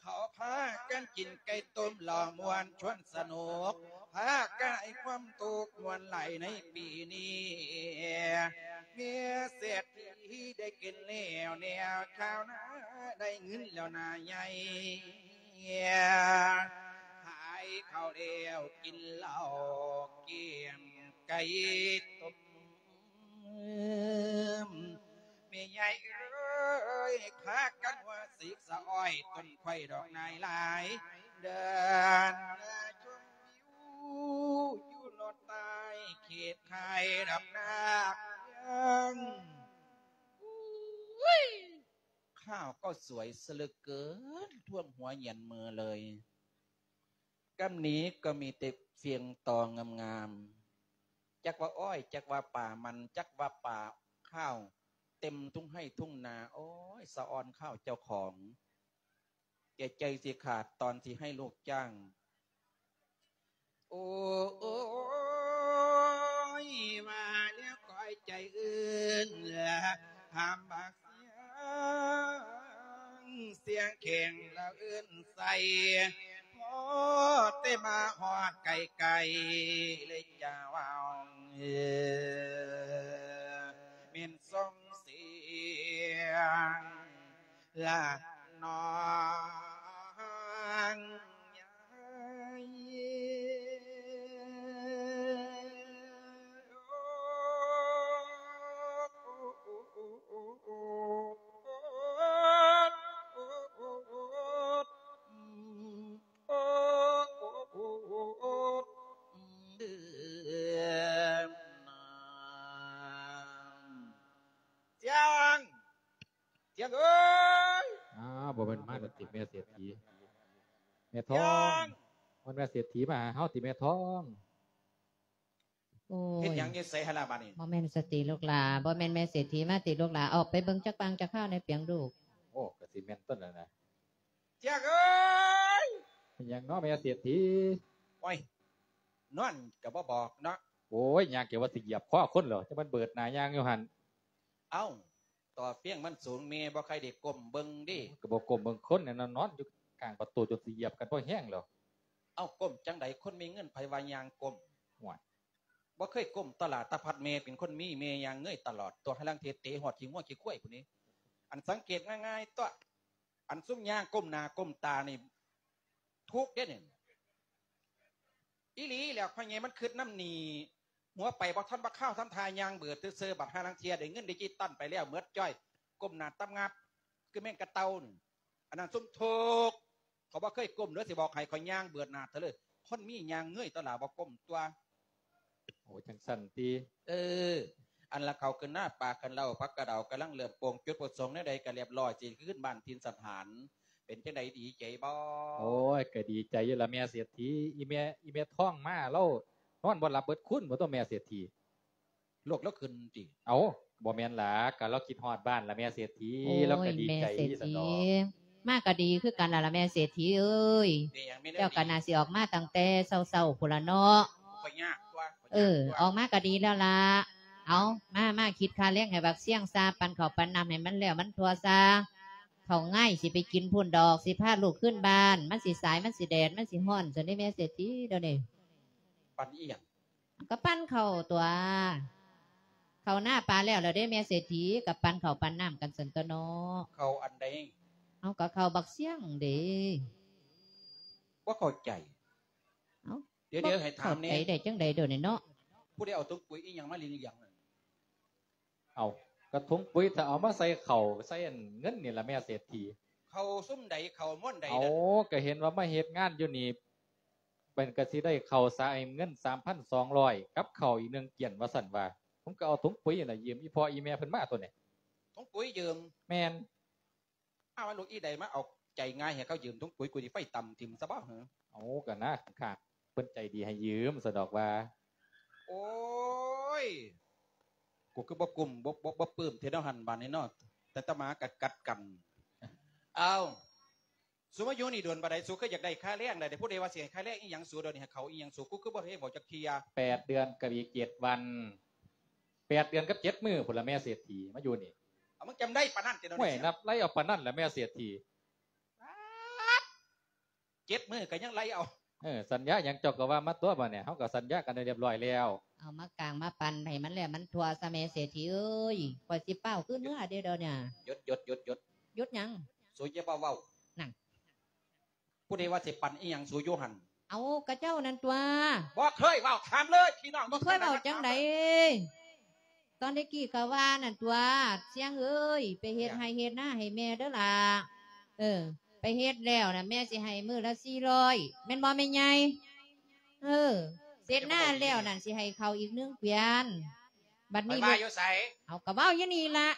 ເຂົາພາກັນກິນໄກ່ຕົ້ມເຫຼົ້າມ່ວນຊວນສະໜຸກ ພາກັນໃຫ້ຄວາມສຸກມ່ວນຫຼາຍໃນປີນີ້ ເມຍເສດຖີໄດ້ກິນແລ້ວແນວຄາວນາ ໄດ້ເງິນແລ້ວນາໃຫຍ່ ຂາຍເຂົ້າແລ້ວກິນເຫຼົ້າ ກຽມໄກ່ຕົ້ມ ແມ່ໃຫຍ່ເອີຍ ພາກັນຫົວສີກສະອ້ອຍ ຕົ້ນຂ້ອຍດອກນາຍຫຼາຍ ເດີນມາຊົມວິວ ຢູ່ໂລດໃຕ້ເຂດໄຮ່ດອກນາເມືອງ ອຸ້ຍ ຂ້າວກໍສວຍເສຍເຫຼືອເກີນ ທ່ວມຫົວຫຍັນມືເລີຍ. ກຳນີ້ກໍມີແຕ່ຟຽງຕໍງາມໆ ຈັກວ່າອ້ອຍ ຈັກວ່າປ່າມັນ ຈັກວ່າປ່າຂ້າວ ເຕັມທົ່ງໄຮ່ທົ່ງນາ. ໂອ້ຍ ສະອອນຂ້າວເຈົ້າຂອງ ແກ່ໃຈຊິຂາດຕອນຊິໃຫ້ລູກຈ້າງ. ໂອ້ຍ ວ່າແລ້ວກ້ອຍໃຈອື່ນ ຖາມບັກ ສຽງແຂງລະເອີ້ນໃສ່ ພໍແຕ່ມາຮອດໃກ້ໆ ເລີຍຈະເວົ້າແມ່ນສົ່ງສຽງລະນ້ອງຍາຍ. ສຽງ ສຽງເອີຍ ອ້າວ ບໍ່ແມ່ນມາແລ້ວຕິ ແມ່ເສດຖີ ແມ່ທອງ ສຽງ ມັນແມ່ເສດຖີມາຫາເຮົາຕິແມ່ທອງ. ໂອ້ຍ ເຮັດຫຍັງຢູ່ໃສຫັ້ນລະບາດນີ້? ບໍ່ແມ່ນສະຕິລູກຫຼາ ບໍ່ແມ່ນແມ່ເສດຖີມາຕິລູກຫຼາ ອອກໄປເບິ່ງຈັກບາງຈັກຄາວແດ່ປຽງລູກ. ໂອ້ ກະຊິແມ່ນຕົວນັ້ນນະ ຈຽກເອີຍ ເປັນຫຍັງເນາະແມ່ເສດຖີ? ໂອ້ຍ ນອນກະບໍ່ບອກເນາະ. ໂອ້ຍ ຍ່າງເກືອບວ່າຊິຢຽບຄໍຄົນແລ້ວ ຈັ່ງມັນເບີດໜ້າຍ່າງຢູ່ຫັ້ນ. ເອົ້າ ຕໍ່ຟຽງມັນສູງ ແມ່ບໍ່ຄ່ອຍໄດ້ກົ້ມເບິ່ງເດ້. ກະບໍ່ກົ້ມເບິ່ງຄົນແນ່ນອນ ນອນຢູ່ຂ້າງປະຕູຈົນຊິຢຽບກັນພໍແຮງແລ້ວ. ເອົ້າ ກົ້ມຈັ່ງໃດ ຄົນມີເງິນໃຜວ່າຍ່າງກົ້ມ? ໂອ້ຍ ບໍ່ເຄີຍກົ້ມຕະຫຼາດ ຕາພັດແມ່ເປັນຄົນມີ ແມ່ຍ່າງເງີຍຕະຫຼອດຕົວະ ຫາລາງເທເຕະຮອດຂີ້ງົວຂີ້ຄວາຍພຸ້ນນີ້. ອັນສັງເກດງ່າຍໆຕົວະ ອັນຊຸມຍ່າງກົ້ມໜ້າກົ້ມຕານີ້ ທຸກເດ້ນີ້. ອີ່ຫຼີແຫຼະ ພໍ່ໃຫຍ່ມັນຄຶດນຳນີ້ ຫົວໄປບໍ່ທັນວ່າຄາວທຳທ່າຍ່າງເບີດຊື່ໆ ບັດຫາລາງເທື່ອໄດ້ເງິນດິຈິຕອນໄປແລ້ວໝົດຈ້ອຍ ກົ້ມໜ້າຕັບງາບຄືແມງກະເຕົ່ານີ້. ອັນນັ້ນຊຸມທຸກ ເຂົາບໍ່ເຄີຍກົ້ມເດີ ຊິບອກໃຫ້ ເຂົາຍ່າງເບີດໜ້າເທື່ອເລີຍ. ຄົນມີຍ່າງເງີຍຕົວະຫຼາ ບໍ່ກົ້ມຕົວະ. ໂອ້ ຈັ່ງຊັ້ນຕິ. ເອີ ອັນລະເຂົ້າຂຶ້ນນາ ປາຂຶ້ນເລົ້າ ຜັກກະເດົາກຳລັງເລີ່ມໂປ່ງ ຈຸດປະສົງແນວໃດກະລຽບລ້ອຍ ຊິຄືນບ້ານຖິ່ນສະຖານ. ເປັນຈັ່ງໃດ ດີໃຈບໍ່? ໂອ້ຍ ກະດີໃຈຢູ່ລະແມ່ເສດຖີ. ອີ່ແມ່ ອີ່ແມ່ທອງມາ ລາວນອນບໍ່ຫຼັບເບິດຄືນບໍ່ຕົວະແມ່ເສດຖີ. ໂລກລາວຂຶ້ນຕິ? ເອົ້າ ບໍ່ແມ່ນລະ ກະລາວຄິດຮອດບ້ານລະແມ່ເສດຖີ. ໂອ້ຍ ລາວກະດີໃຈຊັ້ນດອກ. ມາກະດີຄືກັນລະລະແມ່ເສດຖີເອີຍ. ເປັນຫຍັງແມ່ນແນວນີ້? ເຈົ້າກະໜ້າຊິອອກມາຕັ້ງແຕ່ເຊົ້າໆພຸ້ນລະເນາະ. ຂ້ອຍຍາກຕົວະ ເອີ ອອກມາກະດີແລ້ວລະ. ເອົາ ມາ ມາຄິດຄ່າແຮງໃຫ້ບັກຊຽງຊາ ປັ່ນເຂົ້າປັ່ນນ້ຳໃຫ້ມັນແລ້ວມັນທົ່ວຊາ. ເຂົ້າງາຍຊິໄປກິນພຸ້ນດອກ ຊິພາລູກຄືນບ້ານ ມັນຊິສາຍ ມັນຊິແດດ ມັນຊິຮ້ອນຊັ້ນເດ້ແມ່ເສດຖີດຽວນີ້. ປັ່ນອີ່ຫຍັງ? ກະປັ່ນເຂົ້າຕົວະ ເຂົ້ານາປາແລ້ວລະເດ້ແມ່ເສດຖີ ກະປັ່ນເຂົ້າປັ່ນນ້ຳກັນຊັ້ນຕົວະເນາະ. ເຂົ້າອັນໃດ? ເອົາ ກະເຂົ້າບັກຊຽງເດ້. ບໍ່ເຂົ້າໃຈ. ເອົ້າ ດຽວໆ ໃຫ້ຖາມແນ່ ເຂົ້າໃຈໄດ້ຈັ່ງໃດດຽວນີ້ເນາະ? ຜູ້ໃດເອົາຖົງປຸ໋ຍອີ່ຫຍັງມາຫຼຽງໆນັ້ນ? ເອົ້າ ກະຖົງປຸ໋ຍ ຖ້າເອົາມາໃສ່ເຂົ້າ ໃສ່ອັນເງິນນີ້ລະແມ່ເສດຖີ. ເຂົ້າຊຸມໃດ ເຂົ້າມ່ວນໃດ? ເອົາ ກະເຫັນວ່າມາເຮັດງານຢູ່ນີ້ ເພິ່ນກະຊິໄດ້ເຂົ້າສາ ເງິນສາມພັນສອງຮ້ອຍ ກັບເຂົ້າອີກໜຶ່ງກ້ຽນວ່າຊັ້ນວ່າ. ຜົມກະເອົາຖົງປຸ໋ຍລະຢືມອີ່ພໍ່ອີ່ແມ່ເພິ່ນມາຕົວະນີ້. ຖົງປຸ໋ຍຢືມ? ແມ່ນ. ອ້າວ ລູກອີໃດມາເອົາໃຈງ່າຍໃຫ້ເຂົາຢືມຖົງປຸ໋ຍ ກູຊິໄຟຕຳຖິ້ມຊະບໍ່ຫື? ເອົາ ກະນາຂ້າງເພິ່ນໃຈດີໃຫ້ຢືມຊັ້ນດອກວ່າ. ໂອ້ຍ ກູຄືບໍ່ກຸ້ມ ບໍ່ ບໍ່ ບໍ່ປຶ້ມແທ້ເນາະຫັ້ນບາດນີ້ເນາະ. ແຕ່ຕະໝາກັດກັດກັນ. ເອົ້າ ສູມາຢູ່ນີ້ດົນປານໃດ? ສູຄືຢາກໄດ້ຄ່າແຮງໃດ? ຜູ້ໃດວ່າຊິໃຫ້ຄ່າແຮງອີ່ຫຍັງສູ? ດຽວນີ້ໃຫ້ເຂົາອີ່ຫຍັງສູ? ກູຄືບໍ່ເຫັນບອກຈັກເທື່ອ. ແປດເດືອນກັບອີກເຈັດວັນ. ແປດເດືອນກັບເຈັດມື້ພຸ້ນລະແມ່ເສດຖີ ມາຢູ່ນີ້. ເອົາ ມຶງຈຳໄດ້ປານນັ້ນຕິ? ໂອ້ຍ ນັບໄລ່ເອົາປານນັ້ນລະແມ່ເສດຖີ. ເຈັດມື້ກໍຍັງໄລ່ເອົາ. ເອີ ສັນຍາຫຍັງເຈົ້າກໍວ່າມາຕົວະ ບາດນີ້ເຮົາກໍສັນຍາກັນໄດ້ຮຽບຮ້ອຍແລ້ວ. ເອົາມາກາງມາປັນໃຫ້ມັນແລ້ວມັນທົ່ວຊະແມ່ເສດຖີເອີຍ. ຂ້ອຍຊິຟ້າວຄືເມືອເດ້ດຽວນີ້. ຢຸດ ຢຸດ ຢຸດ ຢຸດ. ຢຸດຫຍັງ? ສູຢ່າມາເວົ້າ. ນັ້ນ. ຜູ້ໃດວ່າຊິປັນອີ່ຫຍັງສູຢູ່ຫັ້ນ? ເອົາ ກະເຈົ້ານັ້ນຕົວະ. ບໍ່ເຄີຍເວົ້າ ຖາມເລີຍ ພີ່ນ້ອງ. ບໍ່ເຄີຍເວົ້າຈັ່ງໃດ? ຕອນແຕ່ກີ້ກໍວ່ານັ້ນຕົວະ ຊຽງເອີຍ ໄປເຮັດໄຮ່ເຮັດນາໃຫ້ແມ່ເດີຫຼ້າ. ເອີ ໄປເຮັດແລ້ວນະ ແມ່ຊິໃຫ້ມື້ລະສີ່ຮ້ອຍ ແມ່ນບໍ່ແມ່ໃຫຍ່? ເອີ ເສັດນາແລ້ວນັ້ນ ຊິໃຫ້ເຂົ້າອີກໜຶ່ງກວຽນ. ບັດນີ້ ຂ້ອຍວ່າຢູ່ໃສ? ເອົາ ກໍເວົ້າຢູ່ນີ້ລະ.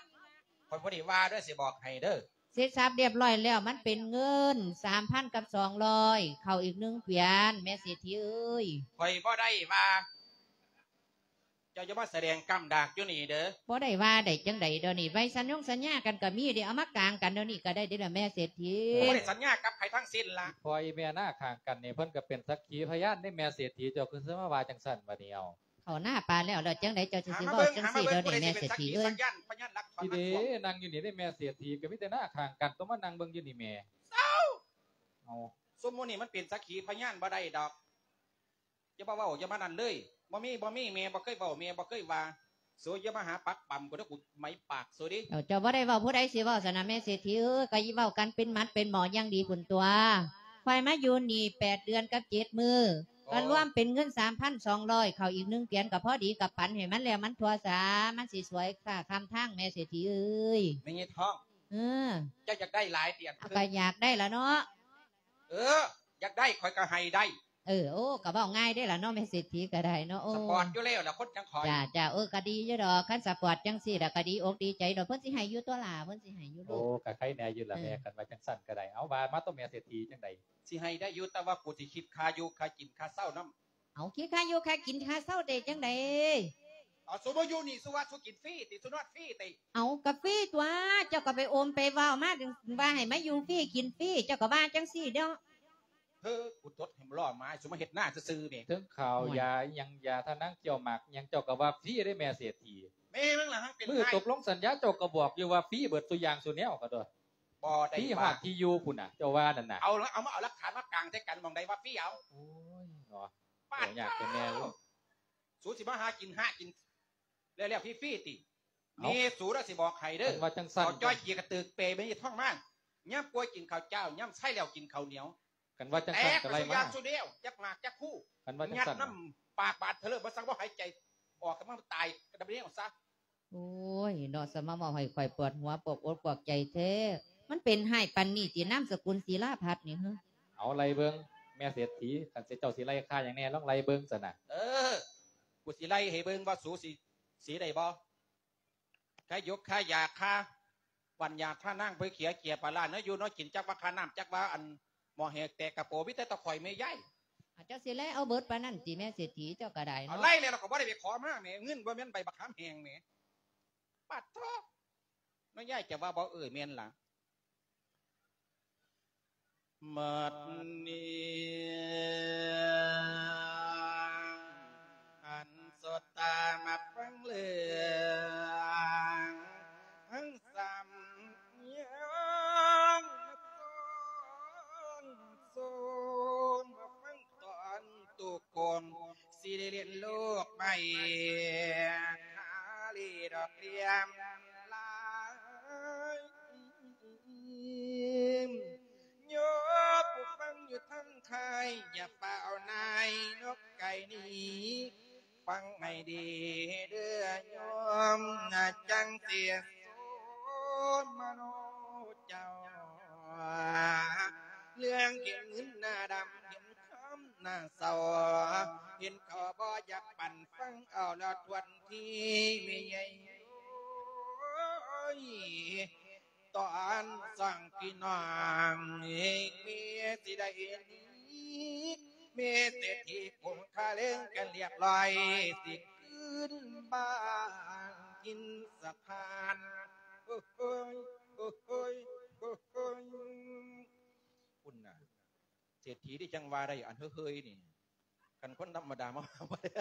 ຂ້ອຍບໍ່ໄດ້ວ່າເດີ ຊິບອກໃຫ້ເດີ. ເສັດສັບຮຽບຮ້ອຍແລ້ວ ມັນເປັນເງິນສາມພັນກັບສອງຮ້ອຍ ເຂົ້າອີກໜຶ່ງກວຽນ ແມ່ເສດຖີເອີຍ. ຂ້ອຍບໍ່ໄດ້ວ່າ ເຈົ້າຢ່າມາສະແດງກ້າມດາກຢູ່ນີ້ເດີ. ບໍ່ໄດ້ວ່າໄດ້ຈັ່ງໃດດຽວນີ້ ໄວ້ສັນຍົງສັນຍາກັນກໍມີເດ້ ເອົາມາກາງກັນດຽວນີ້ກໍໄດ້ເດ້ລະແມ່ເສດຖີ. ບໍ່ໄດ້ສັນຍາກັບໃຜທັງສິ້ນລະ. ພໍ່ອີ່ແມ່ນາຂ້າງກັນນີ້ ເພິ່ນກໍເປັນສັກຂີພະຍານເດ້ແມ່ເສດຖີ ເຈົ້າຄືຊິມາວ່າຈັ່ງຊັ້ນບາດນີ້ເອົາ. ເຂົ້ານາປາແລ້ວ ແລ້ວຈັ່ງໃດເຈົ້າຊິ ຊິເວົ້າຈັ່ງຊີ້ດຽວນີ້ແມ່ເສດຖີເອີຍ. ທີ່ເດ້ ນັ່ງຢູ່ນີ້ເດ້ແມ່ເສດຖີ ກໍມີແຕ່ນາຂ້າງກັນ ຕ້ອງມານັ່ງເບິ່ງຢູ່ນີ້ແໝ່. ເຊົາ! ເອົາ ຊຸມໝູ່ນີ້ມັນເປັນສັກຂີພະຍານບໍ່ໄດ້ດອກ. ຢ່າມາເວົ້າ ຢ່າມານັ້ນເລີຍ. ບໍ່ມີ ບໍ່ມີ ແມ່ບໍ່ເຄີຍເວົ້າ ແມ່ບໍ່ເຄີຍວ່າ. ໂສ ຢ່າມາຫາປັກປຳກູເດີ ກູໄໝປາກໂສເດ້. ເຈົ້າ ເຈົ້າບໍ່ໄດ້ເວົ້າ ຜູ້ໃດຊິເວົ້າຊັ້ນນະແມ່ເສດຖີເອີຍ. ກໍເວົ້າກັນເປັນໝັດເປັນໝໍ້ຢ່າງດີພຸ້ນຕົວະ. ຂ້ອຍມາຢູ່ນີ້ແປດເດືອນກັບເຈັດມື້ ກໍລວມເປັນເງິນສາມພັນສອງຮ້ອຍ ເຂົ້າອີກໜຶ່ງກວຽນກໍພໍດີ ກໍປັນໃຫ້ມັນແລ້ວມັນທົ່ວສາ ມັນຊິສວຍຄ່າຄຳທາງແມ່ເສດຖີເອີຍ. ແມ່ໃຫຍ່ທອງ ເອີ ເຈົ້າຢາກໄດ້ຫຼາຍຕິ? ກໍຢາກໄດ້ລະເນາະ. ເອີ ຢາກໄດ້ຂ້ອຍກໍໃຫ້ໄດ້. ເອີ ໂອ້ ກໍເວົ້າງ່າຍເດ້ລະເນາະ ແມ່ເສດຖີກໍໄດ້ເນາະ. ໂອ້ ສະປອດຢູ່ແລ້ວລະຄົນຈັ່ງຂ້ອຍ. ຈ້າ ຈ້າ ເອີ ກໍດີຢູ່ດອກ ຄັນສະປອດຈັ່ງຊີ້ລະກໍດີອົກດີໃຈດອກ. ເພິ່ນຊິໃຫ້ຢູ່ຕົວະຫຼ້າ ເພິ່ນຊິໃຫ້ຢູ່ລູກ. ໂອ້ ກໍໄຄແນ່ຢູ່ລະແມ່ ຄັນວ່າຈັ່ງຊັ້ນກໍໄດ້. ເອົາ ວ່າມາຕົວະແມ່ເສດຖີຈັ່ງໃດ? ຊິໃຫ້ໄດ້ຢູ່ ແຕ່ວ່າກູຊິຄິດຄ່າຢູ່ຄ່າກິນຄ່າເຊົ່ານຳ. ເອົາ ຄິດຄ່າຢູ່ຄ່າກິນຄ່າເຊົ່າໄດ້ຈັ່ງໃດ? ເອົາ ສູມາຢູ່ນີ້ ສູວ່າສູກິນຟຣີຕິ? ສູນອນຟຣີຕິ? ເອົາ ກະຟຣີຕົວະ ເຈົ້າກໍໄປໂອມໄປເວົ້າມາ ວ່າໃຫ້ມາຢູ່ຟຣີກິນຟຣີ ເຈົ້າກໍວ່າຈັ່ງຊີ້ເນາະ. ເຮີ ກູຕົດໃຫ້ມັນລໍ້ມາ ສູມາເຮັດນາຊື່ໆແໝ່. ເຖິງເຂົ້າ ໂອ້ຍ ຢາອີ່ຫຍັງ ຢາທານາງກ່ຽວໝາກຫຍັງ ເຈົ້າກໍວ່າຟຣີເດ້ແມ່ເສດຖີ. ແມ່ມຶງລະ ຫັງເປັນ ມື້ຕົກລົງສັນຍາ ເຈົ້າກໍບອກຢູ່ວ່າຟຣີເບິດສູ່ຢ່າງສູ່ແນວກໍຕົວະ. ບໍ່ໄດ້ວ່າ ທີ່ຮອດທີ່ຢູ່ພຸ້ນນະ ເຈົ້າວ່ານັ້ນນະ. ເອົາລະ ເອົາມາ ເອົາຫຼັກຖານມາກາງໃສ່ກັນ ໝ່ອງໃດວ່າຟຣີເອົາ. ໂອ້ຍເນາະ ປາດ ໂອ້ ຍາກແຕ່ແມ່ເອີຍ. ສູຊິມາຫາກິນ ຫາກິນແລ້ວໆຟຣີໆຕິ? ເອົ້າ ນີ້ສູລະຊິບອກໃຫ້ເດີ ຄັນວ່າຈັ່ງຊັ້ນ ເອົາຈ້ອຍເກຍກະຕຶກເປແມ່ຍາຍທອງມາ ຍາມປ່ວຍກິນເຂົ້າຈ້າວ ຍາມໄຊແລ້ວກິນເຂົ້າໜຽວ. ຄັນວ່າຈັ່ງຊັ້ນກໍໄລ່ມາ ແຕກໄປສູ່ຢ່າງສູ່ແນວ ຈັກໝາກຈັກຄູ່. ຄັນວ່າຈັ່ງຊັ້ນ ຍັດນ້ຳປາກບາດເທີເລີ ບໍ່ສັງບໍ່ຫາຍໃຈ ອອກກຳລັງຕາຍກະດຳແນວຊະ. ໂອ້ຍເນາະ ສະມາເວົ້າໃຫ້ຂ້ອຍປວດຫົວ ປວດອົກປວດໃຈແທ້. ມັນເປັນຮ້າຍປານນີ້ຕິ ນາມສະກຸນສີລາພັດນີ້ເຮີ? ເອົາໄລ່ເບິ່ງແມ່ເສດຖີ ຄັນເຈົ້າຊິໄລ່ຄ່າຫຍັງແດ່ ລອງໄລ່ເບິ່ງຊັ້ນນະ. ເອີ ກູຊິໄລ່ໃຫ້ເບິ່ງວ່າສູຊິ ຊິໄດ້ບໍ່? ຄ່າຢົກຄ່າຢາ ຄ່າປັນຢາ ຄ່ານາງ ເພື່ອເຂຍເກຍປາລາ ແນວຢູ່ແນວກິນ ຈັກວ່າຄ່ານ້ຳ ຈັກວ່າອັນ ໝໍ້ແຫກແຕກກະໂປ ມີແຕ່ຕາຂ້ອຍແມ່ຍາຍ. ອາ ເຈົ້າຊິໄລ່ເອົາເບິດປານນັ້ນຕິແມ່ເສດຖີ? ເຈົ້າກໍໄດ້ເນາະ. ເອົາໄລ່ແລ້ວ ລະກໍບໍ່ໄດ້ໄປຂໍມາແໝ່ ເງິນບໍ່ແມ່ນໃບບັກຂາມແຫ້ງແໝ່. ປາດໂທ້ ນ້ອຍຍາຍຈະວ່າບໍ່ ເອີ ແມ່ນລະ. ບັດນີ້ ອັນສອດຕາມາຟັງເລື່ອງ ທັງສາມຢ່າງ ມາສອນສອນ ມາຟັງຕອນໂຕກອງ ຊິໄດ້ລຽນໂລກໃໝ່ ຫາລີດອກລຽມລາຍ. ໂຍມຜູ້ຟັງຢູ່ທາງໄທ ຢ່າຟ້າວນາຍນອກໄກໜີ ຟັງໃຫ້ດີເດີໂຍມ ນາ ຈັ່ງຊິສອນມະໂນເຈົ້າ ເລື່ອງເຫັນເງິນໜ້າດຳ ເຫັນຄຳໜ້າເສົ້າ ເຫັນເຂົາບໍ່ຢາກປັນ ຟັງເອົາລະທວນທີແມ່ໃຫຍ່. ໂອ້ຍ ຕອນສອງພີ່ນ້ອງ ເມຊິໄດ້ໜີ ເມເສດຖີປົງຄາເລີງກັນລຽບລ້ອຍ ຊິຄືນບ້ານຖິ່ນສະຖານ. ໂອ້ຍ ໂອ້ຍ ໂອ້ຍ ໂອ້ຍ ພຸ້ນນະ ເສດຖີນີ້ຈັ່ງວ່າໄດ້ ອັນເຮີ້ຍໆນີ້ ຄັນຄົນທຳມະດາມາວ່າບໍ່ໄດ້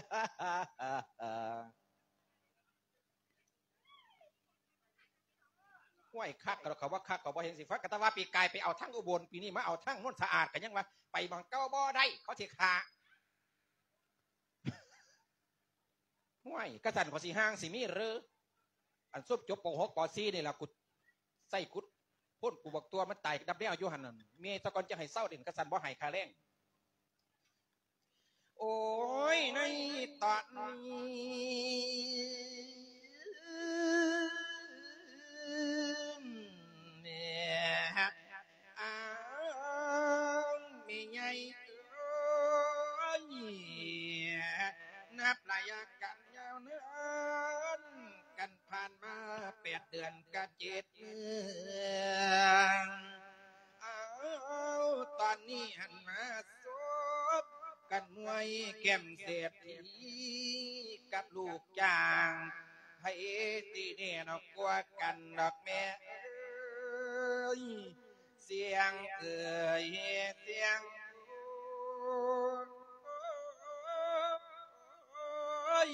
ຫ້ວຍ ຄັກກໍດອກ ເຂົາວ່າຄັກກໍບໍ່ເຫັນຊິຄັກ ກໍແຕ່ວ່າປີກາຍໄປເອົາທາງອຸບົນ ປີນີ້ມາເອົາທາງໂນນສະອາດ ກໍຍັງວ່າໄປໝ່ອງເກົ່າບໍ່ໄດ້ ເຂົາຊິຂ້າ ຫ້ວຍ ກະຊັ້ນຂ້ອຍຊິຮ່າງຊິມີເຫຼື ອັນຊຸມຈົບ ປ.ຫົກ ປ.ສີ່ ນີ້ລະ ກູໃສ່ກູໂພນກູບັກຕົວະ ມັນຕາຍກັບແນວຢູ່ຫັ້ນນະ ແມ່ສາກ່ອນຈະໃຫ້ເຊົາເດັ່ນ ກະຊັ້ນບໍ່ໃຫ້ຄ່າແຮງ. ໂອ້ຍ ໃນຕອນນີ້ ອ້າວ ແມ່ໃຫຍ່ເອີຍ ນັບໄລຍະການຍາວນານ ກັນຜ່ານມາແປດເດືອນກັບເຈັດມື້ ອ້າວ ຕອນນີ້ຫັ້ນມາສົບກັນມວຍແກ້ມເສດຖີກັບລູກຈ້າງ ໃຜຊິແນ່ນອກກວ່າກັນດອກແມ່ເອີຍ ສຽງເອີຍ ສຽງ ໂອ້ຍ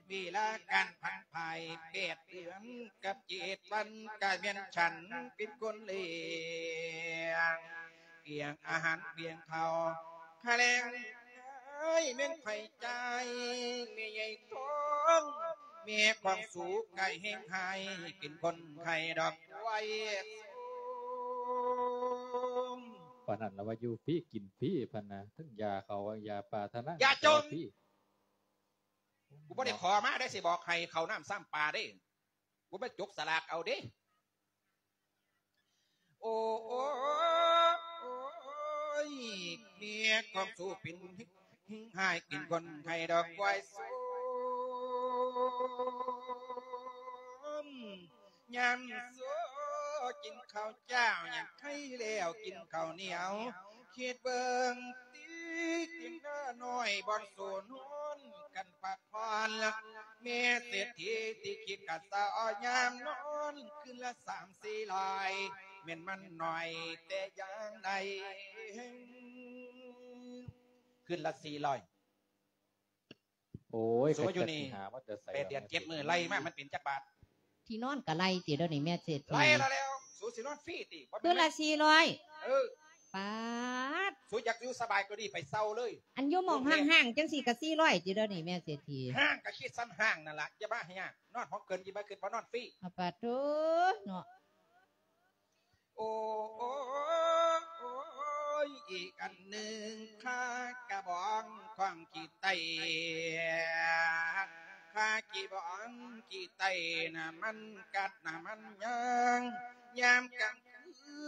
ເວລາການຜັນຜາຍ ແປດເດືອນກັບເຈັດວັນ ກະແມ່ນສັນເປັນຄົນລ້ຽງ ກຽງອາຫານກຽງເຂົ້າ ຄ່າແຮງແມ່ນໃຜຈ່າຍ ແມ່ໃຫຍ່ທອງ ແມ່ຂອງສູກະແຮງຮ້າຍ ເປັນຄົນໄຂ້ດອກ ໄວ ປານນັ້ນລະວ່າຢູ່ຟຣີກິນຟຣີ ພັນນະ ທັງຢາເຂົ້າຢາປາທະນາ ຢ່າຈົ່ມ ຟຣີ ກູບໍ່ໄດ້ຂໍມາເດ້ ຊິບອກໃຫ້ເຂົ້ານ້ຳຊ້ຳປາເດ້ ກູມາຈົກສະຫຼາກເອົາເດ້. ໂອ້ ໂອ້ຍ ເມຍຂອງສູເປັນ ຮ້າຍກິນຄົນໄຂ້ດອກ ຄວາຍໂຊມ ຍາມໂຊກິນເຂົ້າເຈົ້າ ຍາມໄຂ້ແລ້ວກິນເຂົ້າໜຽວ ຄິດເບິ່ງຕິ ກິນນ້ອຍບ່ອນໂສນອນກັນພັກຜ່ອນ ແມ່ເສດຖີທີ່ຄິດກະສາວຍາມນອນ ຄືນລະສາມສີ່ຮ້ອຍ ແມ່ນມັນໜ້ອຍແຕ່ຢ່າງໃດ ຄືນລະສີ່ຮ້ອຍ. ໂອ້ຍ ສູຢູ່ນີ້ ໄປຫາມາແຕ່ໃສ ແປດເດືອນເຈັດມື້ ໄລ່ມາມັນເປັນຈັກບາດ? ທີ່ນອນກໍໄລ່ຕິດຽວນີ້ແມ່ເສດຖີ ໄລ່ລະແລ້ວ ສູຊິນອນຟຣີຕິ ຄືນລະສີ່ຮ້ອຍ. ເອີ ປາດ ສູຢາກຢູ່ສະບາຍກວ່ານີ້ໄປເຊົ່າເລີຍ ອັນຢູ່ໝ່ອງຫ້າງໆ ຈັ່ງຊີ້ກໍສີ່ຮ້ອຍຕິດຽວນີ້ແມ່ເສດຖີ ຫ້າງກໍຄິດສ່ຳຫ້າງນັ້ນລະ ຢ່າມາໃຫ້ຍາກ ນອນຫ້ອງເກີນ ຢ່າມາຄິດວ່ານອນຟຣີ ອາ ປາດໂທ້ເນາະ. ໂອ້ ໂອ້ຍ ອີກອັນໜຶ່ງ ຄາກະບອງຂອງຂີ້ໄຕ ຄາກະບອງຂີ້ໄຕ ນ້ຳມັນກັດ ນ້ຳມັນຍາງ ຍາມກາງຄື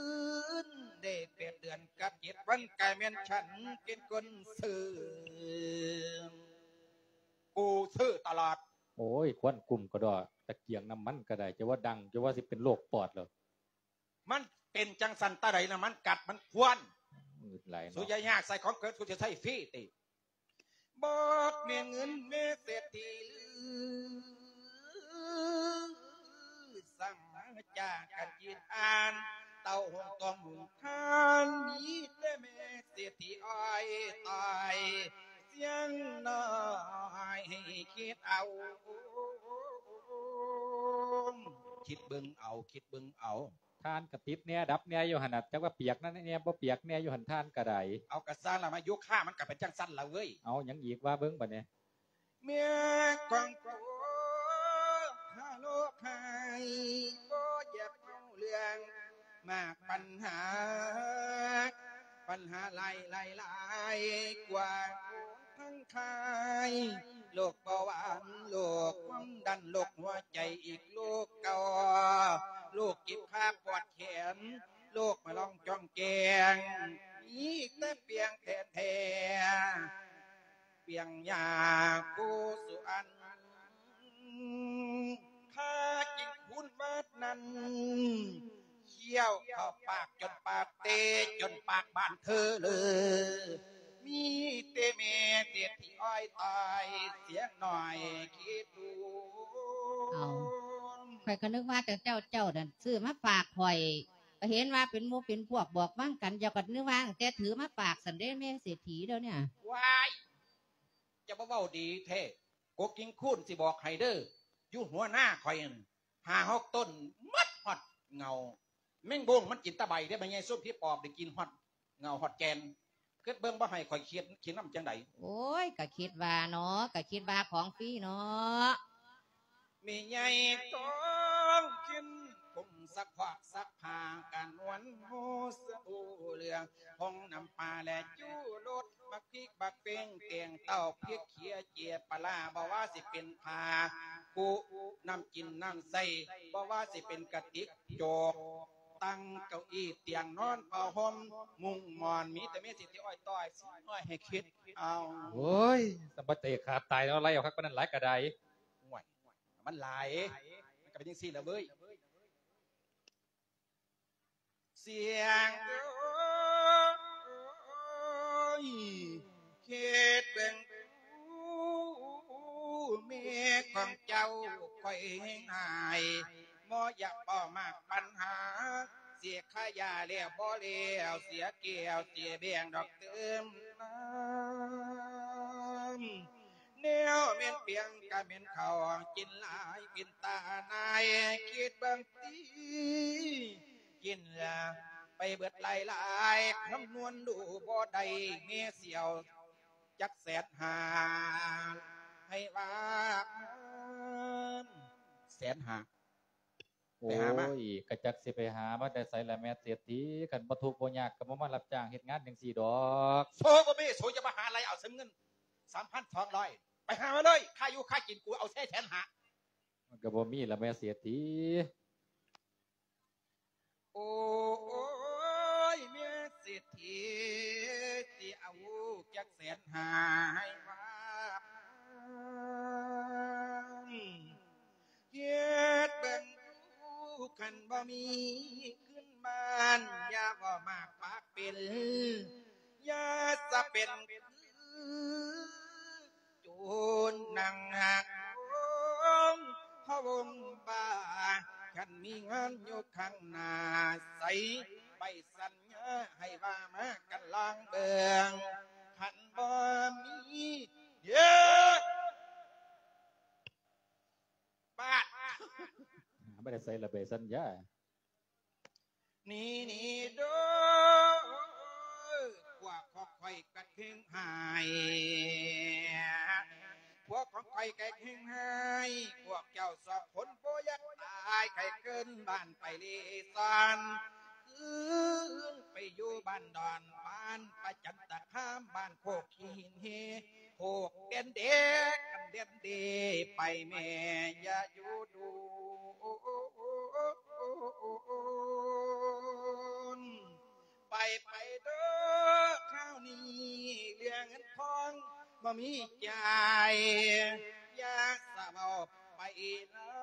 ນ ໄດ້ແປດເດືອນກັບເຈັດວັນ ກະແມ່ນສັນເປັນຄົນຊື້ ກູຊື້ຕະຫຼອດ. ໂອ້ຍ ຄວັນກຸ້ມກະດອກ ຕະກຽງນ້ຳມັນກະໄດ້ ຈະວ່າດັງ ຈະວ່າຊິເປັນໂລກປອດແລ້ວ. ມັນເປັນຈັ່ງຊັ້ນຕາໃດນະ ມັນກັດ ມັນຄວັນ ງຶດຫຼາຍເນາະ ສູຢ່າຍາກໃສ່ຂອງເກີນ ສູຈະໃຊ້ຟຣີຕິ ບອກແມ່ເງິນແມ່ເສດຖີ ສັ່ງມາຈາກກັນກິນອ່ານ ເຕົ້າຫຸງຕ້ອງຫຸງທານ ມີແຕ່ແມ່ເສດຖີອ້ອຍຕາຍ ສຽງນ້ອຍໃຫ້ຄິດເອົາ ຄິດເບິ່ງເອົາ ຄິດເບິ່ງເອົາ. ທ່ານກະຕິດແດ່ດັບແດ່ຢູ່ຫັ້ນນະ ຈັກວ່າປຽກນັ້ນແດ່ບໍ່ປຽກແດ່ຢູ່ຫັ້ນ ທ່ານກະໄດ້. ເອົາກະຊັ້ນລະ ມາໂຍຄາມັນກະເປັນຈັ່ງຊັ້ນລະເວີຍ. ເອົາຫຍັງອີກວ່າເບິ່ງບາດນີ້. ເມຍຂອງໂຕຫາໂລກໃຫ້ ບໍ່ຢາກເວົ້າເລື່ອງມາກ ປັນຫາ ປັນຫາຫຼາຍໆໆ ກວ່າ ທັງຂາຍ ໂລກເບົາຫວານ ໂລກຄວາມດັນ ໂລກຫົວໃຈ ອີກໂລກເກົ່າ ໂລກເຈັບຂາປວດແຂນ ໂລກມາລອງຈ້ອງແກງ ມີແຕ່ປ່ຽງແທນແທ້ ປ່ຽງຍາຜູ້ສຸອັນ ຂ້າກິນຄູນບາດນັ້ນ ຄ້ຽວເຂົ້າປາກຈົນປາກເຕ ຈົນປາກບານເທີເລີ ມີແຕ່ແມ່ເສດຖີອ້ອຍຕາຍ ສຽງນ້ອຍຄິດດູ. ເອົາ ຂ້ອຍກໍນຶກວ່າເຈົ້າ ເຈົ້າ ເຈົ້ານັ້ນຊື້ມາຝາກຂ້ອຍ ກໍເຫັນວ່າເປັນໝູ່ເປັນພວກບອກຫວັງກັນ ເຈົ້າກໍນຶກວ່າຕັ້ງແຕ່ຖືມາຝາກຊັ້ນເດ້ ແມ່ເສດຖີດຽວນີ້. ວ້າຍ ຈະບໍ່ເວົ້າດີແທ້ ກົກກິງຄູນຊິບອກໃຫ້ເດີ ຢູ່ຫົວນາຂ້ອຍຫັ້ນ ຫ້າຫົກຕົ້ນ ໝົດຮອດເຫງົ້າ ແມງບົງມັນກິນແຕ່ໃບເດ້ ແມ່ໃຫຍ່ ຊຸມຜີປອບໄດ້ກິນຮອດເຫງົ້າຮອດແກ່ນ ຄິດເບິ່ງ ບໍ່ໃຫ້ຂ້ອຍຄິດ ຄິດນຳຈັ່ງໃດ? ໂອ້ຍ ກະຄິດວ່າເນາະ ກະຄິດວ່າຂອງຟຣີເນາະ. ແມ່ໃຫຍ່ຕ້ອງກິນ ຜົງຊັກຟອກຊັກຜ້າ ກະນວນໂຮສະອູເຫຼືອ ຜົງນ້ຳປາ ແລະ ຈູລົດ ບັກພິກບັກເຟງ ແກງເຕົ້າ ພິກເຂຍ ເຈ້ຍປາຫຼ້າ ບໍ່ວ່າຊິເປັນຜ້າປູ ນ້ຳກິນນ້ຳໃຊ້ ບໍ່ວ່າຊິເປັນກະຕິກ ໂຈກ ຕັ່ງ ເກົ້າອີ້ ຕຽງນອນ ຜ້າຫົ່ມ ມຸ້ງໝອນ ມີແຕ່ແມ່ເສດຖີອ້ອຍຕ້ອຍ ຊິນ້ອຍໃຫ້ຄິດເອົາ. ໂອ້ຍ ສຳບັດເຕະຂາດຕາຍເນາະ ໄລ່ເອົາຄັກປານນັ້ນຫຼາຍກະໄດ້. ໂອ້ຍ ມັນຫຼາຍ ມັນກະເປັນຈັ່ງຊີ້ລະເວີຍ. ສຽງເອີຍ ຄິດເບິ່ງດູ ເມຍຂອງເຈົ້າຂ້ອຍແຮງອາຍ ບໍ່ຢາກເວົ້າມາກປັນຫາ ເສຍຄ່າຢາແລ້ວບໍ່ແລ້ວ ເສຍແກ້ວເສຍແບງດອກເຕີມນ້ຳ ແນວແມ່ນປຽງກະແມ່ນເຂົ້າ ກິນຫຼາຍເປັນຕານາຍ ຄິດເບິ່ງຕິ ກິນໄປເບິດຫຼາຍໆ ຄຳນວນດູບໍ່ໄດ້ ແມ່ຊິເອົາຈັກແສນຫ້າ ໃຫ້ວ່າ ແສນຫ້າ ໂອ້ຍ ກະຈັກຊິໄປຫາມາແຕ່ໃສລະແມ່ເສດຖີ ຄັນບໍ່ທຸກບໍ່ຍາກກະບໍ່ມາຮັບຈ້າງເຮັດງານຈັ່ງຊີ້ດອກ. ໂຊບໍ່ມີ ໂຊຢ່າມາຫາໄລ່ເອົາເງິນສາມພັນສອງຮ້ອຍ ໄປຫາມາເລີຍ ຄ່າຢູ່ຄ່າກິນກູເອົາແທ້ແສນຫ້າ ມັນກະບໍ່ມີລະແມ່ເສດຖີ. ໂອ້ຍ ແມ່ເສດຖີ ຊິເອົາຈັກແສນຫ້າໃຫ້ວ່າ ເຮັດເບິ່ງດູ ຄັນບໍ່ມີຂຶ້ນບ້ານ ຢ່າເວົ້າມາກປາກເປັນ ຢ່າສະເປັນຄື ໂຈນນັ່ງຫັກໂຮງພະວົງບ້າ ຄັນມີງານຢູ່ຂ້າງໜ້າໃສ ໃບສັນຍາໃຫ້ວ່າມາກັນລອງເບິ່ງ ຄັນບໍ່ມີ ເດີ ບາດ ບໍ່ໄດ້ໃສ່ລະເບີດສັນຍາ. ນີ້ນີ້ເດີ ພວກຂອງຂ້ອຍກະແຮງຮ້າຍ ພວກຂອງຂ້ອຍກະແຮງຮ້າຍ ພວກເຈົ້າສອງຄົນບໍ່ຢາກຕາຍ ໃຫ້ຄືນບ້ານໄປເລ່ຮ່ອນ ຄືນໄປຢູ່ບ້ານດອນ ບ້ານປະຈັນຕະຄາມ ບ້ານໂຄກຂີ້ຫີນເຮ ໂຄກແດນເດ ກັນແດນເດ ໄປແມ່ຢ່າຢູ່ດູນ ໄປໄປເດີ ຄາວນີ້ເລື່ອງເງິນທອງບໍ່ມີຈ່າຍ ຢ່າສະເວົ້າໄປເລີ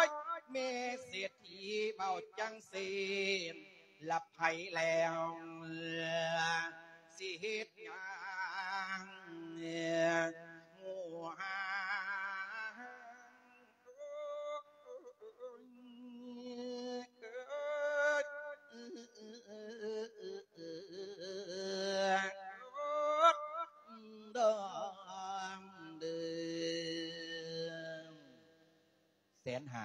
ຍ ແມ່ເສດຖີເວົ້າຈັ່ງຊີ້ ລະໃຜແລ້ວ ຊິເຮັດຫຍັງໝູ່ຫາ ແສນຫ້າ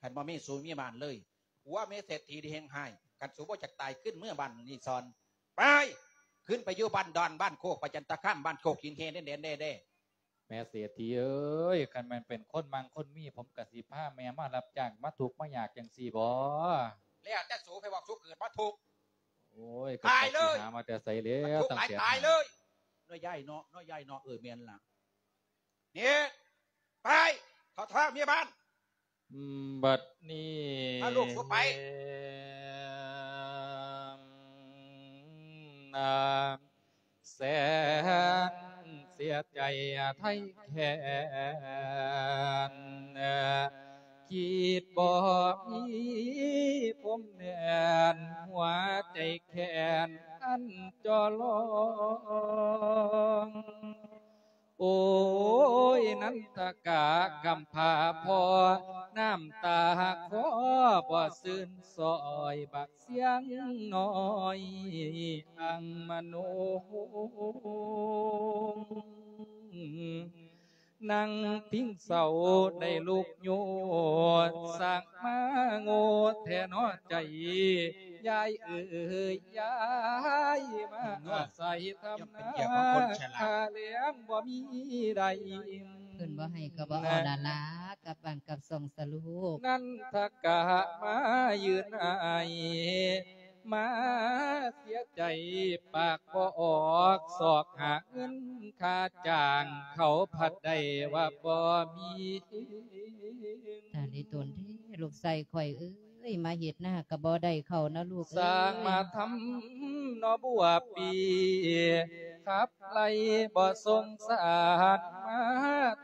ຄັນບໍ່ມີ ສູມີບ້ານເລີຍ ຜົວແມ່ເສດຖີທີ່ແຮງຮ້າຍ ຄັນສູບໍ່ຢາກຕາຍ ຂຶ້ນເມືອບ້ານນີ້ຊອນ ໄປ ຂຶ້ນໄປຢູ່ບ້ານດອນ ບ້ານໂຄກປະຈັນຕະຄາມ ບ້ານໂຄກຫີນເຮແດ່ໆ. ແມ່ເສດຖີເອີຍ ຄັນແມ່ນເປັນຄົນມັ່ງຄົນມີ ຜົມກະຊິພາແມ່ມາຮັບຈ້າງ ມາທຸກມາຍາກຈັ່ງຊີ້ບໍ? ແລ້ວແຕ່ສູ ໃຜບອກສູເກີດມາທຸກ? ໂອ້ຍ ຕາຍເລີຍ ກະຈັກຊິຫາມາແຕ່ໃສແລ້ວ ມັນທຸກຫຼາຍ ຕາຍເລີຍ ນ້ອຍໃຫຍ່ເນາະ ນ້ອຍໃຫຍ່ເນາະ ເອີ ແມ່ນລະ ນີ້ ໄປ ເຂົ້າທາງເມຍບ້ານ. ບັດນີ້ ພາລູກສູໄປ ແສນເສຍໃຈໄຖ່ແຄ້ນ ຄິດບໍ່ມີພົມແດນ ຫົວໃຈແຄ້ນອັນຈໍລອງ ໂອ້ຍ ນັນທະກະກຳພ້າພໍ່ ນ້ຳຕາຄອບໍ່ຊື່ນ ຊ່ອຍບັກສຽງນ້ອຍອັງມະໂນ ນັ່ງພິງເສົາໄດ້ລຸກໂຍດ ສ້າງມາໂງ່ແທ້ເນາະໃຈ ຍາຍເອີຍ ຍາຍມາອາໄສທຳນາ ຄ່າແລງບໍ່ມີໄດ້ ເພິ່ນບໍ່ໃຫ້ກໍບໍ່ເອົາລະລາ ກັບບ້ານກັບຊ່ອງສະລູກ ນັນທະກະມາຢືນໄອ ມາເສຍໃຈປາກບໍ່ອອກ ຊອກຫາເງິນຄ່າຈ້າງ ເຂົາພັດໄດ້ວ່າບໍ່ມີ ຕາຍແລ້ວຕົນເດ້ ລູກຊາຍຂ້ອຍເອີຍ ມາເຮັດນາກໍບໍ່ໄດ້ເຂົ້ານະລູກເອີຍ ສ້າງມາທຳໜໍ່ບົວປີ ຂັບໄລ່ບໍ່ສົງສານ ມາ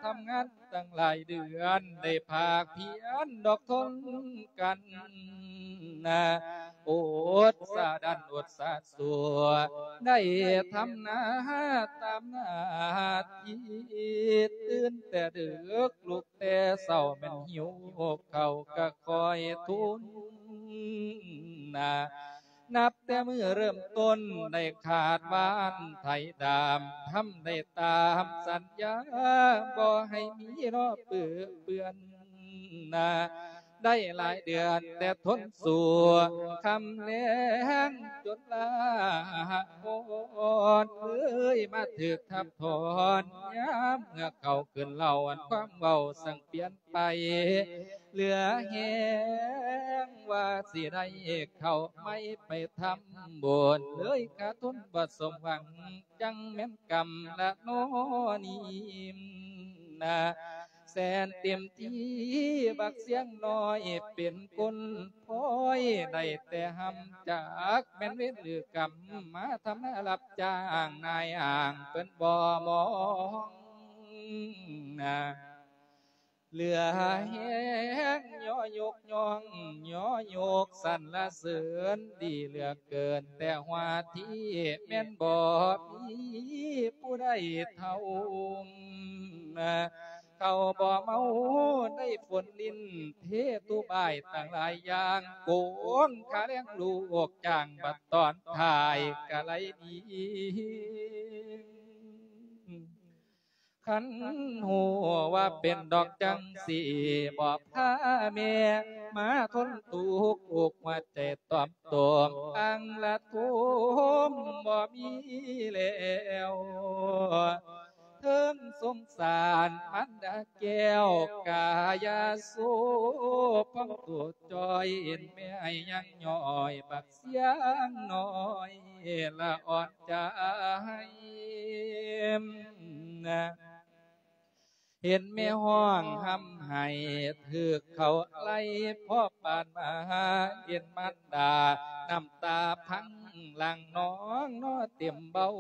ທຳງານຕັ້ງຫຼາຍເດືອນ ໄດ້ພາກພຽນດອກທົນກັນ ອົດສາດັນອົດສາ ຊົ່ວ ໄດ້ທຳນາຕາມໜ້າທີ່ ຕື່ນແຕ່ດຶກລຸກແຕ່ເຊົ້າ ແມ່ນຫິວເຂົ້າກະຄອຍທຸນນາ ນັບແຕ່ມື້ເລີ່ມຕົ້ນໄດ້ຂາດຫວ່ານໄຖດຳ ທຳໄດ້ຕາມສັນຍາ ບໍ່ໃຫ້ມີລໍເປື້ອນນາ ໄດ້ຫຼາຍເດືອນແຕ່ທົນສູ້ ຄ່ຳແລງຈົນລາອ່ອນ ເອີຍມາຖືກທັບຖອນ ຍາມເມື່ອເຂົາຂຶ້ນເລົ່າ ອັນຄວາມເວົ້າຊ່າງປ່ຽນໄປ ເຫຼືອແຮງວ່າຊິໄດ້ເຂົ້າໃໝ່ໄປທຳບຸນ ເລີຍຂາດທຶນບໍ່ສົມຫວັງ ຈັ່ງແມ່ນກຳລະນໍນີ້ນາ ແສນເຕັມທີ່ບັກສຽງນ້ອຍເປັນຄົນພອຍ ໄດ້ແຕ່ຮ່ຳຈັກແມ່ນເວນຫຼືກຳ ມາທຳນາຮັບຈ້າງນາຍອ້າງເພິ່ນບໍ່ມອງນາ ເຫຼືອແຮງຍໍຍົກຍ້ອງຍໍຍົກສັນລະເສີນ ດີເຫຼືອເກີນແຕ່ຫົວທີ ແມ່ນບໍ່ມີຜູ້ໃດເທົ່າ ເຂົາບໍ່ເມົາໄດ້ຝົນລິນ ເທຕຸບາຍຕັ້ງຫຼາຍຢ່າງ ໂກງຄ່າແຮງລູກຈ້າງ ບັດຕອນທ້າຍກະໄລ່ໜີ ຄັນຮູ້ວ່າເປັນດອກຈັ່ງຊີ້ ບໍ່ພາແມ່ມາທົນທຸກ ອົກຫົວໃຈຕອມໂຕມ ອັງລະໂທມບໍ່ມີແລ້ວ ເທິງສົງສານມານດາແກ້ວ ກາຍາໂສພອງໂຕຈ່ອຍ ເຫັນແມ່ຍັງຍ້ອຍ ບັກສຽງນ້ອຍລະອ່ອນໃຈ ເຫັນແມ່ຮ້ອງຮ່ຳໄຫ້ ຖືກເຂົາໄລ່ພໍປານມາ ເຫັນມານດານ້ຳຕາພັງຫຼັ່ງນອງນອເຕັມເບົາ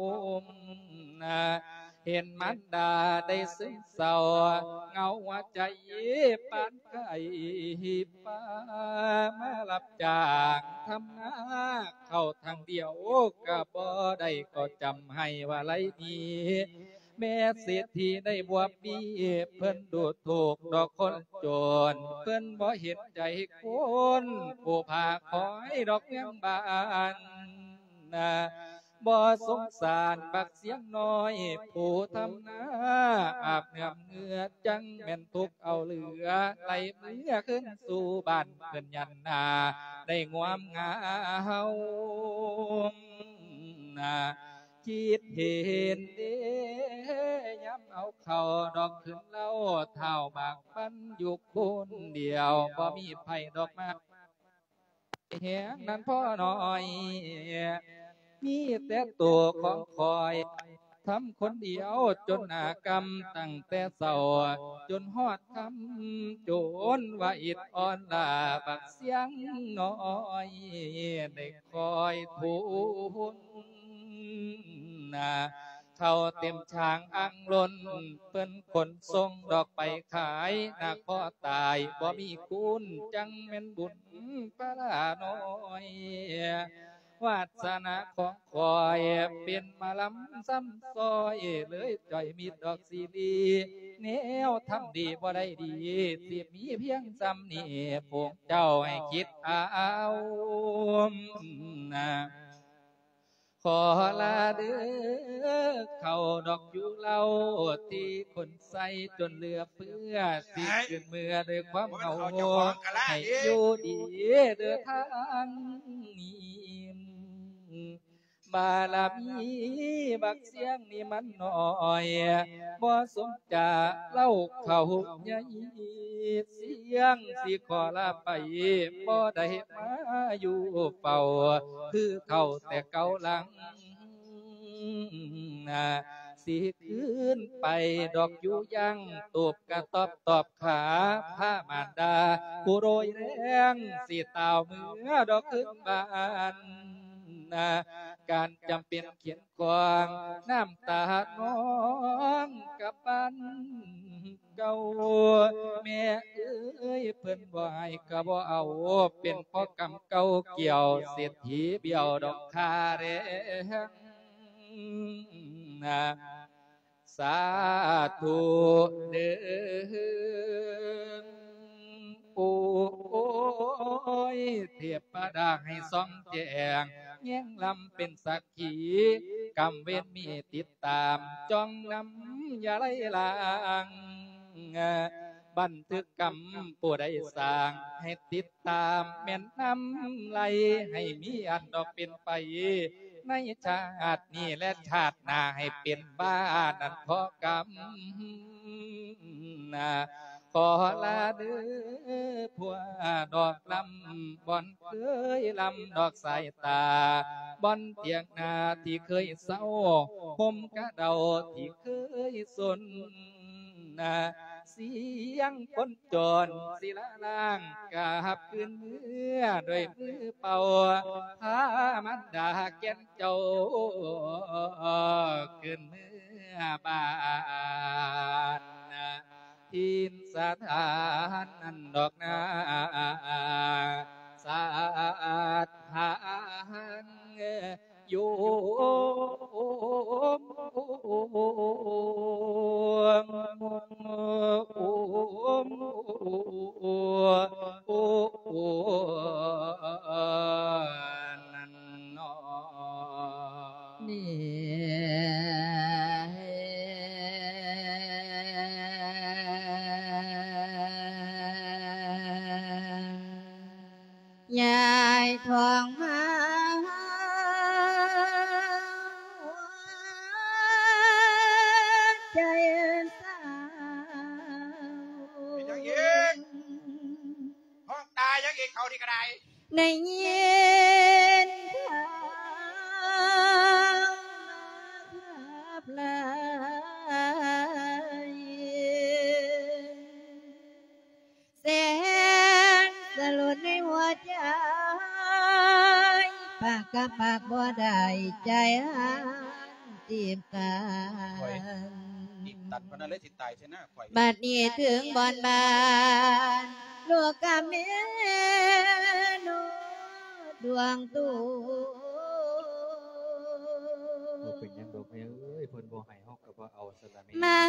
ເຫັນມານດາໄດ້ຊຶມເສົ້າ ເຫງົາຫົວໃຈປານໄຂ້ປ່າ ມາຮັບຈ້າງທຳນາເຂົ້າທາງດຽວ ກະບໍ່ໄດ້ກໍຈຳໃຫ້ວ່າໄລ່ໜີ ແມ່ເສດຖີໄດ້ບວບບີ ເພິ່ນດູຖູກດອກຄົນຈົນ ເພິ່ນບໍ່ເຫັນໃຈຄົນ ຜູ້ພາຄອຍດອກເມືອງບ້ານນາ ບໍ່ສົງສານບັກສຽງນ້ອຍ ຜູ້ທຳນາອາບເໜືອມເຫື່ອ ຈັ່ງແມ່ນທຸກເອົາເຫຼືອ ໄລ່ເມືອຄືນສູ່ບ້ານເພິ່ນຍັນນາ ໄດ້ງວມງາມນາ ຄິດເຫັນເດ ຍາມເອົາເຂົ້າດອກຂຶ້ນເລົ່າ ທ້າວໝາກມັນຢູ່ຄົນດຽວ ບໍ່ມີໃຜດອກມາແຮງນັ້ນພໍນ້ອຍ ມີແຕ່ໂຕຂອງຂ້ອຍ ທຳຄົນດຽວຈົນໜ້າກຳ ຕັ້ງແຕ່ເຊົ້າຈົນຮອດຄ່ຳ ຈົນວ່າອິດອ່ອນລ້າ ບັກສຽງນ້ອຍໄດ້ ຄອຍທຸນນາ ເຂົ້າເຕັມຊ້າງອັ່ງລົ້ນ ເພິ່ນຂົນສົ່ງດອກໄປຂາຍ ນາຂໍຕາຍບໍ່ມີຄຸນ ຈັ່ງແມ່ນບຸນພາລານ້ອຍ ວາດສະໜາຂອງຂ້ອຍເປັນມາລຳຊ້ຳຊອຍ ເລີຍຈ່ອຍມິດດອກຊີລີ ແນວທຳດີບໍ່ໄດ້ດີ ຊິມີພຽງຊ່ຳນີ້ ພວກເຈົ້າໃຫ້ຄິດເອົານະ. ຂໍລາເດີ ເຂົ້າດອກຢູ່ເລົ່າ ທີ່ຄົນໃຊ້ຈົນເຫຼືອເຟືອ ຊິຂຶ້ນເມືອດ້ວຍຄວາມເຫງົາ ໃຫ້ຢູ່ດີເດີທາງນີ້ ບາລະມີບັກຊຽງນີ້ມັນໜ້ອຍ ບໍ່ສົມຈາເລົ່າເຂົາໃຫຍ່ ຊຽງຊິຂໍລາໄປ ບໍ່ໄດ້ມາຢູ່ເຝົ້າ ຄືເກົ່າແຕ່ເກົ່າຫຼັງ ຊິຄືນໄປດອກຢູ່ຍັງ ຕູບກະຕອບຕອບຂາ ພາມານດາຜູ້ໂດຍແຮງ ຊິຕ່າວເມືອດອກຄືນບ້ານ ການຈຳເປັນຂຽນ ຂອງນ້ຳຕານ້ອງກັບບ້ານເກົ່າ ແມ່ເອີຍ ເພິ່ນບໍ່ໃຫ້ກໍບໍ່ເອົາ ເປັນເພາະກຳເກົ່າກ່ຽວ ເສດຖີບຽວດອກຄ່າແຮງ ສາທຸເດີ ໂອ້ຍ ເທບ ປະດາໃຫ້ສ່ອງແຈ້ງ ແຍງລຳເປັນສັກຂີ ກຳເວນມີຕິດຕາມ ຈ້ອງນຳຢ່າໄຫຼລາງ ບັນທຶກກຳຜູ້ໃດສ້າງ ໃຫ້ຕິດຕາມແມ່ນນຳໄຫຼ ໃຫ້ມີອັນດອກເປັນໄປ ໃນຊາດນີ້ແລະຊາດໜ້າ ໃຫ້ເປັນບ້ານນັ້ນພໍກຳ ຂໍລາເດີ ຜົວດອກລຳ ບ່ອນເຄີຍລຳດອກສາຍຕາ ບ່ອນຖຽງນາທີ່ເຄີຍເຊົາ ຮົ່ມກະເດົາທີ່ເຄີຍສົນ ສຽງຄົນຈອນສິລະລ້າງ ກາບຄືນເມືອດ້ວຍມືເປົ່າ ພາມານດາແກ່ນ ເຈົ້າຄືນເມືອບ້ານ ຖິ່ນສະຖານນັ້ນດອກນາ ສາດຫານໂຍມ ໂອມ ໂອມ ໂອມ ໂອມ ນັ້ນ ຍາຍທອງມາ ໃຈສາວ ເປັນຫຍັງອີກ? ຮ້ອງຕາຍຫຍັງອີກ ເຂົານີ້ກໍໄດ້. ໄດ້ຍິນຂ່າວມາຄັບຫຼາຍ ແສນສະຫຼົດໃນຫົວໃຈ ປາກກັບປາກບໍ່ໄດ້ ໃຈຫັນຕີບກັນ ໂອ້ຍ ຕີບຕັນປານນັ້ນເລີຍ ຕາຍຊະນະຂ້ອຍ ບັດນີ້ເຖິງບ່ອນບ້ານ ລູກກະເມໂນດວງຕຸ ບໍ່ເປັນຫຍັງດອກແມ່ເອີຍ ເພິ່ນບໍ່ໃຫ້ເຮົາກໍບໍ່ເອົາຊັ້ນລະແມ່ ມາ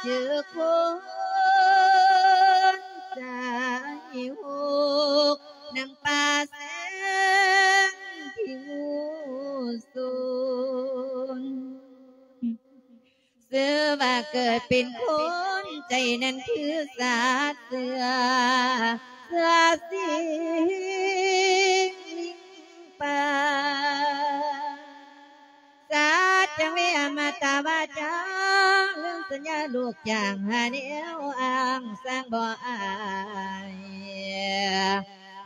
ເຈີຄົນໃຈຫົກ ນຳປາແສງທີ່ງູສູນ ຊື່ວ່າເກີດເປັນຄົນ ໃຈນັ້ນຄືສັດເຊື່ອ ເຊື່ອສິ່ງລິງປ່າ ສັດຈັງເວອະມະຕະວາຈາ ເລື່ອງສັນຍາລູກຈ້າງຫາແນວອ້າງ ສ້າງບໍ່ອາຍ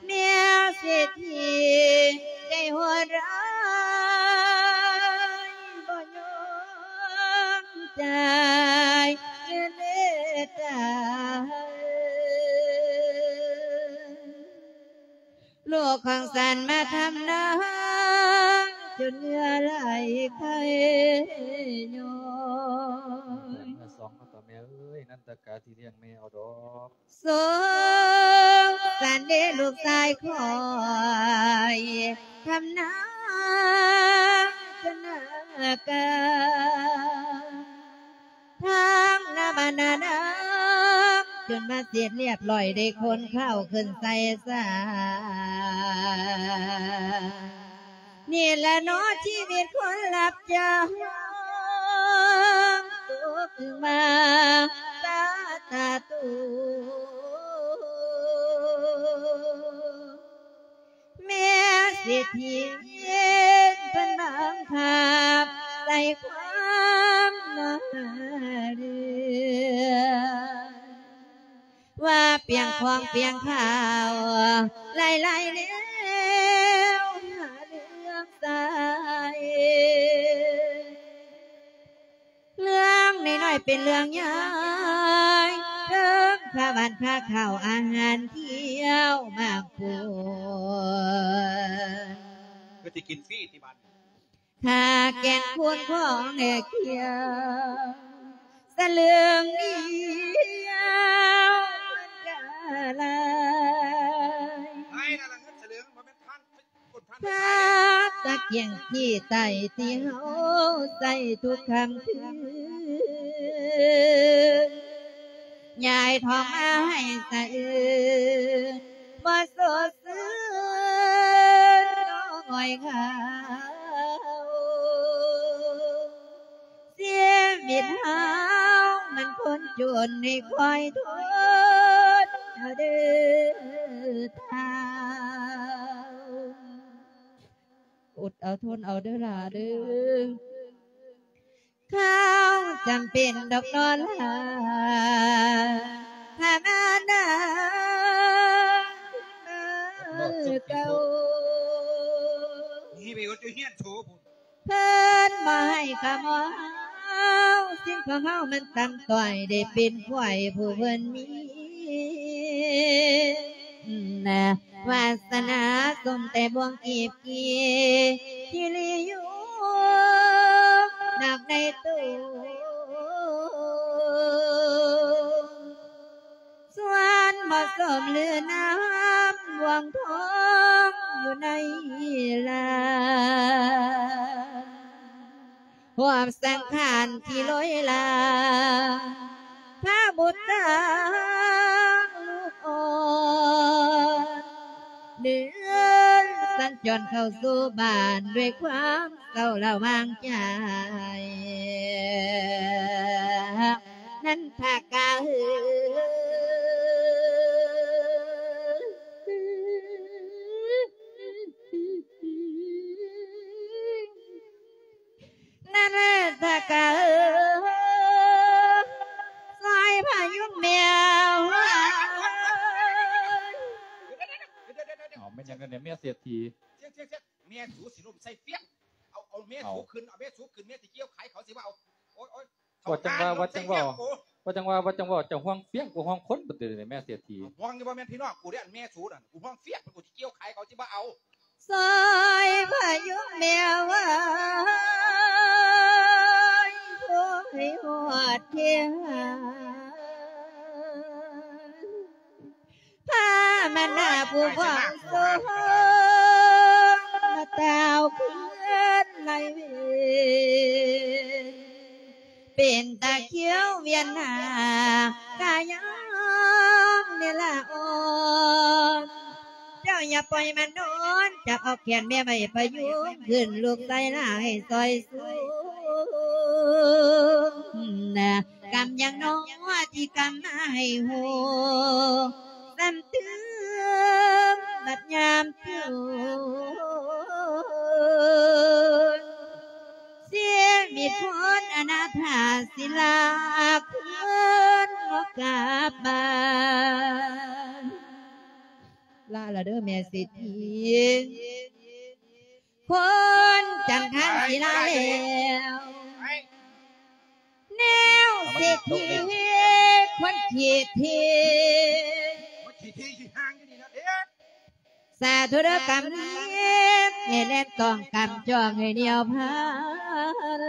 ແນວເສດຖີໃຈໂຫດຮ້າຍ ບໍ່ຍອມຈ່າຍເງິນເມດຕາ ລູກຂອງສັນມາທຳນາ ຈົນເຫື່ອໄຫຼໄຄຍ້ອຍ ເມື່ອສອງເນາະ ຕາແມ່ເອີຍ ນັນຕະກາທີ່ລ້ຽງແມ່ເອົາດອກ ສົງສານເດລູກຊາຍຂ້ອຍ ນາງຈະນາກາ ທາງນາບ້ານນານາງ ຈົນວ່າເສັດລຽບລ້ອຍ ໄດ້ຂົນເຂົ້າຂຶ້ນໃສ່ສາ ນີ້ລະເນາະ ຊີວິດຄົນຮັບຈ້າງ ຕົກມາຕາຕາໂຕ ແມ່ເສດຖີເພິ່ນບັງຄັບໃສ່ຄວາມມາເລື່ອງ ວ່າປ່ຽງຂອງປ່ຽງຂ່າວ ຫຼາຍໆແນວຫາເລື່ອງໃສ່ ເລື່ອງນ້ອຍໆເປັນເລື່ອງໃຫຍ່ ເຖິງຄ່າບ້ານຄ່າເຂົ້າອາຫານທ່ຽວມາກປົວ ຄືຊິກິນຟຣີຕິບາດນີ້ ຄ່າແກ່ນຄູນຂອງແລກຂຽວ ສະເຫຼືອງດຽວມັນກະຫຼາຍ ຫຼາຍນະລະເງິນສະເຫຼືອງ ບໍ່ແມ່ນພັນ ຄົນພັນ ພາບຕະກຽງຂີ້ໄຕ້ທີ່ເຮົາໃຊ້ທຸກຄ່ຳຄືນ ຍາຍທອງມາໃຫ້ສະອື່ນ ບໍ່ສົດຊື່ນນ້ອຍເຫງົາ ຊີວິດເຮົາມັນຄົນຈົນໃຫ້ຄອຍທົນເອົາເດີທ້າວ ອົດເອົາທົນເອົາເດີຫຼ້າເດີ ຂ່າວຈຳເປັນດອກນໍຫຼ້າ ຖ້າມານາເກົ່າ ນີ້ໄປເຮັດຢູ່ເຮືອນໂສພຸ້ນ ເພິ່ນບໍ່ໃຫ້ຂະເໝົາ ສິ່ງຂອງເຮົາມັນຕ່ຳຕ້ອຍ ໄດ້ເປັນຄວາຍຜູ້ເພິ່ນມີ ວາສະໜາສົມແຕ່ບ່ວງກີບກີ່ ທີ່ລີຢູ່ນອກໃນໂຕ ສ່ວນບໍ່ສົມຫຼືນາມ ບ່ວງທອງຢູ່ໃນລານ ຮວມສັງຂານທີ່ໂລຍລາ ພະບຸດຕາລູກອ່ອນ ເດີນສັນຈອນເຂົ້າສູ່ບ້ານ ດ້ວຍຄວາມເສົ້າລະຫວ່າງໃຈ ນັນທະກະເອີ. ນັ້ນແຫຼະ ຖ້າກະເອີ ຊ່ອຍພະຍຸງແມ່ເອີຍ. ເອົາ ແມ່ນຫຍັງກັນແດ່ ແມ່ເສດຖີ? ແມ່ສູຊິລົ້ມໃສ່ຟຽງ ເອົາ ເອົາແມ່ສູຂຶ້ນ ເອົາແມ່ສູຂຶ້ນ ແມ່ຊິກ່ຽວຂາຍ ເຂົາຊິວ່າເອົາ ໂອ້ຍ ໂອ້ຍ ວ່າຈັ່ງວ່າ ວ່າຈັ່ງເວົ້າ ວ່າຈັ່ງວ່າ ວ່າຈັ່ງເວົ້າ ເຈົ້າຫ່ວງຟຽງ ບໍ່ຫ່ວງຄົນ ປະເດ ແມ່ເສດຖີ. ຫ່ວງຢູ່ບໍ່ແມ່ນພີ່ນ້ອງກູເດ້ ອັນແມ່ສູນັ້ນ ກູຫ່ວງຟຽງ ເພິ່ນກູຊິກ່ຽວຂາຍ ເຂົາຊິບໍ່ເອົາ. ຊ່ອຍພະຍຸງແມ່ເອີຍ ໂພໃຫ້ຮອດເທຫາ ພາມານາຜູ້ຄອງສົງ ມາຕ່າວຄືນໄລເວນ ເປັນຕາຂຽວວຽນໜ້າ ກາຍອມເວລາອ່ອນ ເຈົ້າຢ່າປ່ອຍມັນນອນ ຈັບເອົາແຂນແມ່ໄວ້ພະຍຸງຂຶ້ນ ລູກຊາຍຫຼ້າໃຫ້ຊ່ອຍສູງນະ ກຳຍັງໜໍທີ່ກຳມາໃຫ້ຮູ້ ຊ້ຳຕື່ມບັດຍາມໂຈນ ຊີວິດຄົນອະນາຖາສິລາຄືນບໍ່ກັບບ້ານ. ລາລະເດີແມ່ເສດຖີ ຄົນຈັນທານສີລາແລ້ວ ແນວເສດຖີຄົນຂີ້ຖີ ສາທຸເດີກຳນີ້ ໃຫ້ແລ່ນຕ້ອງກຳຈ້ອງໃຫ້ໜຽວພັນ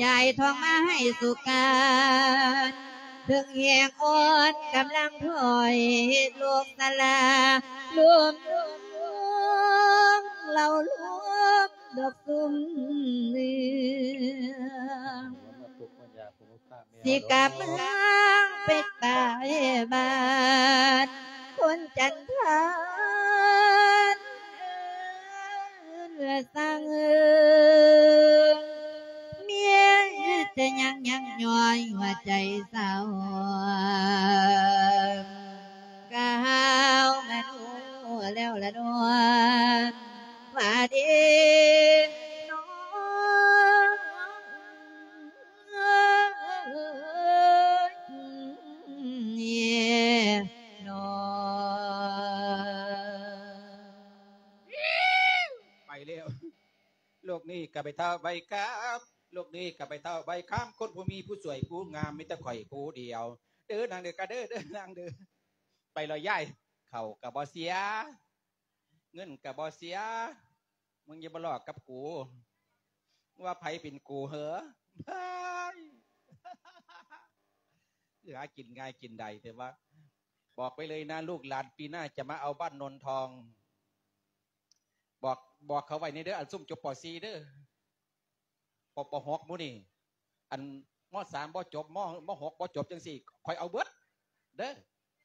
ຍາຍທອງມາໃຫ້ສຸການ ເຖິງແຮງອ່ອນກຳລັງຖອຍ ລູກສາລາລຸມ ເອົາລູກດອກຊຸມເໜືອ ມາທຸກມາຍາກ ຜູ້ພາແມ່ ຊິກັບເມືອງໄປຕາຍບ້ານຄົນຈັນທານ ເອີ ສ້າງເອີ ເມຍຈະຍັງຍັງຍ້ອຍຫົວໃຈສາວ ກະຫາວມາຮູ້ແລ້ວລະເນາະ ວ່າເດເນາະ ເນາະ ໄປແລ້ວ. ໂລກນີ້ກະໄປເທົ່າໄປກັບ ໂລກນີ້ກະໄປເທົ່າໄປກັບ ຄົນບໍ່ມີຜູ້ຊ່ວຍຜູ້ງາມ ມີແຕ່ຂ້ອຍຜູ້ດຽວ ເດີນາງເດີ ກະເດີ ເດີນາງເດີ ໄປແລ້ວຍາຍ ເຂົ້າກະບໍ່ເສຍ ເງິນກະບໍ່ເສຍ ມຶງຢ່າມາຫຼອກກັບກູ ວ່າໃຜເປັນກູເຫີ ຫາກິນງ່າຍກິນໄດ້ ແຕ່ວ່າບອກໄວ້ເລີຍນະ ລູກຫຼານປີໜ້າຈະມາເອົາບ້ານໂນນທອງ ບອກ ບອກເຂົາໄວ້ແດ່ເດີ ອັນຊຸມຈົບ ປໍສີ່ ເດີ ປໍຫົກ ໝູ່ນີ້ ອັນ ມໍສາມ ບໍ່ຈົບ ມໍຫົກ ບໍ່ຈົບ ຈັ່ງຊີ້ ຂ້ອຍເອົາເບິດເດີ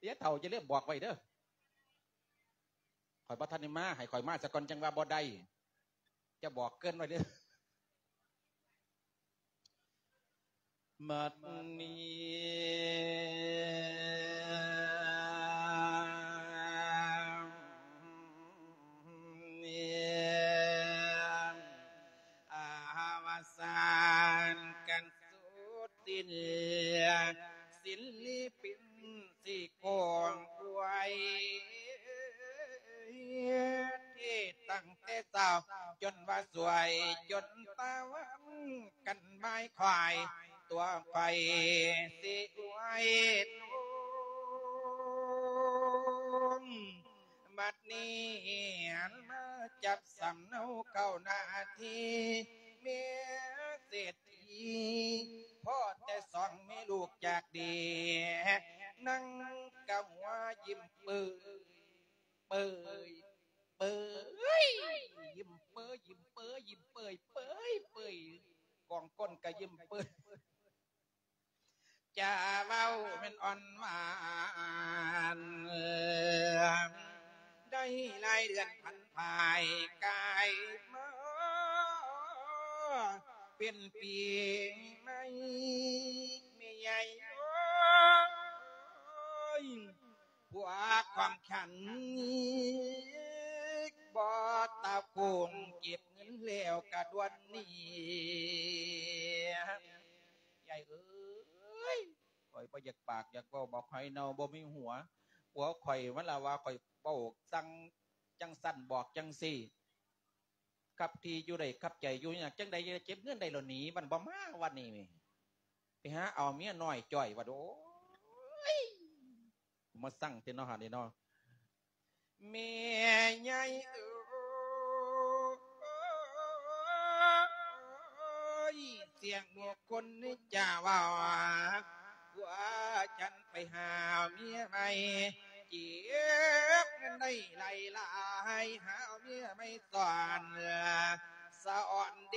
ຢ່າເຖົ້າ ຢ່າລືມບອກໄວ້ເດີ ຂ້ອຍບໍ່ທັນໄດ້ມາ ໃຫ້ຂ້ອຍມາສາກ່ອນ ຈັ່ງວ່າບໍ່ໄດ້ ຈະບອກເກີ່ນໄວ້ເດີ. ບັດນີ້ ອາວະສານກັນສຸດສິ້ນ ສິນລິປິນ ຊິກອງອວຍ ທີ່ຕັ້ງແຕ່ເຊົ້າຈົນວ່າສວຍ ຈົນຕາວັນກັນໝາຍຄວາຍ ຕົວຂ້ອຍຊິອວຍໂຕ. ບັດນີ້ຫັນມາຈັບສຳເນົາເຂົ້າໜ້າທີ່ ແມ່ເສດ ພໍ້ແຕ່ສອງແມ່ລູກຈາກດີ ນັ່ງກະຫົວຍິ້ມເປີຍ ເປີຍ ເປີຍ ຍິ້ມເປີຍ ຍິ້ມເປີຍ ຍິ້ມເປີຍ ເປີຍ ເປີຍ ກອງກົ້ນກະຍິ້ມເປີຍ ຈາເວົ້າແມ່ນອ່ອນຫວານ ໄດ້ຫຼາຍເດືອນຜັນຜ່າຍກາຍມາ ເປັນປີໃໝ່ແມ່ໃຫຍ່ເອີຍ ພວກຂອງຂວັນບໍ່ຕາໂກນ ເກັບເງິນແລ້ວກະດ່ວນໜີ. ຍາຍເອີຍ ຂ້ອຍບໍ່ຢາກປາກຢາກເວົ້າ ບັກຫອຍເນົ່າບໍ່ມີຫົວ ຜົວຂ້ອຍມັນລະວ່າຂ້ອຍເວົ້າສັ່ງຈັ່ງຊັ້ນບອກຈັ່ງຊີ້ ກັບທີ່ຢູ່ໄດ້ກັບໃຈຢູ່ຍາກ ຈັ່ງໃດຈະເກັບເງິນໄດ້ລະໜີ ມັນບໍ່ມາວັນນີ້ ໄປຫາເອົາເມຍນ້ອຍຈ້ອຍວ່າ ໂອ້ຍ ມາສັ່ງແທ້ເນາະ ຫານີ້ເນາະ. ແມ່ໃຫຍ່ເອີຍ ສຽງໝູ່ຄົນຈາເວົ້າ ຜົວສັນໄປຫາເມຍໃໝ່ ເກັບເງິນໄດ້ຫຼາຍໆ ຫາເມຍໃໝ່ສອນ ສະອອນເດ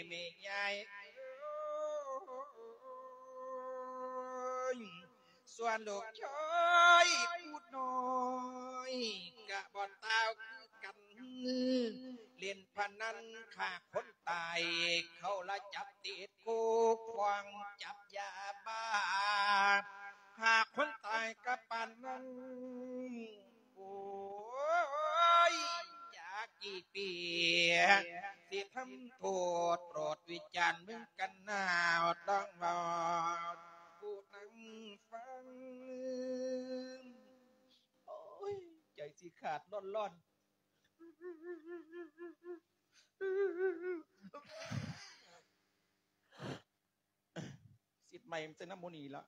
ແມ່ໃຫຍ່ເອີຍ. ສ່ວນລູກຊາຍຜູ້ນ້ອຍກະບໍ່ຕ່າງຄືກັນ ຫຼິ້ນພະນັນຂ້າຄົນຕາຍ ເຂົາລະຈັບຕິດຄຸກ ຟ້ອງຈັບຢາບ້າ ຂ້າຄົນຕາຍກະປານນັ້ນ. ໂອ້ຍ ຈັກກີ່ປີ ຊິທຳໂທດ ໂປດວິຈານເບິ່ງກັນນາວ ຕ້ອງເວົ້າສູ່ນັ່ງຟັງ. ໂອ້ຍ ໃຈຊິຂາດລ້ອນໆ. ສິດໃໝ່ມັນຈະນຳໝູ່ນີ້ລະ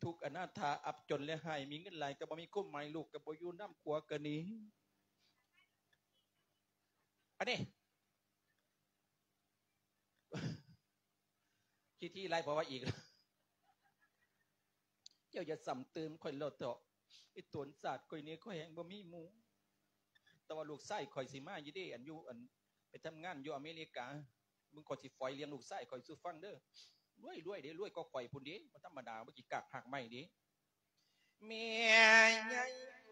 ທຸກອະນາຖາອັບຈົນແລະຫາຍ ມີເງິນຫຼາຍກະບໍ່ມີຄວາມໝາຍ ລູກກະບໍ່ຢູ່ນຳ ຜົວກະໜີ. ອັນນີ້ ຂີ້ຖີ່ໄລ່ຜົວວ່າອີກ ເຈົ້າຢ່າຊ້ຳເຕີມຂ້ອຍໂລດເຖາະ ໄອ້ຕົນຊາດຂ້ອຍນີ້ ຂ້ອຍແຮ່ງບໍ່ມີໝູ່. ຕ່ວ່າລູກຊາຍຂ້ອຍຊິມາຢູ່ເດ້ ອັນຢູ່ ອັນໄປທຳງານຢູ່ອາເມລິກາ ເບິ່ງຂ້ອຍຊິຝອຍລ້ຽງລູກຊາຍຂ້ອຍສູ່ຟັງເດີ. ລວຍ ລວຍເດ້ ລວຍກວ່າຂ້ອຍພຸ້ນເດ້ ບໍ່ທຳມະດາ ບໍ່ຂີ້ກາກຮາກໄມ້ເດ້. ແມ່ໃຫຍ່ເອີ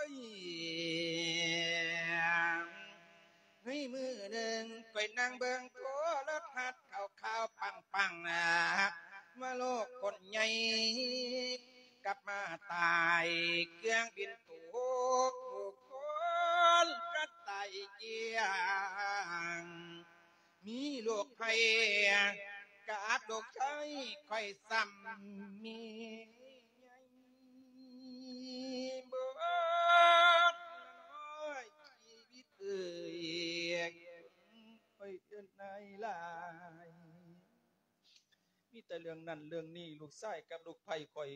ຍ ໃນມື້ໜຶ່ງຂ້ອຍນັ່ງເບິ່ງໂທລະທັດ ຂ່າວໆປັງໆ ວ່າໂລກຄົນໃຫຍ່ກັບມາຕາຍ ເຄື່ອງບິນຕົກ ຜູ້ຄົນກະຕາຍກ້ຽງ. ມີໂລກໄພກັບລູກຊາຍຂ້ອຍຊ້ຳມີໃຫຍ່ເບິດຊີວິດເອີຍ ຂ້ອຍເອີ້ນນາຍຫຼາຍ ມີແຕ່ເລື່ອງນັ້ນເລື່ອງນີ້ ລູກຊາຍກັບລູກໃພ້ຂ້ອຍ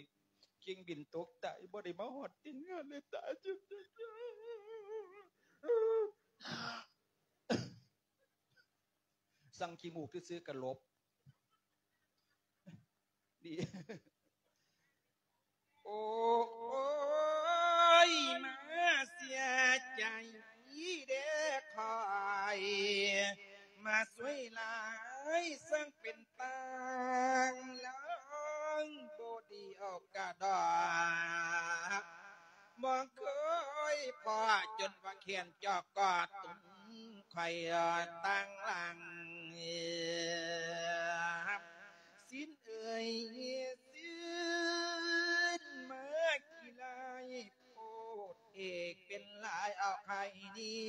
ເຄື່ອງບິນຕົກຕາຍ ບໍ່ໄດ້ມາຮອດຕີນງານເລີຍ ຕາຍ. ສັ່ງຂີ້ມູກຊື່ໆກະຫຼົບ ດີ. ໂອ້ຍ ມາເສຍໃຈເດ້ຂ້ອຍ ມາສວຍຫຼາຍ ຊ່າງເປັນຕາງລາງ ບໍ່ດີເອົາກະດອກ ບໍ່ເຄີຍພໍ້ ຈົນວ່າແຂນຈອກກອດ ຕຸ້ມໄຂ່ຕ່າງຫຼັງ ຊິນເອີຍຊິນ ມາຂີ້ລາຍໂພດເອກ ເປັນຫຼາຍເອົາໄຂ່ນີ້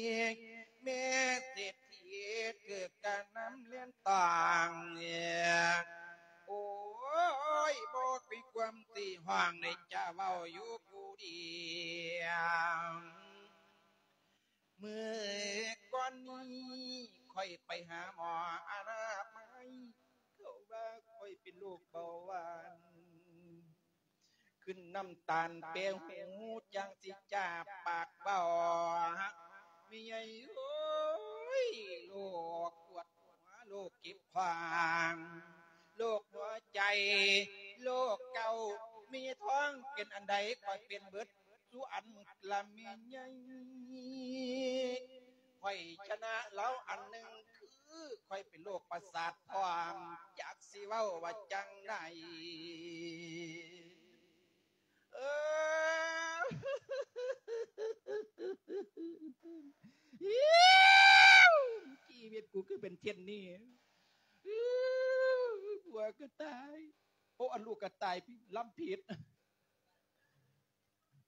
ແມ່ເສດ ທີ່ເກີດກະນຳແລ່ນຕາງ ໂອ້ຍ ບໍ່ມີຄວາມຊິຮ້ອງ ໄດ້ຈະເວົ້າຢູ່ຜູ້ດຽວ. ມື້ກ່ອນນີ້ຂ້ອຍໄປຫາໝໍອະນາໄມ ເຂົາວ່າຂ້ອຍເປັນໂລກເບົາຫວານ ຂຶ້ນນ້ຳຕານແປຫູ ຈັ່ງຊິຈາປາກເວົ້າ ແມ່ໃຫຍ່ເອີຍ ໂລກປວດຫົວ ໂລກເຈັບຂວາງ ໂລກຫົວໃຈ ໂລກເກົາ ແມ່ໃຫຍ່ທ້ອງເປັນອັນໃດ ຂ້ອຍເປັນເບິດ ສູ່ອັນລະແມ່ໃຫຍ່ ຂ້ອຍຊະນະລາວອັນໜຶ່ງ ຄືຂ້ອຍເປັນໂລກປະສາດພ້ອມ ຈັກຊິເວົ້າວ່າຈັ່ງໃດ ເອີ ຊີວິດກູຄືເປັນເຊັ່ນນີ້ ຜົວກໍຕາຍ ໂອ້ ອັນລູກກໍຕາຍ ລຳຜິດ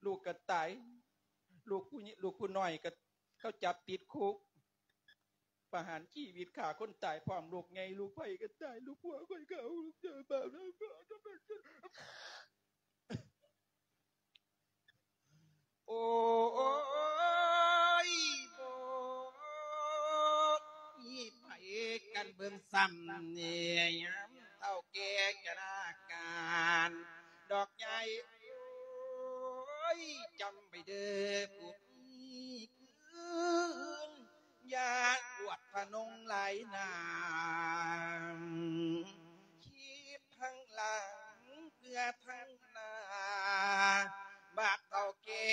ລູກກໍຕາຍ ລູກຜູ້ ລູກຜູ້ນ້ອຍກໍ ເຂົາຈັບຕິດຄຸກ ປະຫານຊີວິດ ຂ້າຄົນຕາຍພ້ອມ ລູກໃຫຍ່ລູກໃຜກໍຕາຍ ລູກຜົວຂ້ອຍກໍເອົາ ໂອ້ຍ ໂອ້ຍ ໂອ້ຍ ມີໃຜກັນເບິ່ງຊ້ຳແດ່ ຍາມເຖົ້າແກ່ຊະລາການ ດອກໃຫຍ່ ໂອ້ຍ ຈຳໄວ້ເດີຜູ້ ຄືນ ຢ່າອວດທະນົງຫຼາຍໜ້າ ຄິດທັງຫຼັງເພື່ອທັງໜ້າ ບາດເຖົ້າແກ່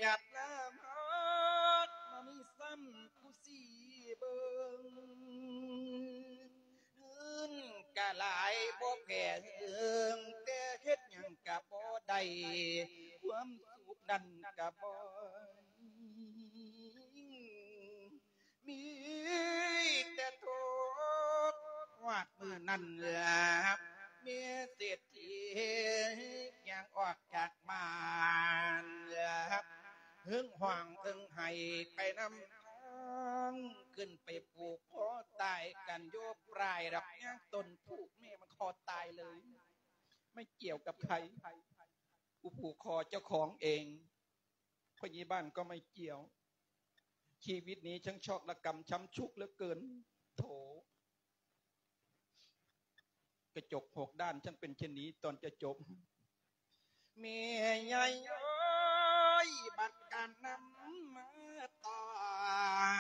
ຈັດໜ້າມາ ມາມີຊ້ຳຜູ້ຊິເບິ່ງ. ເງິນກະຫຼາຍບໍ່ແຜ່ເຫິງ ແຕ່ເຮັດຫຍັງກະບໍ່ໄດ້ ຄວາມສຸກນັ້ນກະບໍ່ມີ ມີແຕ່ທຸກ. ຮອດມື້ນັ້ນລະ ແມ່ເສດຖີຍ່າງອອກຈາກບ້ານ ເຫິງຮ້ອງເຫິງໄຫ້ໄປນຳທາງ ຂຶ້ນໄປຜູກຄໍຕາຍກັນຢູ່ປາຍດອກຍາງຕົ້ນພູ. ແມ່ມັນຄໍຕາຍເລີຍ ໄມ່ກ່ຽວກັບໃຜ ຜູ້ຜູກຄໍເຈົ້າຂອງເອງ ພະຍາບານກໍໄມ່ກ່ຽວ. ຊີວິດນີ້ຊ່າງຊອກລະກຳຊ້ຳຊຸກເຫຼືອເກີນ ໂຖ. ກະຈົກຫົກດ້ານ ຊ່າງເປັນເຊັ່ນນີ້ຕອນຈະຈົບ. ແມ່ໃຫຍ່ເອີຍ ບັດການນຳມາຕ້ອ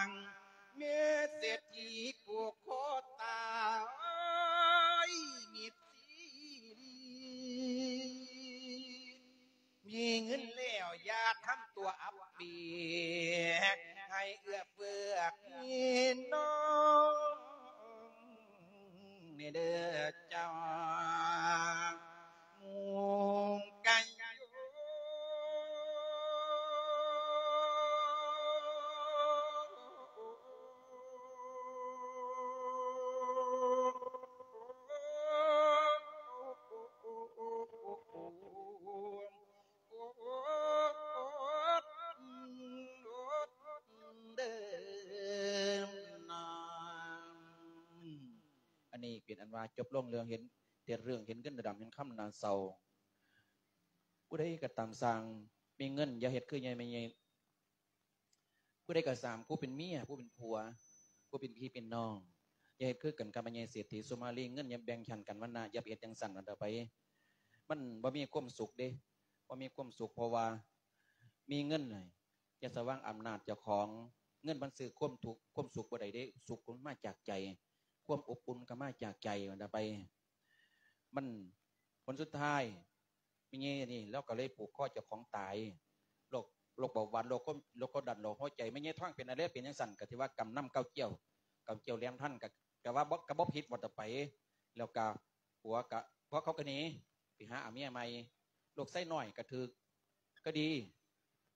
ງ ແມ່ເສດຖີຜູກຄໍຕາຍມິດຊີລີ. ມີ ຢ່າທຳຕົວອັບປີ ໃຫ້ເອື້ອເຟື້ອພີ່ນ້ອງແດ່ເດີ້ເຈົ້າ ໝູ່ກັນຢູ່. ອັນນີ້ເປັນອັນວ່າຈົບລົງເລື່ອງເຫັນ ແຕ່ເລື່ອງເຫັນເງິນດຳເຫັນຄຳໜ້າເສົ້າ. ຜູ້ໃດກໍຕາມຊ່າງ ມີເງິນຢ່າເຮັດຄືຍາຍແມ່ໃຫຍ່ ຜູ້ໃດກໍຕາມ ຜູ້ເປັນເມຍ ຜູ້ເປັນຜົວ ຜູ້ເປັນພີ່ເປັນນ້ອງ ຢ່າເຮັດຄືກັນກັບແມ່ໃຫຍ່ເສດຖີສຸມາລີ ເງິນຢ່າແບ່ງປັນກັນວັນນະ ຢ່າໄປເຮັດຈັ່ງຊັ້ນ ອັນຕໍ່ໄປ ມັນບໍ່ມີຄວາມສຸກເດ້ ບໍ່ມີຄວາມສຸກ ເພາະວ່າມີເງິນ ຢ່າສະຫວ່າງອຳນາດເຈົ້າຂອງ ເງິນມັນຊື້ຄວາມທຸກ ຄວາມສຸກບໍ່ໄດ້ເດ້ ສຸກມັນມາຈາກໃຈ ຄວາມອົບອຸ່ນກໍມາຈາກໃຈ ອັນຕໍ່ໄປ ມັນ ຜົນສຸດທ້າຍ ແມ່ໃຫຍ່ນີ້ລາວກໍເລີຍຜູກຄໍເຈົ້າຂອງຕາຍ ໂລກ ໂລກເບົາຫວານ ໂລກຄວາມ ໂລກຄວາມດັນ ໂລກຫົວໃຈ ແມ່ໃຫຍ່ທອງເປັນອະໄລເປັນຈັ່ງຊັ້ນ ກໍຖືວ່າກຳນຳເກົ່າກ່ຽວ ກຳກ່ຽວແຫຼມທັນ ກໍ ກໍວ່າບໍ່ ກໍບໍ່ຜິດວ່າຕໍ່ໄປ ແລ້ວກໍຜົວກໍ ຜົວເຂົາກໍໜີໄປຫາເອົາເມຍໃໝ່ ລູກຊາຍນ້ອຍກໍຖືກຄະດີ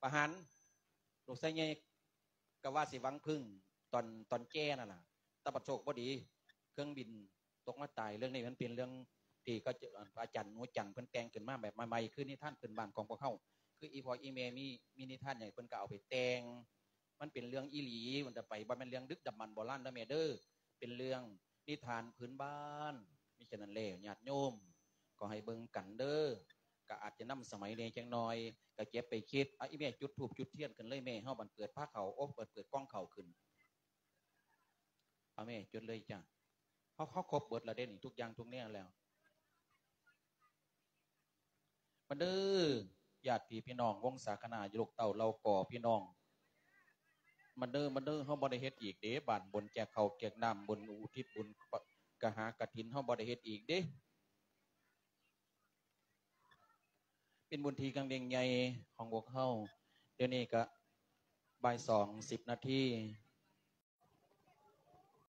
ປະຫານ ລູກຊາຍໃຫຍ່ ກໍວ່າຊິຫວັງເພິ່ງຕອນ ຕອນແກ່ນັ້ນລະ ແຕ່ບັດໂຊກບໍ່ດີ ເຄື່ອງບິນຕົກມາຕາຍ. ເລື່ອງນີ້ມັນເປັນເລື່ອງທີ່ເຂົາ ອາຈານໜູຈັນເພິ່ນແຕ່ງຂຶ້ນມາແບບໃໝ່ໆ ຄືນິທານພື້ນບ້ານຂອງພວກເຮົາ ຄືອີ່ພໍ່ອີ່ແມ່ມີ ມີນິທານຫຍັງ ເພິ່ນກໍເອົາໄປແຕ່ງ ມັນເປັນເລື່ອງອີ່ຫຼີ ມັນຈະໄປ ບໍ່ແມ່ນເລື່ອງດຶກດຳບັນໂບລານເດີແມ່ເດີ ເປັນເລື່ອງນິທານພື້ນບ້ານ. ມີສະນັ້ນແລ້ວ ຍາດໂຍມກໍໃຫ້ເບິ່ງກັນເດີ ກໍອາດຈະນຳສະໄໝແດ່ຈັກໜ່ອຍ ກໍເກັບໄປຄິດ. ເອົາ ອີ່ແມ່ຈຸດທູບຈຸດທຽນຂຶ້ນເລີຍແມ່ ເຮົາບັດເປີດພາເຂົ້າ ໂອ້ ບັດເປີດກ່ອງເຂົ້າຂຶ້ນ. ເອົາແມ່ ຈຸດເລີຍຈ້າ ເຮົາ ເຮົາຄົບເບິດແລ້ວເດ້ນີ້ ທຸກຢ່າງທຸກແນວແລ້ວ. ມາເດີ ຍາດພີ່ພີ່ນ້ອງ ວົງສາຄະນາ ລູກເຕົ້າເຫຼົ່າກໍພີ່ນ້ອງ ມາເດີ ມາເດີ ເຮົາບໍ່ໄດ້ເຮັດອີກເດ້ ບ້ານບຸນແຈກເຂົ້າແຈກນ້ຳ ບຸນອຸທິດບຸນກະຫາກະຖິນ ເຮົາບໍ່ໄດ້ເຮັດອີກເດ້. ເປັນບຸນທີ່ຄັ້ງຍິ່ງໃຫຍ່ຂອງພວກເຮົາ. ດຽວນີ້ກະບ່າຍສອງສິບນາທີ